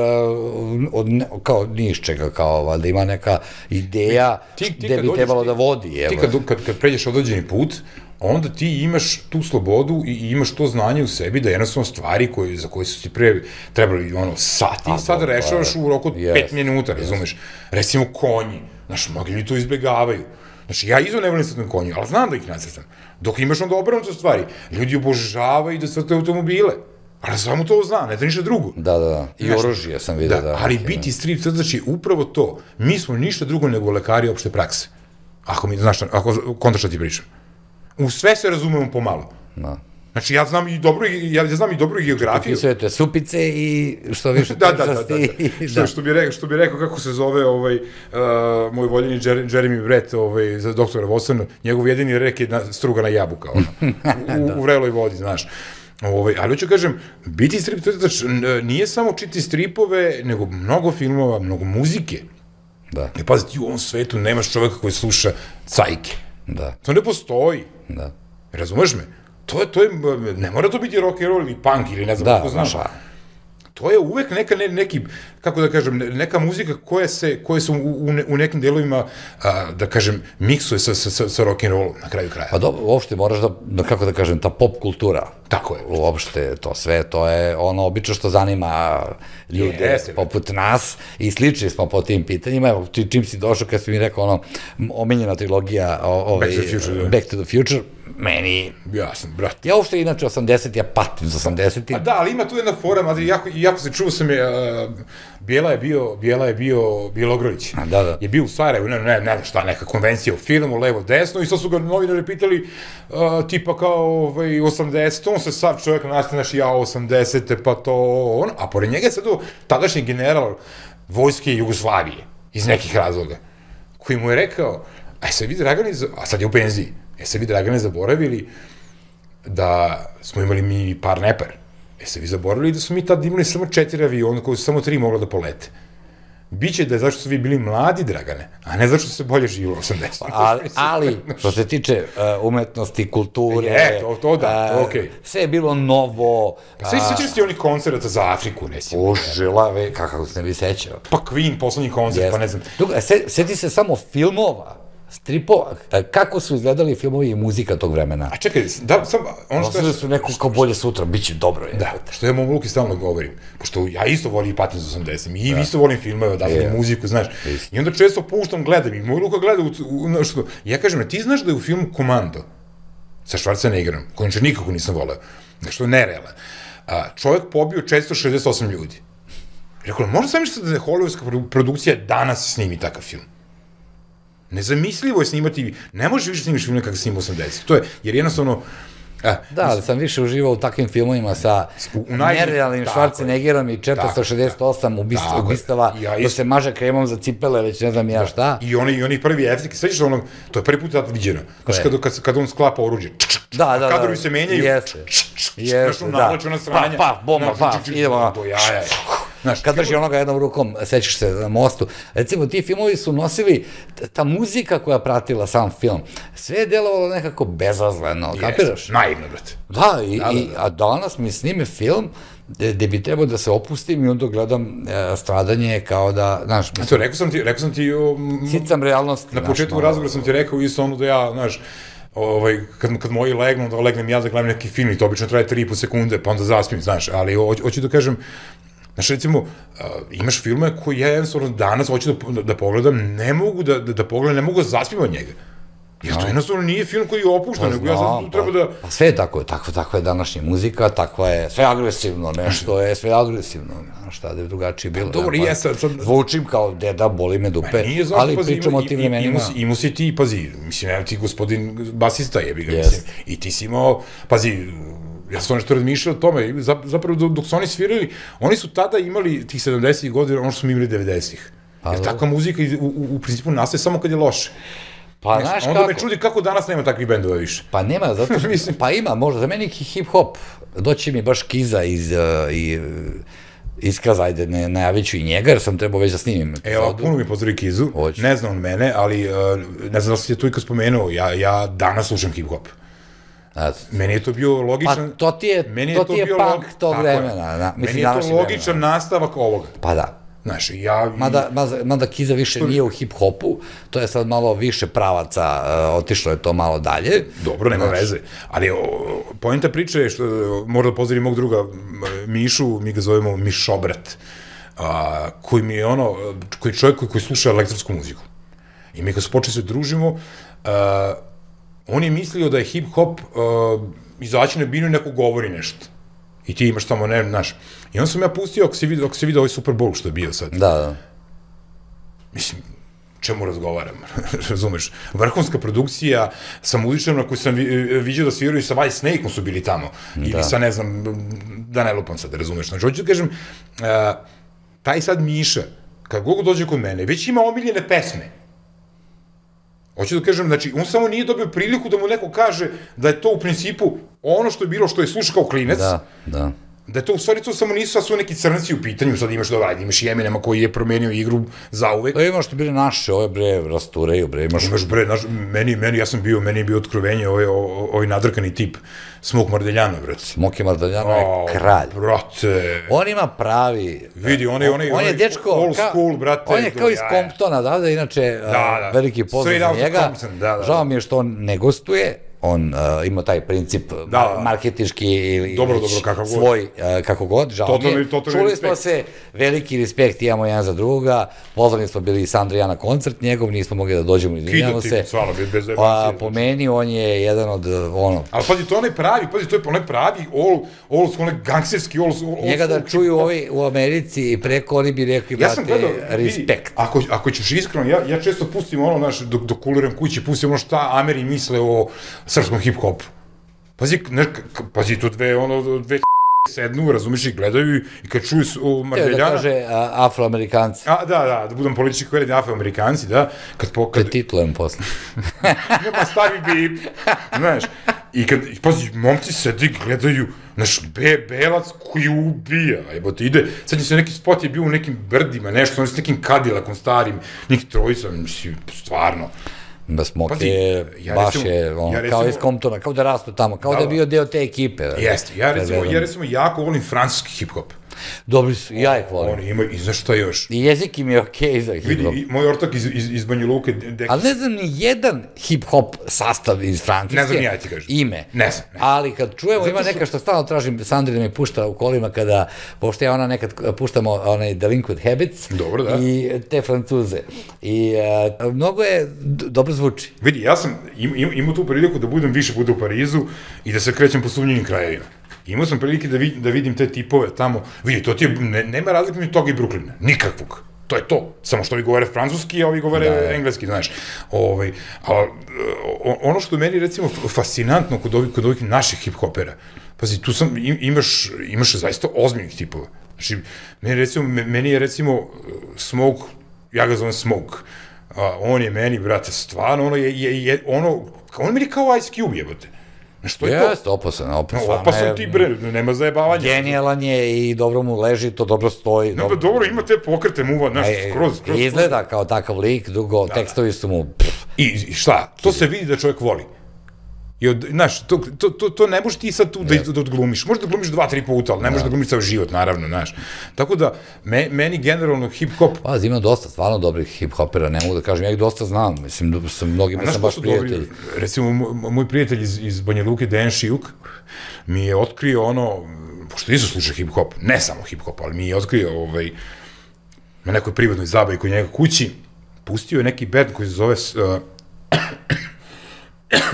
od kao niš čega, kao da ima neka ideja gde bi trebalo da vodi. Ti kad pređeš određeni put, onda ti imaš tu slobodu i imaš to znanje u sebi da jednostavno stvari za koje su ti pre trebali sati, sad rešavaš u roku od pet minuta, razumeš? Recimo konji, znaš, mnogi ljudi to izbjegavaju. Znači, ja izo ne volim crtam konju, ali znam da ih nacrtam. Dok imaš onda obrnuto stvari, ljudi obožavaju da crtaju automobile. Ali samo to zna, ne da ništa drugo. Da, da, da. I oružje sam vidio. Da, ali biti strip crtač je upravo to. Mi smo ništa drugo nego lekari opšte prakse. Ako mi, znaš, ako kontra šta ti pričam. U sve se razumemo pomalo. Da. Znači, ja znam i dobru, ja znam i dobru geografiju. Pisujete supice i što više tečasti. Da, da, da. Što bi rekao, kako se zove moj voljeni Jeremy Brett, za doktora Watsona, njegov jedini rek je strugana jabuka, u vreloj vodi, znaš. Ali hoću kažem, biti strip crtač nije samo čiti stripove, nego mnogo filmova, mnogo muzike. Da. I pazi, ti u ovom svetu nemaš čoveka koji sluša cajke. Da. To ne postoji. Da. Razumeš me? To je, to je, ne mora to biti rock and roll ili punk ili ne znam kako znaš. To je uvek neka, neki, kako da kažem, neka muzika koja se, koja se u nekim delovima, da kažem, miksuje sa rock and rollom na kraju kraja. Pa dobro, uopšte moraš da, kako da kažem, ta pop kultura. Tako je. Uopšte, to sve, to je ono obično što zanima ljude poput nas i slični smo po tim pitanjima. Evo, čim si došao, kad si mi rekao ono, omenjena trilogija Back to the Future, meni... Ja sam, brat. Ja uopšte inače osamdeset, ja patim za osamdeset. A da, ali ima tu jedna fora, jako se čuo sam je, Bijela je bio, Bijela je bio Bjelogrlić. Da, da. Je bio u Sarajevu, ne, ne, ne, šta, neka konvencija u filmu, levo, desno, i sad su ga novinari pitali, tipa kao osamdeset, on se sad čovjek nastaviš, ja osamdesete, pa to, ono, a pored njega je sad to tadašnji general vojske Jugoslavije, iz nekih razloga, koji mu je rekao, a se vi, Dragane, a sad je u penziji, e se vi, Dragane, zaboravili da smo imali mi par nepar. E se vi zaboravili da smo mi tad imali samo četiri aviona koji su samo tri mogla da polete. Biće da je zašto su vi bili mladi, Dragane, a ne zašto se bolje živilo u osamdesetim. Ali, što se tiče umetnosti, kulture... E, to da, okej. Sve je bilo novo... Pa sve sećaš ti onih koncerata za Afriku, recimo. Užila, kako se ne bi sećao. Pa Queen, poslednji koncert, pa ne znam. Sjeti se samo filmova, stripova, kako su izgledali filmovi i muzika tog vremena. A čekaj, da, sam... Ono su neko kao bolje sutra, bit će dobro. Da, što ja mom Luki stalno govorim, pošto ja isto volim i patim za osamdeset, i isto volim filmove, odatim muziku, znaš, i onda često puštam, gledam, i moj Luka gleda, ja kažem, ti znaš da je u filmu Komando, sa Schwarzeneggerom, koji će nikako nisam voleo, što je nerealan, čovjek pobio četiristo šezdeset osam ljudi. Rekao, možda sam mišljati da je hollywoodska produkcija danas snimi takav film. Nezamislivo je snimati, ne možeš više snimiš filme kako snima osamdeset. To je, jer jednostavno, E, Da, ali sam više uživao u takvim filmovima sa nerealnim Schwarzeneggerom i četiristo šezdeset osam ubistava, da se maže kremom za cipele, već ne znam ja šta. I oni, i oni prvi efekti, svećaš onog, to je prvi put tad viđeno, znaš kad, kad on sklapa oruđe, da, da, da, kadrovi se menjaju, jeste, jeste, da, pa, pa, bomba, pa, idemo, kad drži onoga jednom rukom, sećaš se na mostu. Recimo, ti filmovi su nosili, ta muzika koja pratila sam film, sve je delovalo nekako bezazleno, kapiraš? Naivno, brate. Da, a danas mi snime film gde bi trebao da se opustim i onda gledam stradanje kao da, znaš... To, rekao sam ti, rekao sam ti... Sicam realnosti. Na početku razgovora sam ti rekao isto ono da ja, znaš, kad moji legnu, da legnem ja da gledam neki film i to obično traje tri i po sekunde, pa onda zaspim, znaš, ali hoću da kažem, znaš, recimo, imaš filme koji ja jednostavno danas hoću da pogledam, ne mogu da pogledam, ne mogu da zaspim od njega. Jer to jednostavno nije film koji je opušten, nego ja sad tu treba da... Pa sve je tako, takva je današnja muzika, takva je, sve agresivno, nešto je sve agresivno, šta da je drugačije bilo. Dobro, i ja sad... Zvučim kao deda, boli me dupe, ali pričamo o tim vremenima. Imao si ti, pazi, mislim, evo ti gospodin basista jebi ga, mislim, i ti si imao, pazi, ja sam nešto razmišljao o tome, zapravo dok su oni svirali, oni su tada imali tih sedamdesetih godina, ono što smo imali devedesetih. Jer takva muzika u principu nastaje samo kad je loše. Pa, znaš kako... Onda me čudi kako danas nema takvih bendova više. Pa nema, zato što... Pa ima, možda, za meni hip-hop, doći mi baš Kiza iz... iskaza, ajde, najavit ću i njega, jer sam trebao već da snimim epizodu. Evo, puno mi pozdravi Kizu, ne znam on mene, ali ne znam da si je tu ikad spomenuo, ja danas slušam hip-hop. Meni je to bio logičan... Pa to ti je punk tog vremena. Meni je to logičan nastavak ovoga. Pa da. Znaš, ja... Mada Kiza više nije u hip-hopu, to je sad malo više pravaca, otišlo je to malo dalje. Dobro, nema veze. Ali pojenta priče je što, možda pozdravim mog druga Mišu, mi ga zovemo Mišobrat, koji mi je ono, koji je čovjek koji sluša elektronsku muziku. I mi kad se počeli se družimo, on je mislio da je hip-hop izaći na binu i neko govori nešto. I ti imaš tamo, ne, znaš. I onda sam ja pustio, ako se vidio ovaj Super Bowl što je bio sad. Da, da. Mislim, čemu razgovaram, razumeš? Vrhunska produkcija sa muzičarima koji sam vidio da sviraju sa White Snake-om su bili tamo. Ili sa, ne znam, da ne lupam sad, razumeš? Znači, hoću da kažem, taj sad Miša, kad god dođe kod mene, već ima omiljene pesme. Hoću da kažem, znači, on samo nije dobio priliku da mu neko kaže da je to u principu ono što je bilo, što je slušao kao klinec. Da, da. Da je to, u stvari, to samo nisu, a su neki crnci u pitanju, sad imaš, dobro, ajde, imaš i Eminema koji je promenio igru zauvek. Da imaš što bili naše, ove bre, rastureju, bre, imaš... Imaš bre, meni, meni, ja sam bio, meni je bio otkrovenje, ovaj nadrkani tip, Smok Mardeljana, brate. Smoki Mardeljana je kralj. Brate. On ima pravi... Vidi, on je, on je, on je dečko, old school, brate. On je kao iz Comptona, da, da, inače, veliki pozdrav za njega. Žao mi je što on ne gostuje, on ima taj princip marketički ili svoj, kako god, žao mi je. Čuli smo se, veliki respekt imamo jedan za druga, pozvani smo bili s Andrija na koncert njegov, nismo mogli da dođemo, izvinjamo se. Po meni, on je jedan od, ono... Ali pazi, to je onaj pravi, pazi, to je onaj pravi, old school, onaj gangsterski, old school... Njega da čuju ovi u Americi i preko, oni bi rekli, brate, respekt. Ako ćeš iskreno, ja često pustim ono, znaš, dok kuliram kući, pustim ono šta Ameri misle o srpskom hip-hopu. Pazi, pazi, to dve, ono, dve sednu, razumiješ, i gledaju i kad čuju o Mardeljana... Teo da kaže afroamerikanci. Da, da, da budem politički koredni afroamerikanci, da. Te titlujem posle. Nema stavi bip, znaš. I kad, pazi, momci sedi, gledaju, znaš, belac koji ubija, evo ti ide, sad se neki spot je bio u nekim brdima, nešto, ono s nekim Cadillakom starim, njih trojica, mislim, stvarno. Smok je, baš je, kao iz Comptona, kao da rastu tamo, kao da je bio deo te ekipe. Jeste, ja recimo jako volim francuski hip-hop. Dobri su, ja ih volim. Oni imaju, i znaš šta još? I jezik im je okej za hip-hop. Vidi, moj ortak iz Banja Luke... Ali ne znam ni jedan hip-hop sastav iz Francuske. Ne znam, ja ti kažem. Ime. Ne znam. Ali kad čujemo, ima neka što stalno tražim, Sandri da mi pušta u kolima kada, pošto ja ona nekad puštamo onaj Delinquent Habits. Dobro, da. I te Francuze. I mnogo je, dobro zvuči. Vidi, ja sam imao tu priliku da budem više puta u Parizu i da se krećem po sumnjivim krajevima. Imao sam prilike da vidim te tipove tamo, vidi, to ti je, nema razlike među toga i Brooklyna, nikakvog, to je to, samo što ovi govore francuski, a ovi govore engleski, znaš, ali ono što meni, recimo, fascinantno kod ovih, kod ovih naših hip-hopera, pazi, tu sam, imaš, imaš zaista ozbiljnih tipova. Znači, meni, recimo, meni je, recimo, Smoke, ja ga zovem Smoke, a, on je meni, brate, stvarno, ono je, je, je ono, on meni kao Ice Cube, jebote. Što je to? Jeste, opasan, opasan. Opasan ti, bre, nema zajebavanja. Genijalan je i dobro mu leži, to dobro stoji. No, dobro, ima te pokrete muva, znaš, skroz, skroz. Izgleda kao takav lik, dugo, tekstovi su mu... I šta? To se vidi da čovjek voli. I od, znaš, to, to, to, to ne možeš ti sad tu da, da odglumiš. Možeš da glumiš dva, tri puta, ali ne možeš da glumiš ceo život, naravno, znaš. Tako da, me, meni generalno hip-hop... Pa, ima dosta, stvarno dobrih hip-hopera, ne mogu da kažem, ja ih dosta znam, mislim, sa mnogima sam baš prijatelji. Recimo, moj prijatelj iz, iz Banja Luke, Dejan Šijuk, mi je otkrio ono, pošto nisu slušao hip-hop, ne samo hip-hop, ali mi je otkrio, ovaj, na nekoj privatnoj zabavi kod njega kući, pustio je neki band koji se zove uh,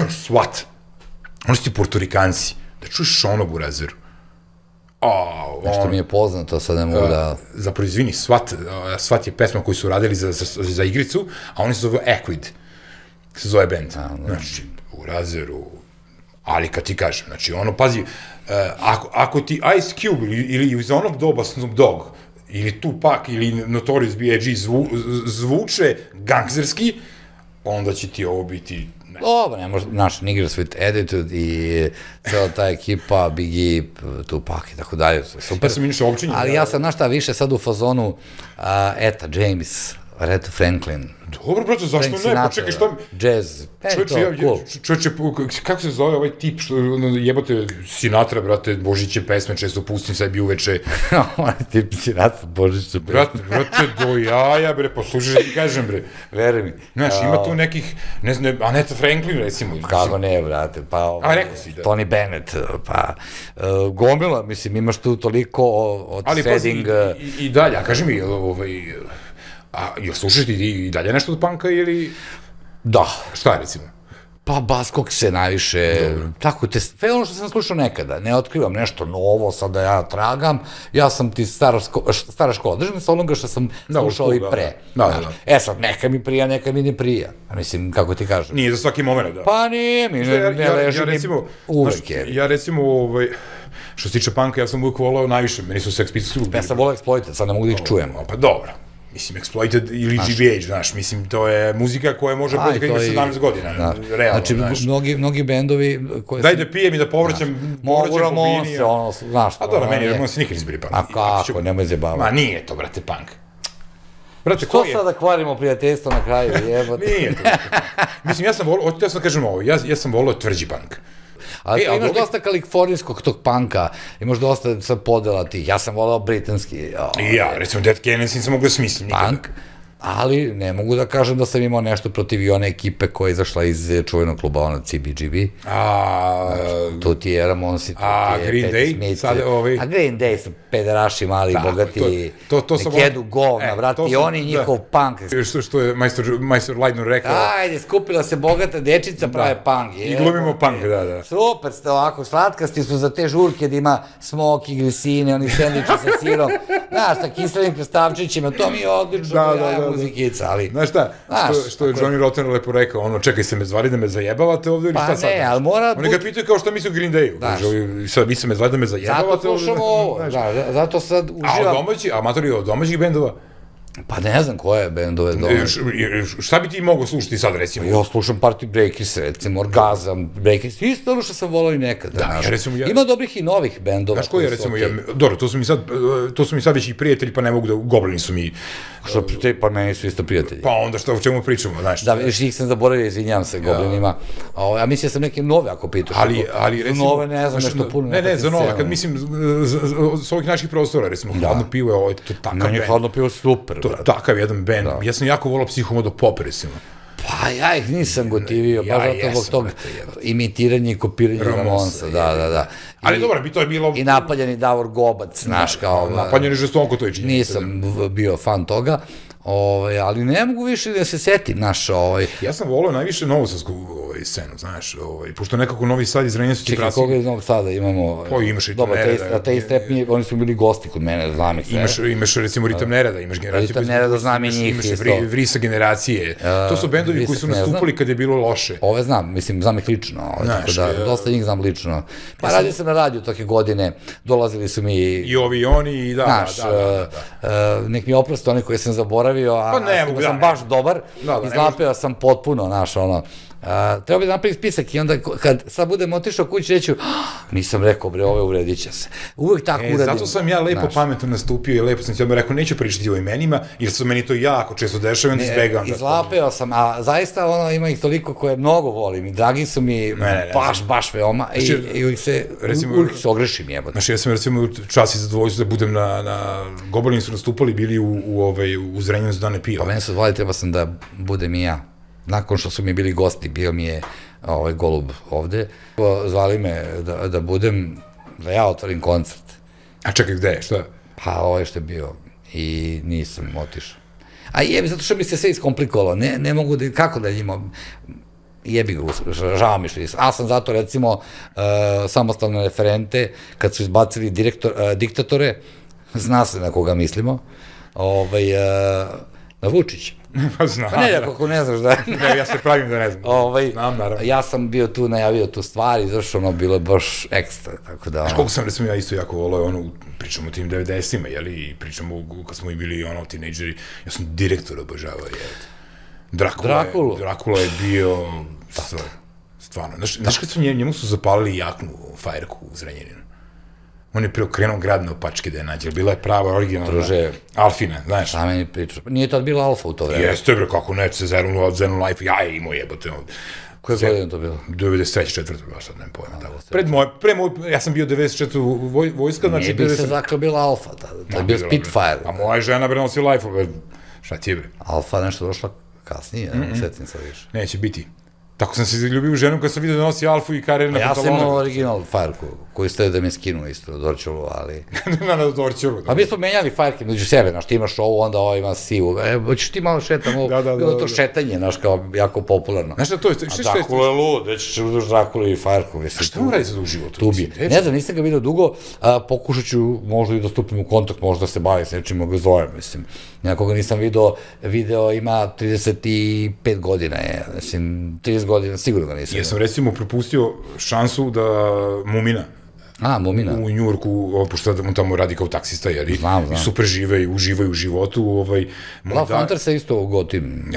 SWAT. Oni su ti portorikanci. Da čuješ ono burazeru. Nešto mi je poznato, sad ne mogu da... Zapravo, izvini, SWAT, SWAT je pesma koju su radili za, za, za igricu, a oni se zove Equid. Se zove band. Znači, burazeru... Ali kad ti kažem, znači, ono, pazi, ako, ako ti Ice Cube ili, ili iz onog doba Snoop Dogg, ili Tupac, ili Notorious B I G zvu, zvuče gangsterski, onda će ti ovo biti... Dobro, ne može, znaš, Niggers with Attitude i cela ta ekipa, Biggie, Tupac i tako dalje, super. Ja sam inače općenjen. Ali ja sam, znaš šta, više sad u fazonu Eta James, Aretha Franklin. Dobro, brate, zašto ne? Pa čekaj, šta mi... Jazz, Čovječe, čovječe, kako se zove ovaj tip, što jebate Sinatra, brate, Božiće pesme, često pustim sebi uveče. Ovaj tip Sinatra, Božiće pesme. Brate, brate, do jaja, bre, poslušaj, ti kažem, bre. Veri mi. Znaš, ima tu nekih, ne znam, Aretha Franklin, recimo. Kako ne, brate, pa... A, rekao si, da. Tony Bennett, pa... Gomila, mislim, imaš tu toliko od setting... Ali, pazi, i dalje, a kaži mi, ovaj... A jel slušaš ti i dalje nešto od panka ili... Da. Šta, recimo? Pa Baskog se najviše, tako te, sve ono što sam slušao nekada, ne otkrivam nešto novo, sad da ja tragam, ja sam ti stara, stara škola, držim se onoga što sam slušao i pre. Da, da, da. E sad, neka mi prija, neka mi ne prija, a mislim, kako ti kažem. Nije za svaki moment, da. Pa nije mi, ne, ne leži mi uvek je. Ja recimo, ovaj, što se tiče panka, ja sam uvijek volao najviše, meni su Sex Pistols. Ja sam volao Exploited, sad ne mogu da ih čujem. Pa dobro. Mislim, Exploited ili G B H, znaš, mislim, to je muzika koja može proći kad imaš sedamnaest godina, realno, znaš. Znači, mnogi bendovi... Daj da pijem i da povraćam, mogu Ramonse, ono, znaš. A dobro, meni Ramonse nikad izbili punk. A kako, nemoj zjebavati. Ma nije to, brate, punk. Što sada kvarimo prijateljstvo na kraju, jebote? Nije to, brate, punk. Mislim, ja sam volio, ja sam kažem ovo, ja sam volio tvrđi punk. Ali e, imaš dosta kalifornijskog tog panka, imaš dosta sad podela tih, ja sam volao britanski. I ja, recimo Dead Kennedys nisam mogu da smislim nikada. Punk, ali ne mogu da kažem da sam imao nešto protiv i one ekipe koja je izašla iz čuvenog kluba, ono C B G B. A... Tu ti je Ramonsi, tu ti je Patti Smith. A Green Day su pederaši, mali, bogati, nek jedu govna, brati, i oni njihov punk. Što je majstor Leidner rekao. Ajde, skupila se bogata dečica, prave punk. I glumimo punk, da, da. Super ste ovako, slatkasti su za te žurke da ima smoki, glisine, oni sendviče sa sirom, znaš, sa kiselim krastavčićima, to mi je odlično, ja muzikica, ali... Znaš šta, što je Johnny Rotten lepo rekao, ono, čekaj se me zvali da me zajebavate ovde ili šta sad? Pa ne, ali mora... Oni ga pitaju kao šta misli o Green Dayu, kaže, sad mi se me zvali da me zajebavate ovde. Zato slušamo ovo, da, zato sad uživam... A od domaćih, amatori od domaćih bendova? Pa ne znam koje bendove domaće. Šta bi ti mogao slušati sad, recimo? Ja slušam Party Breakers, recimo, Orgazam, Breakers, isto ono što sam volao i nekada. Da, ja recimo... Ima dobrih i novih bendova. Znaš koji je, recimo, dobro, to su mi sad, to su mi sad već i prijatelji, pa ne mogu da, Goblini su mi... Što prijatelji, pa meni su isto prijatelji. Pa onda što, o čemu pričamo, znaš? Da, još ih sam zaboravio, izvinjam se, Goblinima. A mislim, ja sam neke nove, ako pitaš. Ali, ali, recimo... Nove, ne znam, nešto puno. Ne, ne, za nove, kad mislim, s ovih naših prostora, recimo, Hladno pivo je ovo, to takav bend. Meni je Hladno pivo super, to takav jedan bend. Ja sam jako volao Psihomodo Pop, recimo. Pa ja ih nisam gotivio, baš zato zbog tog imitiranja i kopiranja Ramonsa, da, da, da. Ali dobro, bi to je bilo... I napaljeni Davor Gobac, znaš, kao... Napaljeni žestoko, to je činjenica. Nisam bio fan toga, Ovaj, ali ne mogu više da se setim, naš, ovaj... Ja sam volao najviše novosadsku ovaj, scenu, znaš, ovaj, pošto nekako Novi Sad iz Renjanskih Čekaj, krasih... koga iz Novog Sada imamo... Pa imaš Ritam Dobro, Nereda. a te Strep, oni su bili gosti kod mene, znam ih sve. Imaš, imaš recimo Ritam Nereda, imaš generaciju... Ritam Nereda, znam i njih imaš isto. Vri, Vrisa generacije. To su bendovi koji su nastupali kad je bilo loše. Ove znam, mislim, znam ih lično, tako da, dosta njih znam lično. Pa radio sam na radiju toke godine, dolazili su mi... I ovi i oni, i da, da, da. Nek mi oprosti oni koje sam zaboravio, a sam baš dobar, izlapeo sam potpuno, znaš, ono, treba bi da napraviti spisak i onda kad sad budem otišao kući reću, nisam rekao, bre, ove uredit će se. Uvijek tako uradim. Zato sam ja lepo pametno nastupio i lepo sam ti odmah rekao, neću pričati o imenima, jer su meni to jako često dešava, onda izbegavam. Izlapeo sam, a zaista ono, ima ih toliko koje mnogo volim i dragi su mi baš, baš veoma i uvijek se, uvijek se ogrešim jebati. Znaš, ja sam recimo čas i zadovoljstvo da budem na, Gobolini su nastupali, bili u Zrenjaninu za Dane piva. Pa mene su zvali, treba sam da budem i ja. Nakon što su mi bili gosti, bio mi je ovaj Golub ovde, zvali me da budem, da ja otvorim koncert. A čekaj, gde je, šta? Pa ovo što je bio i nisam otišao. A jebi, zato što mi se sve iskomplikovalo, ne mogu da, kako da njima, jebi ga, žao mi što nisam. A sam zato, recimo, samostalne referente, kad su izbacili diktatore, zna se na koga mislimo, na Vučića. Pa znam. Pa ne, ako ne znaš da... Ne, ja se pravim da ne znam. Znam, naravno. Ja sam bio tu, najavio tu stvar i zašto ono bilo baš ekstra, tako da... Znaš koliko sam, recimo, ja isto jako volao, ono, pričamo o tim devedesetima, jeli, i pričamo kad smo i bili, ono, tinejdžeri, ja sam direktor obožavao, jel? Drakula je bio... Stvarno. Znaš kad su njemu su zapalili jaknu fajerku u Zrenjaninu? On je preokrenuo grad na opačke da je nađe, bila je prava, originalna, Alfina, znaš. Šta meni priča? Nije tad bila Alfa u to vreme? Jeste, bre, kako ne, se Zenu Life, ja je imao jebote. Koje godine to bilo? devedeset treće, četvrte, baš sad ne pojma tako. Pred moj, pre moj, ja sam bio devedeset četvrte vojska, znači... Nije bi se zakle bila Alfa, to je bio Spitfire. A moja žena bre nosi Life, šta ti je bre? Alfa nešto došla kasnije, ne setim se više. Neće biti. Tako sam se zaljubio u ženu kad sam vidio da nosi Alfu i karer na pantalone. Ja sam imao original Fireku, koji ste da me skinu isto, na Dorčulu, ali... Na na Dorčulu. A mi smo menjali Fireke među sebe, znaš, ti imaš ovo, onda ovo ima sivu. E, hoćeš ti malo šetam ovo, bilo to šetanje, znaš, kao jako popularno. Znaš šta to je? A Drakula je lud, već ćeš uduš Drakulu i Fireku, mislim. A šta mu radi sad u životu? Tu bi. Ne znam, nisam ga vidio dugo, pokušat ću možda i da stupim u kontakt, možda da se bavim s nečim, ga zovem, mislim. Nekoga nisam video, video ima trideset pet godina je, mislim, trideset godina, sigurno ga nisam. Ja sam recimo propustio šansu da Mumina, A, Mumina. U Njurku, pošto on tamo radi kao taksista, jeli? Znam, znam. I super žive i uživaju u životu. Ovaj, La Fonter se isto ugotim.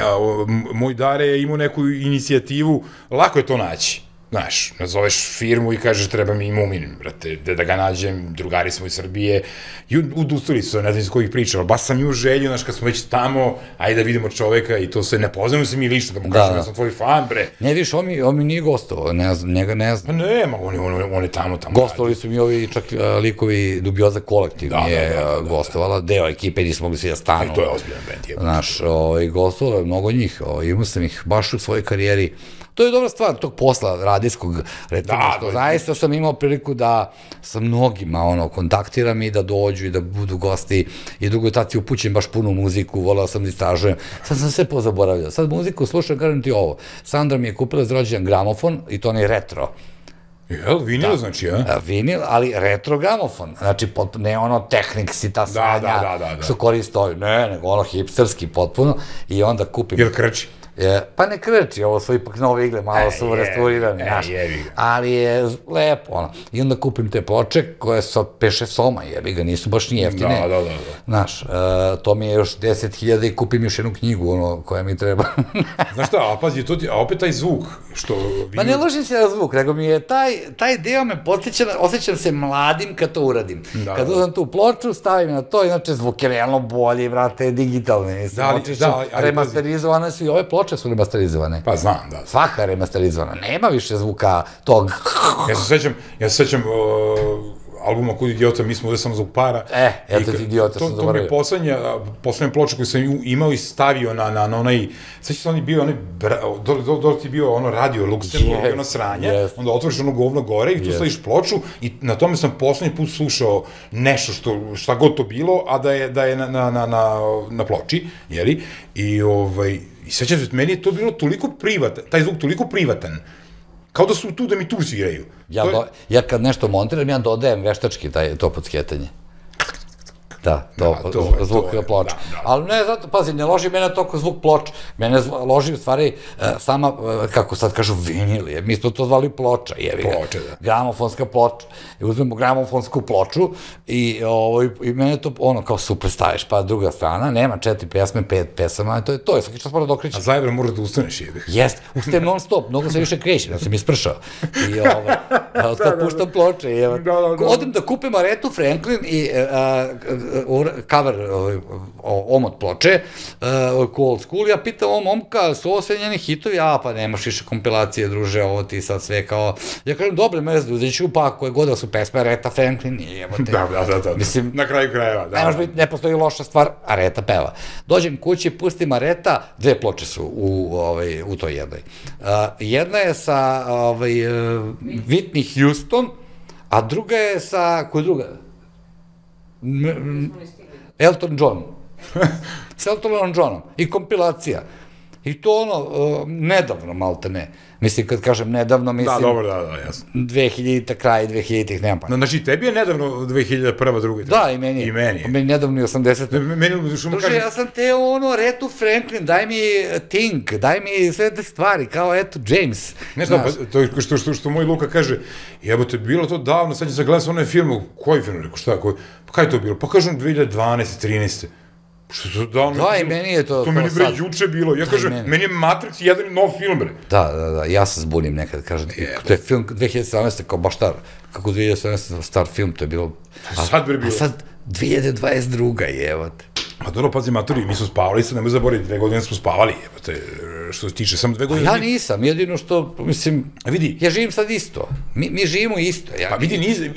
Moj Dare je imao neku inicijativu, lako je to naći. Znaš, nazoveš firmu i kažeš treba mi i Mumin, brate, da ga nađem, drugari smo iz Srbije, i udustali su, ne znam iz kojih priča, ali baš sam ju želju, znaš, kad smo već tamo, ajde da vidimo čoveka i to se, ne poznamo se mi lično, da mu kažem, ja sam tvoj fan, bre. Ne, viš, on mi nije gostovao, njega ne znam. Pa nema, on je tamo, tamo. Gostovali su mi ovi, čak likovi Dubioza Kolektiv mi je gostovala, deo ekipe, nismo mogli svi da stanu. To je ozbiljan band, je. Znaš, gostovalo je mnogo njih, imao sam ih baš u svojoj karijeri. To je dobra stvar tog posla radijskog, recimo, što zaista sam imao priliku da sa mnogima, ono, kontaktiram i da dođu i da budu gosti i drugo tad si upućen baš punu muziku, volao sam da istražujem, sad sam sve pozaboravljao, sad muziku slušam, kažem ti ovo, Sandra mi je kupila za rođendan gramofon i to onaj retro. Jel, vinil znači, ja? Vinil, ali retro gramofon, znači ne ono Technics i ta sranja što koriste ovi, ne, nego ono hipsterski potpuno i onda kupim... Jel krči? Pa ne krči, ovo su ipak nove igle, malo su restaurirane, znaš, ali je lepo, ono. I onda kupim te ploče koje su peše soma, jebi ga, nisu baš ni jeftine. Da, da, da. Znaš, to mi je još deset hiljada i kupim još jednu knjigu, ono, koja mi treba. Znaš šta, a pazi, a opet taj zvuk, što... Pa ne ložim se na zvuk, nego mi je taj deo me podsjeća, osjećam se mladim kad to uradim. Kad uzam tu ploču, stavim na to, inače zvuk je realno bolji, brate, digitalni. Remasterizovane su i ove ploče su remasterizovane. Pa znam, da. Svaka remasterizovana. Nema više zvuka tog... Ja se sećam, ja se sećam albuma Kud idiota, mi smo ovde samo zbog para. E, eto ti idiota sam zaboravio. To mi je poslednja, poslednja ploča koju sam imao i stavio na, na, na onaj, sad će se oni bio, onaj, dole ti bio ono radio Luxemburg, ono sranje, onda otvoriš ono govno gore i tu staviš ploču i na tome sam poslednji put slušao nešto što, šta god to bilo, a da je, da je na, na, na, na, na ploči, jeli, i ovaj, i sećam se, meni je to bilo toliko privatan, taj zvuk toliko privatan, kao da su tu da mi tu sviraju. Ja, do, ja kad nešto montiram, ja dodajem veštački taj, to podskjetanje. Da, to, da, to zvuk to, ploča. Da, da. Ali ne, zato, pazi, ne loži mene toliko zvuk ploča. Mene loži, u stvari, sama, kako sad kažu, vinil je. Mi smo to zvali ploča, jevi ga. Ploča, da. Gramofonska ploča. I uzmemo gramofonsku ploču i, ovo, i mene to, ono, kao super staviš, pa druga strana, nema četiri pesme, pet pesama, to je to, je svaki čas mora da okreći. A zajebra možda da ustaneš, jebi. Jest, ustajem non stop, mnogo se više krećem, ja sam ispršao. I, ovo, kad puštam ploče, jevi. Odem da kupim Aretu Franklin i cover, omot ploče, old school, ja pitam ovo momka, su ovo sve njeni hitovi, a pa nemaš više kompilacije, druže, ovo ti sad sve kao, ja kažem, dobre mezde, uzet ću pa koje god da su pesme Areta Franklin, i evo te. Da, da, da, mislim, na kraju krajeva, da. Ne može biti, ne postoji loša stvar, Areta peva. Dođem kući, pustim Areta, dve ploče su u toj jednoj. Jedna je sa Whitney Houston, a druga je sa, koja je druga? Elton John. S Eltonom Johnom. I kompilacija. I to ono, nedavno, malte ne. Mislim, kad kažem nedavno, mislim... Da, dobro, da, da, jasno. dve hiljadite, kraj dve hiljaditih, nema pa. Znači, tebi je nedavno dve hiljade prva, druga. Da, i meni je. I meni je. Meni nedavno i osamdesete. Meni, što mu kažem... Druže, ja sam te ono, Retu Franklin, daj mi Think, daj mi sve te stvari, kao eto, James. Ne znam, to je što moj Luka kaže, jebote, bilo to davno, sad će se gledati sa onaj film, koji film, rekao, šta, koji, pa kaj je to bilo? Pa kažem dve hiljade dvanaeste, trinaeste. Što to davno... Da, i meni je to... To meni, bre, juče bilo. Ja kažem, meni je Matrix jedan nov film, bre. Da, da, da, ja se zbunim nekad, kažem, to je film dve hiljade sedamnaeste kao baš star, kako dve hiljade sedamnaeste star film, to je bilo... Sad, bre, bilo. A sad, dve hiljade dvadeset druga, jebate. A dobro, pazi, maturi, mi smo spavali, sad nemoj zaboraviti, dve godine smo spavali, jebate, što se tiče, samo dve godine... Ja nisam, jedino što, mislim, vidi, ja živim sad isto, mi živimo isto. Pa vidi,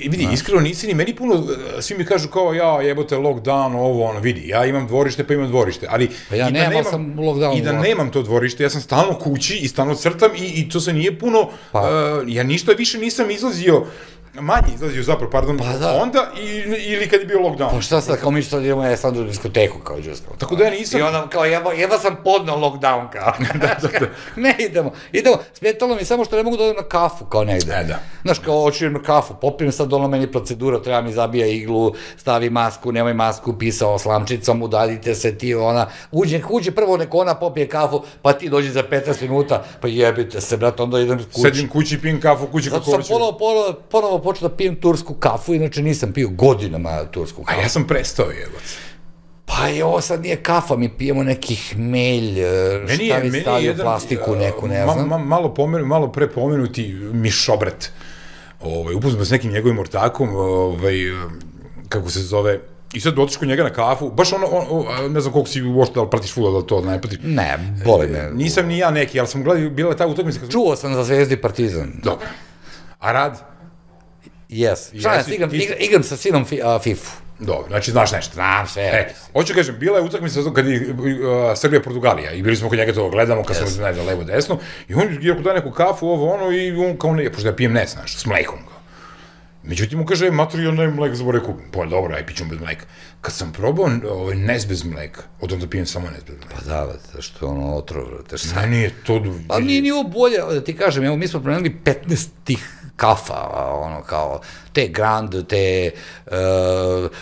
vidi, iskreno nisi ni, meni puno, svi mi kažu kao, ja, jebote, lockdown, ovo, ono, vidi, ja imam dvorište, pa imam dvorište, ali... Pa ja nemam, sam lockdown. I da nemam to dvorište, ja sam stalno kući i stalno crtam i to se nije puno, ja ništa više nisam izlazio, manje izlazio zapravo, pardon, onda ili kad je bio lockdown. Pa šta sad, kao mi što sad idemo, ja sam u diskoteku, kao Đuskao. Tako da ja nisam... I onda, kao, jeba sam podnao lockdown, kao. Ne idemo, idemo, smetalo mi samo što ne mogu da odem na kafu, kao negde. E, da. Znaš, kao, hoću idem na kafu, popijem sad ono meni procedura, treba mi zabija iglu, stavi masku, nemoj masku, pisao slamčicom, udaljite se ti, ona, uđe, uđe prvo neko ona popije kafu, pa ti dođi za petnaest minuta, pa jebite se, brat, onda idem kući. Sedim kući, pijem kafu, kući kako hoću. Ponovo počeo da pijem tursku kafu, inače nisam pio godinama tursku kafu. A ja sam prestao, jebac. Pa i ovo sad nije kafa, mi pijemo neki hmelj, šta vi stavio plastiku neku, ne znam. Malo pre pomenuti Mišobret. Upoznam s nekim njegovim ortakom, kako se zove, i sad otiš kod njega na kafu, baš ono, ne znam koliko si uopšte, da li pratiš fudbal, da li to ne pratiš. Ne, boli me. Nisam ni ja neki, ali sam gledao, bila je ta utakmica. Čuo sam za Zvezdu i Partizan. Dobro. A rad? Jes, šalim se, igram sa sinom fifu. Dobro, znači znaš nešto. Znam sve. Hoću kažem, bila je utakmica kad je Srbija-Portugalija i bili smo kod njega to gledamo, kad smo ne znam, levo-desno, i on je dao neku kafu, ovo ono, i on kao ne, pošto ja pijem ne, znaš, s mlekom. Međutim, mu kaže, maturi, ja nemam mleka, zaboravim kupim. Pa dobro, aj pićemo bez mleka. Kad sam probao nes bez mleka, od onda pijem samo nes bez mleka. Pa da, što je ono otrov, te šta? Meni je to... Pa nije ni ovo bolje, da ti kažem, evo, mi smo promenili petnaest tih kafa, ono, kao, te Grand, te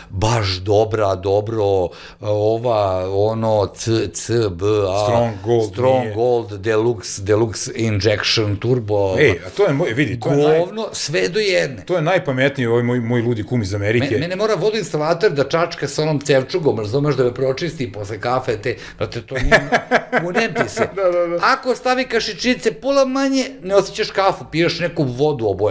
baš dobra, dobro, ova, ono, C, C, B, A, Strong Gold, Strong Gold, Deluxe, Deluxe Injection, Turbo, ej, a to je, moj, vidi, to je naj... govno, sve do jedne. To je najpametniji ovaj moj, moj ludi kum iz Amerike. Mene mora vodoinstalater da čačka sa onom cevčugom, razumeš, da me pročisti posle kafe, te, brate, to nije, unem ti se. Ako stavi kašičice pola manje, ne osjećaš kafu, piješ neku vodu obojenu.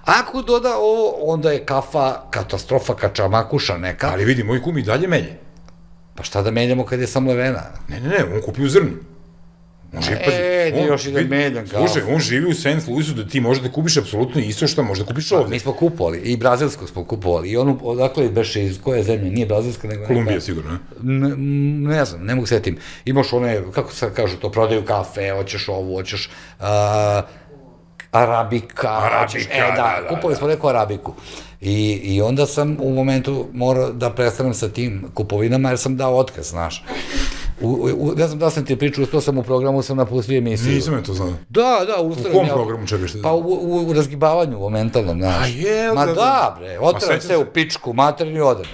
Ako doda ovo, onda je kafa katastrofa, kačamakuša neka. Ali vidi, moj kum i dalje melje. Pa šta da menjamo kad je sam levena? Ne, ne, ne, on kupi u zrnu. E, ti još i da menjam kafu. Slušaj, on živi u Saint Louisu da ti možeš da kupiš apsolutno isto što možeš da kupiš ovde. Mi smo kupovali, i brazilsku smo kupovali, i onu, odakle beše, iz koje zemlje, nije brazilska, nego... Kolumbija, sigurno, ne? Ne znam, ne mogu setim. Imaš one, kako se kažu to, prodaju kafe, hoćeš ovu, hoćeš arabika, Arabika, e, da, kupovali smo neku arabiku. I onda sam u momentu morao da prestanem sa tim kupovinama, jer sam dao otkaz, znaš. Ne znam da sam ti pričao, to sam u programu, sam napustio emisiju. Nisam je to znao. Da, da, ustavim. U kom programu čekaš? Pa u razgibavanju, u mentalnom, znaš. A je, ma da, bre, otrao se u pičku, materni odem.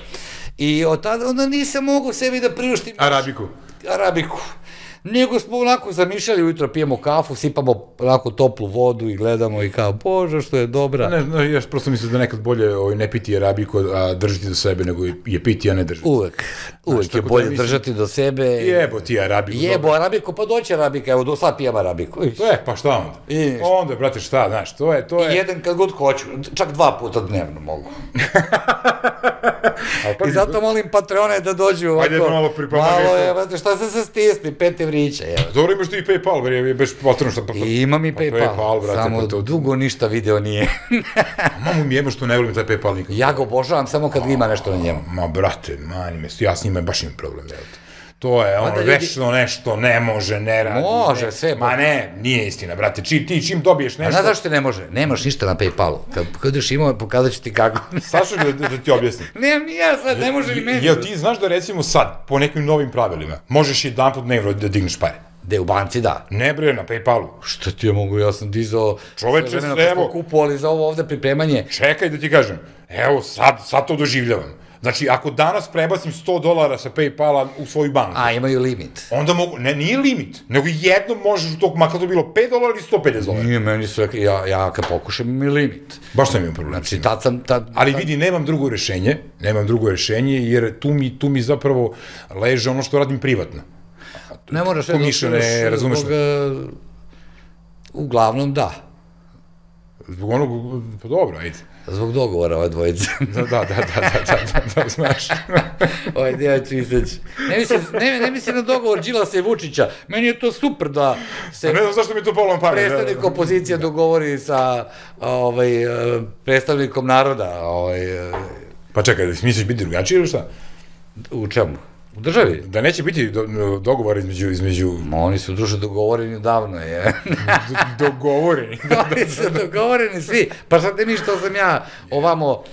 I od tada, onda nisam mogu sebi da priuštim... Arabiku. Arabiku. Nego smo onako zamišljali, ujutro pijemo kafu, sipamo onako toplu vodu i gledamo i kao, bože, što je dobra. Ne, ne, ja prosto mislim da nekad bolje ne piti arabiku, a držati do sebe, nego je piti, a ne držati. Uvek. Uvek je bolje držati do sebe. Jebo ti arabiku. Jebo arabiku, pa doći arabika, evo, sad pijem arabiku. E, pa šta onda? Onda, brate, šta, znaš, to je... I jedan kad god hoću, čak dva puta dnevno mogu. I zato molim Patreone da dođu ovako. Ajde malo pripremati. Malo je, brate, šta se se stisni, peti vrića, evo. Dobro, imaš ti i PayPal, ber je beš potrebno šta... Imam i PayPal, samo dugo ništa video nije. Mamu mi jebo što ne volim taj PayPal nikad. Ja ga obožavam samo kad ima nešto na njemu. Ma, brate, mani me, ja s njima baš imam problem, evo te. To je ono, večno nešto, ne može, ne radi. Može, sve. Ma ne, nije istina, brate, ti čim dobiješ nešto... A znaš zašto ti ne može? Nemaš ništa na PayPalu. Kad budeš imao, pokazat ću ti kako. Sašo da ti objasnim. Ne, ni ja sad, ne može ni meni. Jel ti znaš da recimo sad, po nekim novim pravilima, možeš jedan put dnevno da digneš pare? Gde, u banci, da. Ne, bre, na PayPalu. Šta ti ja mogu, ja sam dizao... Čoveče, sve, evo... Smo kupovali za ovo ovde pripremanje. Čekaj da ti kažem, evo sad, sad to doživljavam. Znači, ako danas prebacim sto dolara sa PayPala u svoju banku... A, imaju limit. Onda mogu... Ne, nije limit, nego jednom možeš u tog, makar to bilo pet dolara ili sto pedeset dolara. Nije, meni su rekli, ja kad pokušam imam limit. Baš sam imao problem. Znači, tad sam... Ali vidi, nemam drugo rešenje, nemam drugo rešenje, jer tu mi zapravo leže ono što radim privatno. Ne moraš... Pomišljene, razumeš? Uglavnom, da. Zbog onog... Pa dobro, ajde. Zbog dogovora ove dvojice. Da, da, da, da, da, da, znaš. Ovaj djevač Iseć. Ne mislim na dogovor Đilasa i Vučića. Meni je to super da se... Ne znam zašto mi to polo na pamet. Predstavnik opozicija dogovori sa predstavnikom naroda. Pa čekaj, misliš biti drugačiji ili šta? U čemu? U državi? Da neće biti dogovor između... Oni su duže dogovoreni davno, je. Dogovoreni? Oni su dogovoreni svi. Pa sad ne mi što sam ja ovamo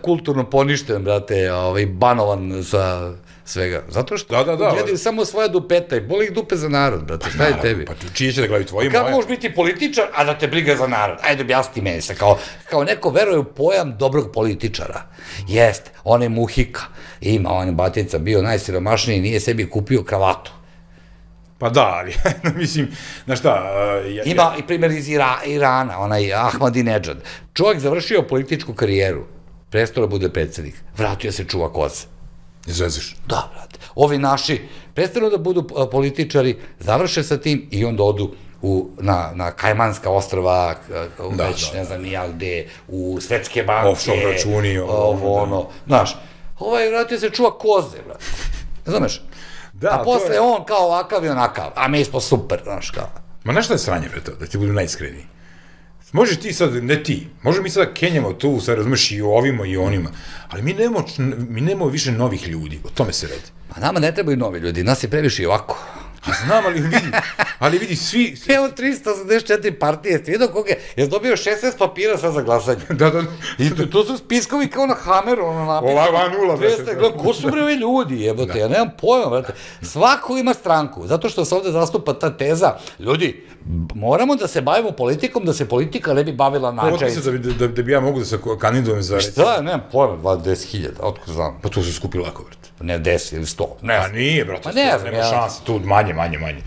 kulturno poništen, brate, banovan sa svega. Zato što gledaju samo svoja dupeta i boli ih dupe za narod, brate. Šta je tebi? Pa čije će da gledaju tvoji moje? Kako možeš biti političar, a da te briga za narod? Ajde, objasni meni se. Kao neko veruje u pojam dobrog političara. Jeste, on je Muhika. Ima, on je batica bio najsiromašniji, nije sebi kupio kravatu. Pa da, ali, mislim, znaš šta... Ima i primjer iz Irana, onaj Ahmadinejad. Čovjek završio političku karijeru, prestao da bude predsjednik, vratio se čuva koze. Izveziš? Da, brate. Ovi naši prestanu da budu političari, završe sa tim i onda odu na Kajmanska ostrava, već ne znam nija gde, u svetske banke. Offshore računi. Ovo, ono, znaš. Ovaj vratio se čuva koze, brate. Znameš? A posle on kao ovakav i onakav, a mi smo super, znaš kao. Ma znaš šta je sranje, bre, to, da ti budu najiskreniji? Možeš ti sad, ne ti, možemo mi sada kenjamo tu, sad razumeš i ovima i onima, ali mi nemamo više novih ljudi, o tome se radi. Pa nama ne trebaju novi ljudi, nas je previše i ovako. Znam, ali vidi, ali vidi, svi... Evo tristo osamdeset četiri partije, ste vidio koga je, jes dobio šesnaest papira sad za glasanje. Da, da. I to su spiskovi kao na Hameru, ono napisano. Ova nula, brate. Ko su bre ovi ljudi, jebote, ja nemam pojma, brate. Svako ima stranku, zato što se ovde zastupa ta teza, ljudi, moramo da se bavimo politikom, da se politika ne bi bavila načajicom. Ovo ti se da bi ja mogu da se kandidujem za... Šta, nemam pojma, dvadeset hiljada, otko znam. Pa to se skupi lako, brate. Ne, deset ili sto. A nije, brate, nema šanse, tu manje, manje, manje.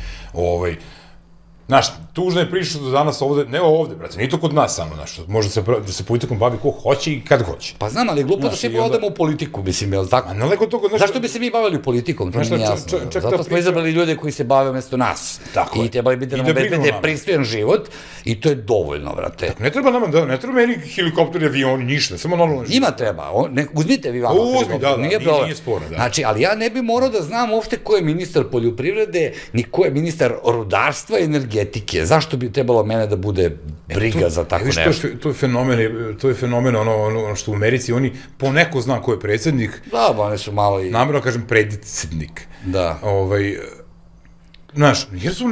Znaš, tužna je priča do danas ovde, ne ovde, brate, nije to kod nas samo, znaš, može se, da se politikom bavi ko hoće i kad hoće. Pa znam, ali glupo da svi odemo u politiku, mislim, je li tako? A naleko toga, znaš... Zašto bi se mi bavili politikom, to mi nije jasno. Zato smo izabrali ljude koji se bave umesto nas. Tako je. I trebali bi da nam obezbede pristojan život i to je dovoljno, brate. Ne treba nama, ne treba meni helikopteri, avioni, ništa, samo normalno život. Ima treba, uzmite vi vama helikopter, nije problem. Nije sporno, da. Znači, ali ja ne bi morao da znam uopšte ko je ministar poljoprivrede, ni ko je ministar rudarstva i energetike. Zašto bi trebalo mene da bude briga za tako nešto? To je fenomen, to je fenomen ono što u Americi, oni poneko zna ko je predsjednik. Da, ba, oni su malo i... Namerno kažem predsjednik. Da. Ovaj... Znaš, jer su...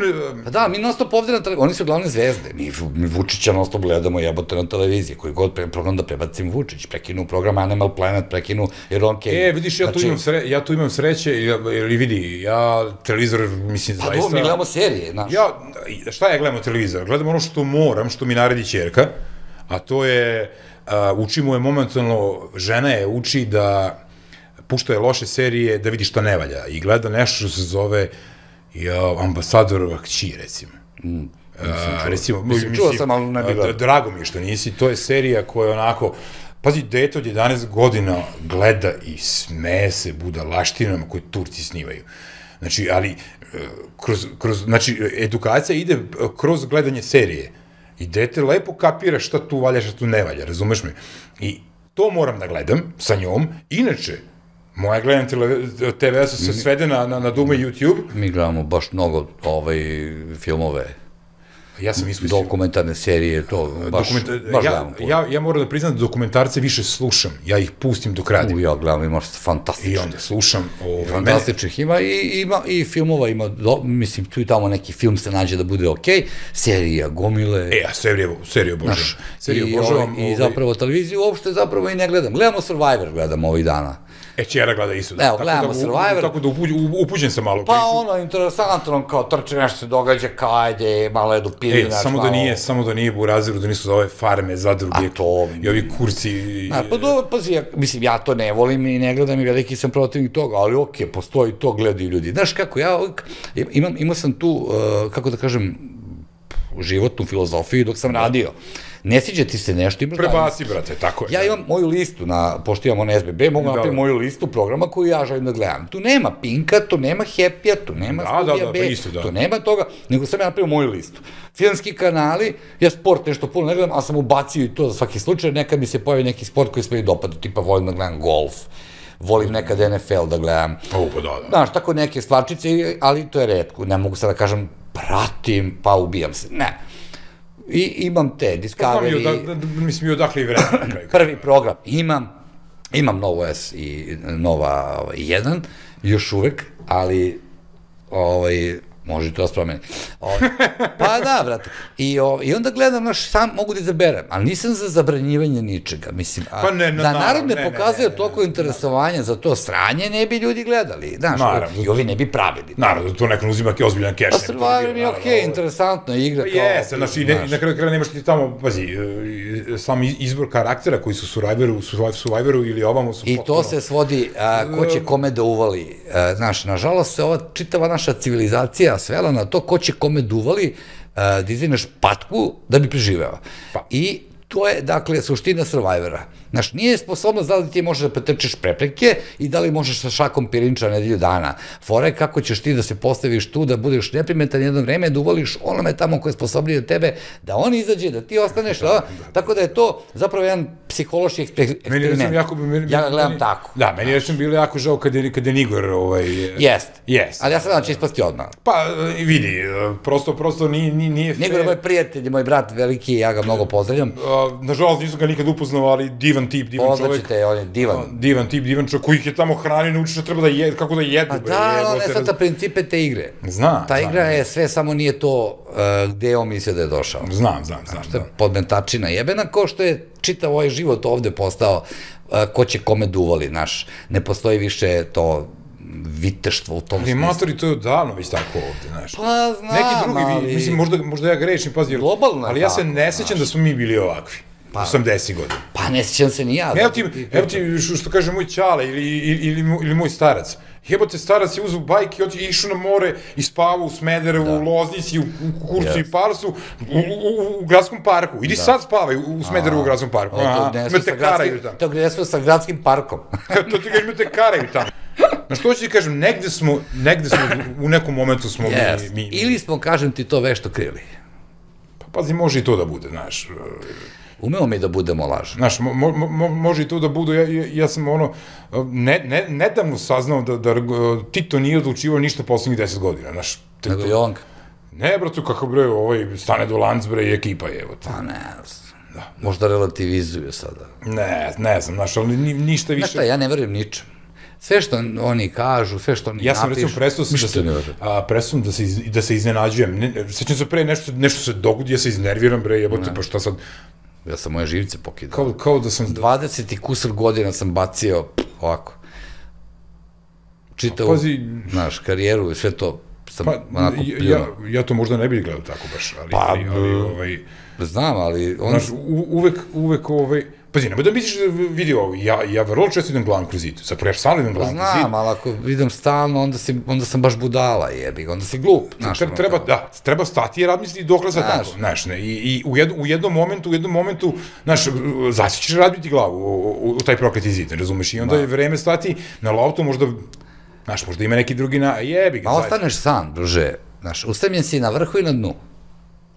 Da, mi non stop ovde na televiziji, oni su glavne zvezde, mi Vučića non stop gledamo jebote na televiziji, koji god program da prebacim Vučić, prekinu program Animal Planet, prekinu jer on kej... E, vidiš, ja tu imam sreće, ili vidi, ja televizor, mislim, zaista... Pa do, mi gledamo serije, znaš. Ja, šta ja gledamo televizor? Gledam ono što moram, što mi naredi ćerka, a to je, učimo je momentalno, žena je uči da pušta je loše serije, da vidi šta ne valja, i gleda nešto što se zove ambasadorova kći, recimo. Recimo, čuo sam, ali ne bi gledao. Drago mi je što nisi, to je serija koja onako, pazi, dete od jedanaest godina gleda i smeje se budalaštinama koje Turci snimaju. Znači, ali, kroz, znači, edukacija ide kroz gledanje serije i dete lepo kapira šta tu valja, šta tu ne valja, razumeš me? I to moram da gledam sa njom, inače, moja gledam te ve se svede na Duma i YouTube. Mi gledamo baš mnogo filmove, dokumentarne serije, to baš gledamo. Ja moram da priznam da dokumentarce više slušam, ja ih pustim dok radim. Ja gledam, imaš fantastičnih. I onda slušam. Fantastičnih ima i filmova, ima, mislim, tu i tamo neki film se nađe da bude okej, serija, gomile. E, a seriju obožavam. I zapravo televiziju uopšte zapravo i ne gledam. Gledamo Survivor, gledam ovih dana. E, čera gleda isto. Evo, gledamo Survivor. Tako da upuđen sam malo. Pa ono, interesantno, kao trče nešto se događa, kao ajde, malo jedu pilinač. E, samo da nije, samo da nije Buraziru, da nisu za ove farme, zadruge. A to... I ovi kurci. Pa dobro, pazi, mislim, ja to ne volim i ne gledam i veliki sam protivnik toga, ali okej, postoji to, gledaju ljudi. Znaš kako, ja imao sam tu, kako da kažem, životnu filozofiju dok sam radio. Ne sviđa ti se nešto, imaš... Prebaci, brate, tako je. Ja imam moju listu, pošto imamo na es be be, mogu napraviti moju listu programa koju ja želim da gledam. Tu nema Pinka, tu nema Happy-a, tu nema Studija B, tu nema toga, nego sam ja napravio moju listu. Filmski kanali, ja sport nešto puno ne gledam, ali sam ubacio i to za svaki slučaj, nekad mi se pojavi neki sport koji se mi dopada, tipa volim da gledam golf, volim nekad en ef el da gledam. O, pa da, da. Znaš, tako neke stvarčice, ali to je retko, ne mogu sad da kažem pratim, pa ubijam se, ne. I imam te, Discovery... Mislim, i odakle i vremena. Prvi program imam, imam Novo S i Nova jedan, još uvek, ali, može to da se promeni. Pa da, brate. I onda gledam, znaš, sam mogu da izaberem, ali nisam za zabranjivanje ničega, mislim. Da narod ne pokazuje toliko interesovanja za to sranje, ne bi ljudi gledali, znaš, i ovi ne bi pravili. Naravno, da to neko uzima ozbiljan keš. Pa Survivor mi je okej, interesantno igra. Pa jeste, znaš, i na kraju kraja nemaš ti tamo, pazi, sam izbor karaktera koji su u Survivoru ili ovamo su potpuno... I to se svodi, ko će kome da uvali, znaš, nažalost se ova čitava naša civilizacija svela na to ko će kome duvali da izdineš patku da bi preživeo. I to je, dakle, suština Survivora. Znaš, nije sposobnost da li ti možeš da pretrčiš prepreke i da li možeš sa šakom pirinča nedelju dana. Fora je kako ćeš ti da se postaviš tu, da budeš neprimetan jedno vreme, da uvoliš onome tamo koje je sposobniji od tebe, da on izađe, da ti ostaneš, tako da je to zapravo jedan psihološki eksperiment. Ja ga gledam tako. Da, meni je bilo jako žao kad je Nigor... Jest. Jest. Ali ja sam da će ispasti odmah. Pa, vidi, prosto, prosto nije... Nigor je moj prijatelj, moj brat veliki, ja ga mnogo pozdravljam. Nažalost, nisam ga nikad upoznao, ali divan tip, divan čovjek. Poznaćete, on je divan. Divan tip, divan čovjek, koji ih je tamo hranio, naučiš da treba da jedu, kako da jedu. Pa da, on je sad ta principe te igre. Znam. Ta igra je sve, samo nije to gde on misle da je došao. Znam, znam, znam. Što je podmetačina jebena, ko što je čitav ovaj život ovde postao, ko će kome duvali, znaš, ne postoji više to viteštvo u tom smislu. Ali matori, to je odavno već tako ovde, znaš. Pa znam, neki drugi, mislim, možda ja grešim, pazi, globalno je tako. Ali ja se ne sećam da smo mi bili ovakvi. osamdesetih godina. Pa ne sjećam se ni ja. Evo ti, evo ti što kaže moj ćale ili moj starac. Jebote, starac je uzeo bajk i išao na more i spavao u Smederevu, u Loznici, u Kurcu i Parsu, u gradskom parku. Idi sad spavaj u Smederevu u gradskom parku. Imate karaju tamo. To gde smo sa gradskim parkom. To ti ga imate karaju tamo. Znaš, što ću ti kažem, negde smo, negde smo, u nekom momentu smo mi... Ili smo, kažem ti, to vešto krili. Pa pazi, može i to da bude, znaš. Umemo mi da budemo lažni. Znaš, može i to da bude, ja sam ono, nedavno saznao da Tito nije odlučivao ništa poslednjih deset godina, znaš. Nego Jovanka. Ne, bratu, kako bre, ovaj, stane do Lanc, bre, i ekipa je, evo. Pa ne, možda relativizuju sada. Ne, ne znam, znaš, ali ništa više... Znaš šta, ja ne verujem ničem. Sve što oni kažu, sve što oni napišu... Ja sam recimo presuo da se iznenađujem. Sećam se pre, nešto se dogodi, ja se iznerviram, bre, jebote, pa šta sad... Ja sam moje živce pokidao. Kao da sam... dvadeset i kusur godina sam bacio ovako. Čitao, znaš, karijeru i sve to sam onako pljuno. Ja to možda ne bih gledao tako baš, ali... Znam, ali... Znaš, uvek, uvek, ovaj... Pazi, nemoj da misliš da vidi ovo, ja vrlo često idem glavom kroz zid, zapravo ja stalno idem glavom kroz zid. Znam, ali ako idem stalno, onda sam baš budala, jebi, onda si glup. Treba, da, treba stati jer razmisliti dokle za tako, znaš, ne, i u jednom momentu, u jednom momentu, znaš, zasjećeš razbiti glavu u taj prokleti zid, razumeš, i onda je vreme stati na loptu, možda, znaš, možda ima neki drugi na, jebi ga. Ma ostaneš sam, druže, znaš, ustavljen si na vrhu i na dnu.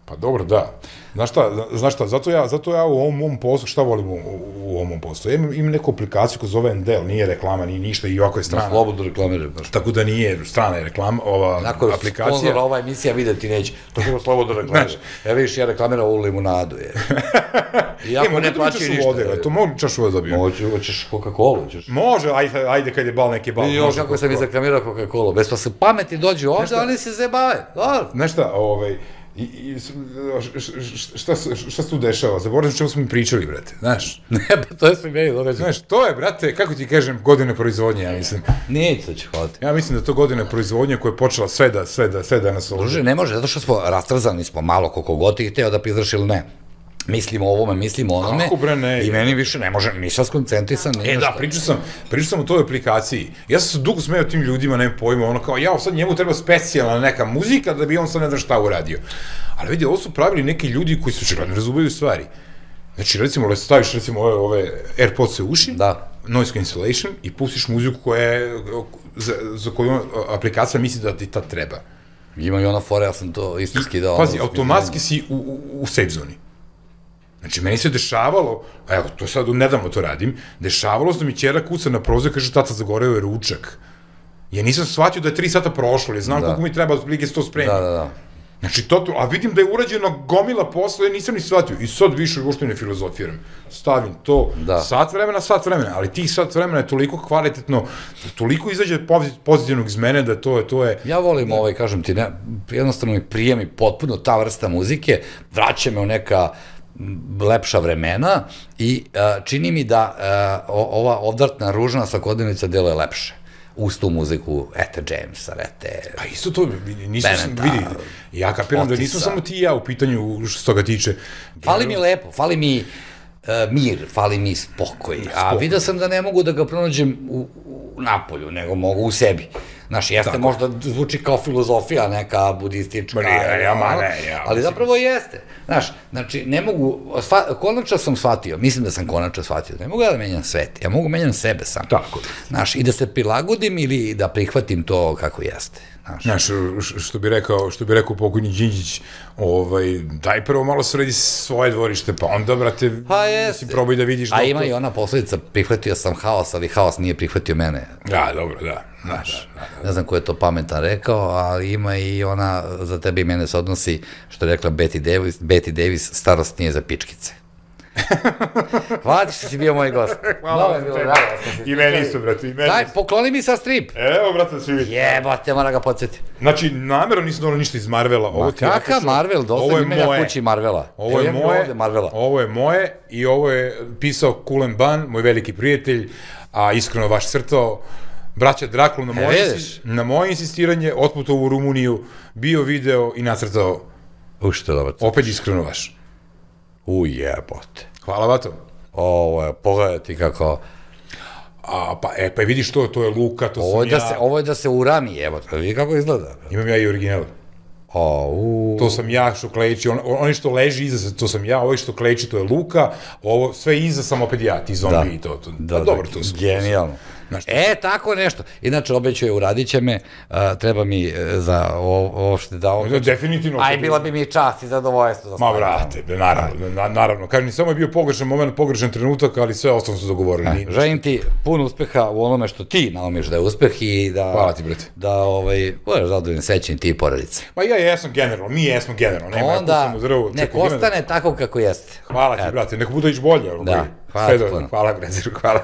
Pa dobro, da. Znaš šta, znaš šta, zato ja, zato ja u ovom mom poslu, šta volim u ovom mom poslu? Imam neku aplikaciju koja zove Endel, nije reklama, nije ništa i ovako je strana. Na slobodno reklamiraju. Tako da nije strana je reklama, ova aplikacija. Nakon sponzora ova emisija videti neće, to ćemo slobodno reklamirati. Ja vidiš, ja reklamiram ovu limunadu, je. Iako ne plaćaju ništa. To mogu čašu vode dobijem. Hoćeš Coca-Cola? Može, ajde kad je bal, neki bal. Još kako sam izreklamirao Coca-Cola, bez pa se pameti dođu ovde, oni se zebave. Znaš šta, ovaj, šta se tu dešava? Zaboravim čemu smo mi pričali, brate, znaš? Ne, pa to je sve meni događa. Znaš, to je, brate, kako ti kažem, godine proizvodnje, ja mislim. Nije to će hoditi. Ja mislim da to godine proizvodnje koja je počela sve da, sve da, sve da nas ovdje. Druže, ne može, zato što smo rastrzani smo malo, koliko god ti hteo da pizraš ili ne. Mislimo o ovome, mislimo o onome. Kako bre, ne? I meni više ne može, nisam skoncentrisan. E da, pričao sam, pričao sam o toj aplikaciji. Ja sam se dugo smeo tim ljudima, nema pojma, ono kao, ja, sad njemu treba specijalna neka muzika da bi on sad ne znam šta uradio. Ali vidi, ovo su pravili neki ljudi koji su očigledno razumiju stvari. Znači, recimo, staviš recimo ove AirPods-e u uši, noise cancellation, i pustiš muziku za koju aplikacija misli da ti tad treba. Ima i ona fora, ja sam to isto skidao. Pazi, automatski si u safe zoni. Znači, meni se dešavalo, evo, to sad nedavno to radim, dešavalo se da mi ćera kuca na prozor i kaže, tata, zagoreo je ručak. Ja nisam shvatio da je tri sata prošlo, jer znam koliko mi treba od prilike se to spremiti. Da, da, da. Znači, to, a vidim da je urađeno gomila posla, ja nisam ni shvatio. I sad više uopšte ne filozofiram. Stavim to, sat vremena, sat vremena, ali tih sat vremena je toliko kvalitetno, toliko izađe pozitivnog iz mene da to je, to je... Ja volim ovaj, kažem ti, jednostavno mi prijemi potpuno ta vrsta muzike, vraća me u neka lepša vremena i čini mi da ova odvrtna ružna svakodnevnica deluje lepše. Uz tu muziku, ete Jamesa, ete... Pa isto to, nisam sam, vidi, ja kapiram da nisam samo ti i ja u pitanju što se toga tiče. Fali mi lepo, fali mi mir, fali mi spokoj, a vidio sam da ne mogu da ga pronađem u napolju, nego mogu u sebi. Znaš, jeste možda zvuči kao filozofija neka budistička, ali zapravo jeste. Znaš, znači, ne mogu, konačno sam shvatio, mislim da sam konačno shvatio, ne mogu ja da menjam svet, ja mogu menjam sebe sam. Tako. Znaš, i da se prilagodim ili da prihvatim to kako jeste. Znaš, što bi rekao, što bi rekao pokojni Đinđić, daj prvo malo sredi svoje dvorište, pa onda, brate, si probaj da vidiš... A ima i ona posledica, prihvatio sam haos, ali haos nije prihvatio mene. Da, dobro, da. Ne znam ko je to pametan rekao, ali ima i ona, za tebe i mene se odnosi, što je rekla Betty Davis, Betty Davis, starost nije za pičkice. Hvala ti što si bio moj gost. Hvala vam te. I meni isto, brate, i meni isto. Daj, pokloni mi sa strip. Evo, brate, da svi vidi. Jebate, mora ga podsjeti. Znači, namjerno nisam donao ništa iz Marvela. Ma kakav Marvel, dosta ime na kući Marvela. Ovo je moje, ovo je moje i ovo je pisao Kulen Ban, moj veliki prijatelj, a iskreno vaš crtao. Braća Drakul na moje insistiranje, otputovao u Rumuniju, bio video i nacrtao. U što je dobro. Opet iskreno vaš. U jebote. Hvala, Vato. Ovo, pogledaj ti kako... A, pa, e, pa vidiš to, to je Luka, to ovo sam da ja. Se, ovo je da se urami, evo, vidi kako izgleda. Imam ja i original. O, u... To sam ja što kleči, on, oni što leži iza, to sam ja, ovo što kleči, to je Luka, ovo sve iza sam opet ja, ti zombi da. I to. to. Da, dobro, da, to su. Genijalno. E, tako nešto. Inače, obećaju, uradit će me, a, treba mi e, za ovo, ovo što da ovo... No, definitivno. Aj, bila bi mi čast i zadovoljstvo. Ma, vrate, be, naravno, na, naravno. Kažem, samo je bio pogrešan moment, pogrešan trenutak, ali sve ostalo su dogovorili. A, želim ti puno uspeha u onome što ti naumiš da je uspeh i da... Hvala ti, brate. Da, ovaj, budeš zadovoljno sećan ti i porodice. Ma ja jesam generalno, mi jesmo generalno. Nema, onda, ja u zrvu, nek ostane tako kako jeste. Hvala ti, brate, neko bude ići bolje. Da, hvala ti puno. Hvala, brate, hvala.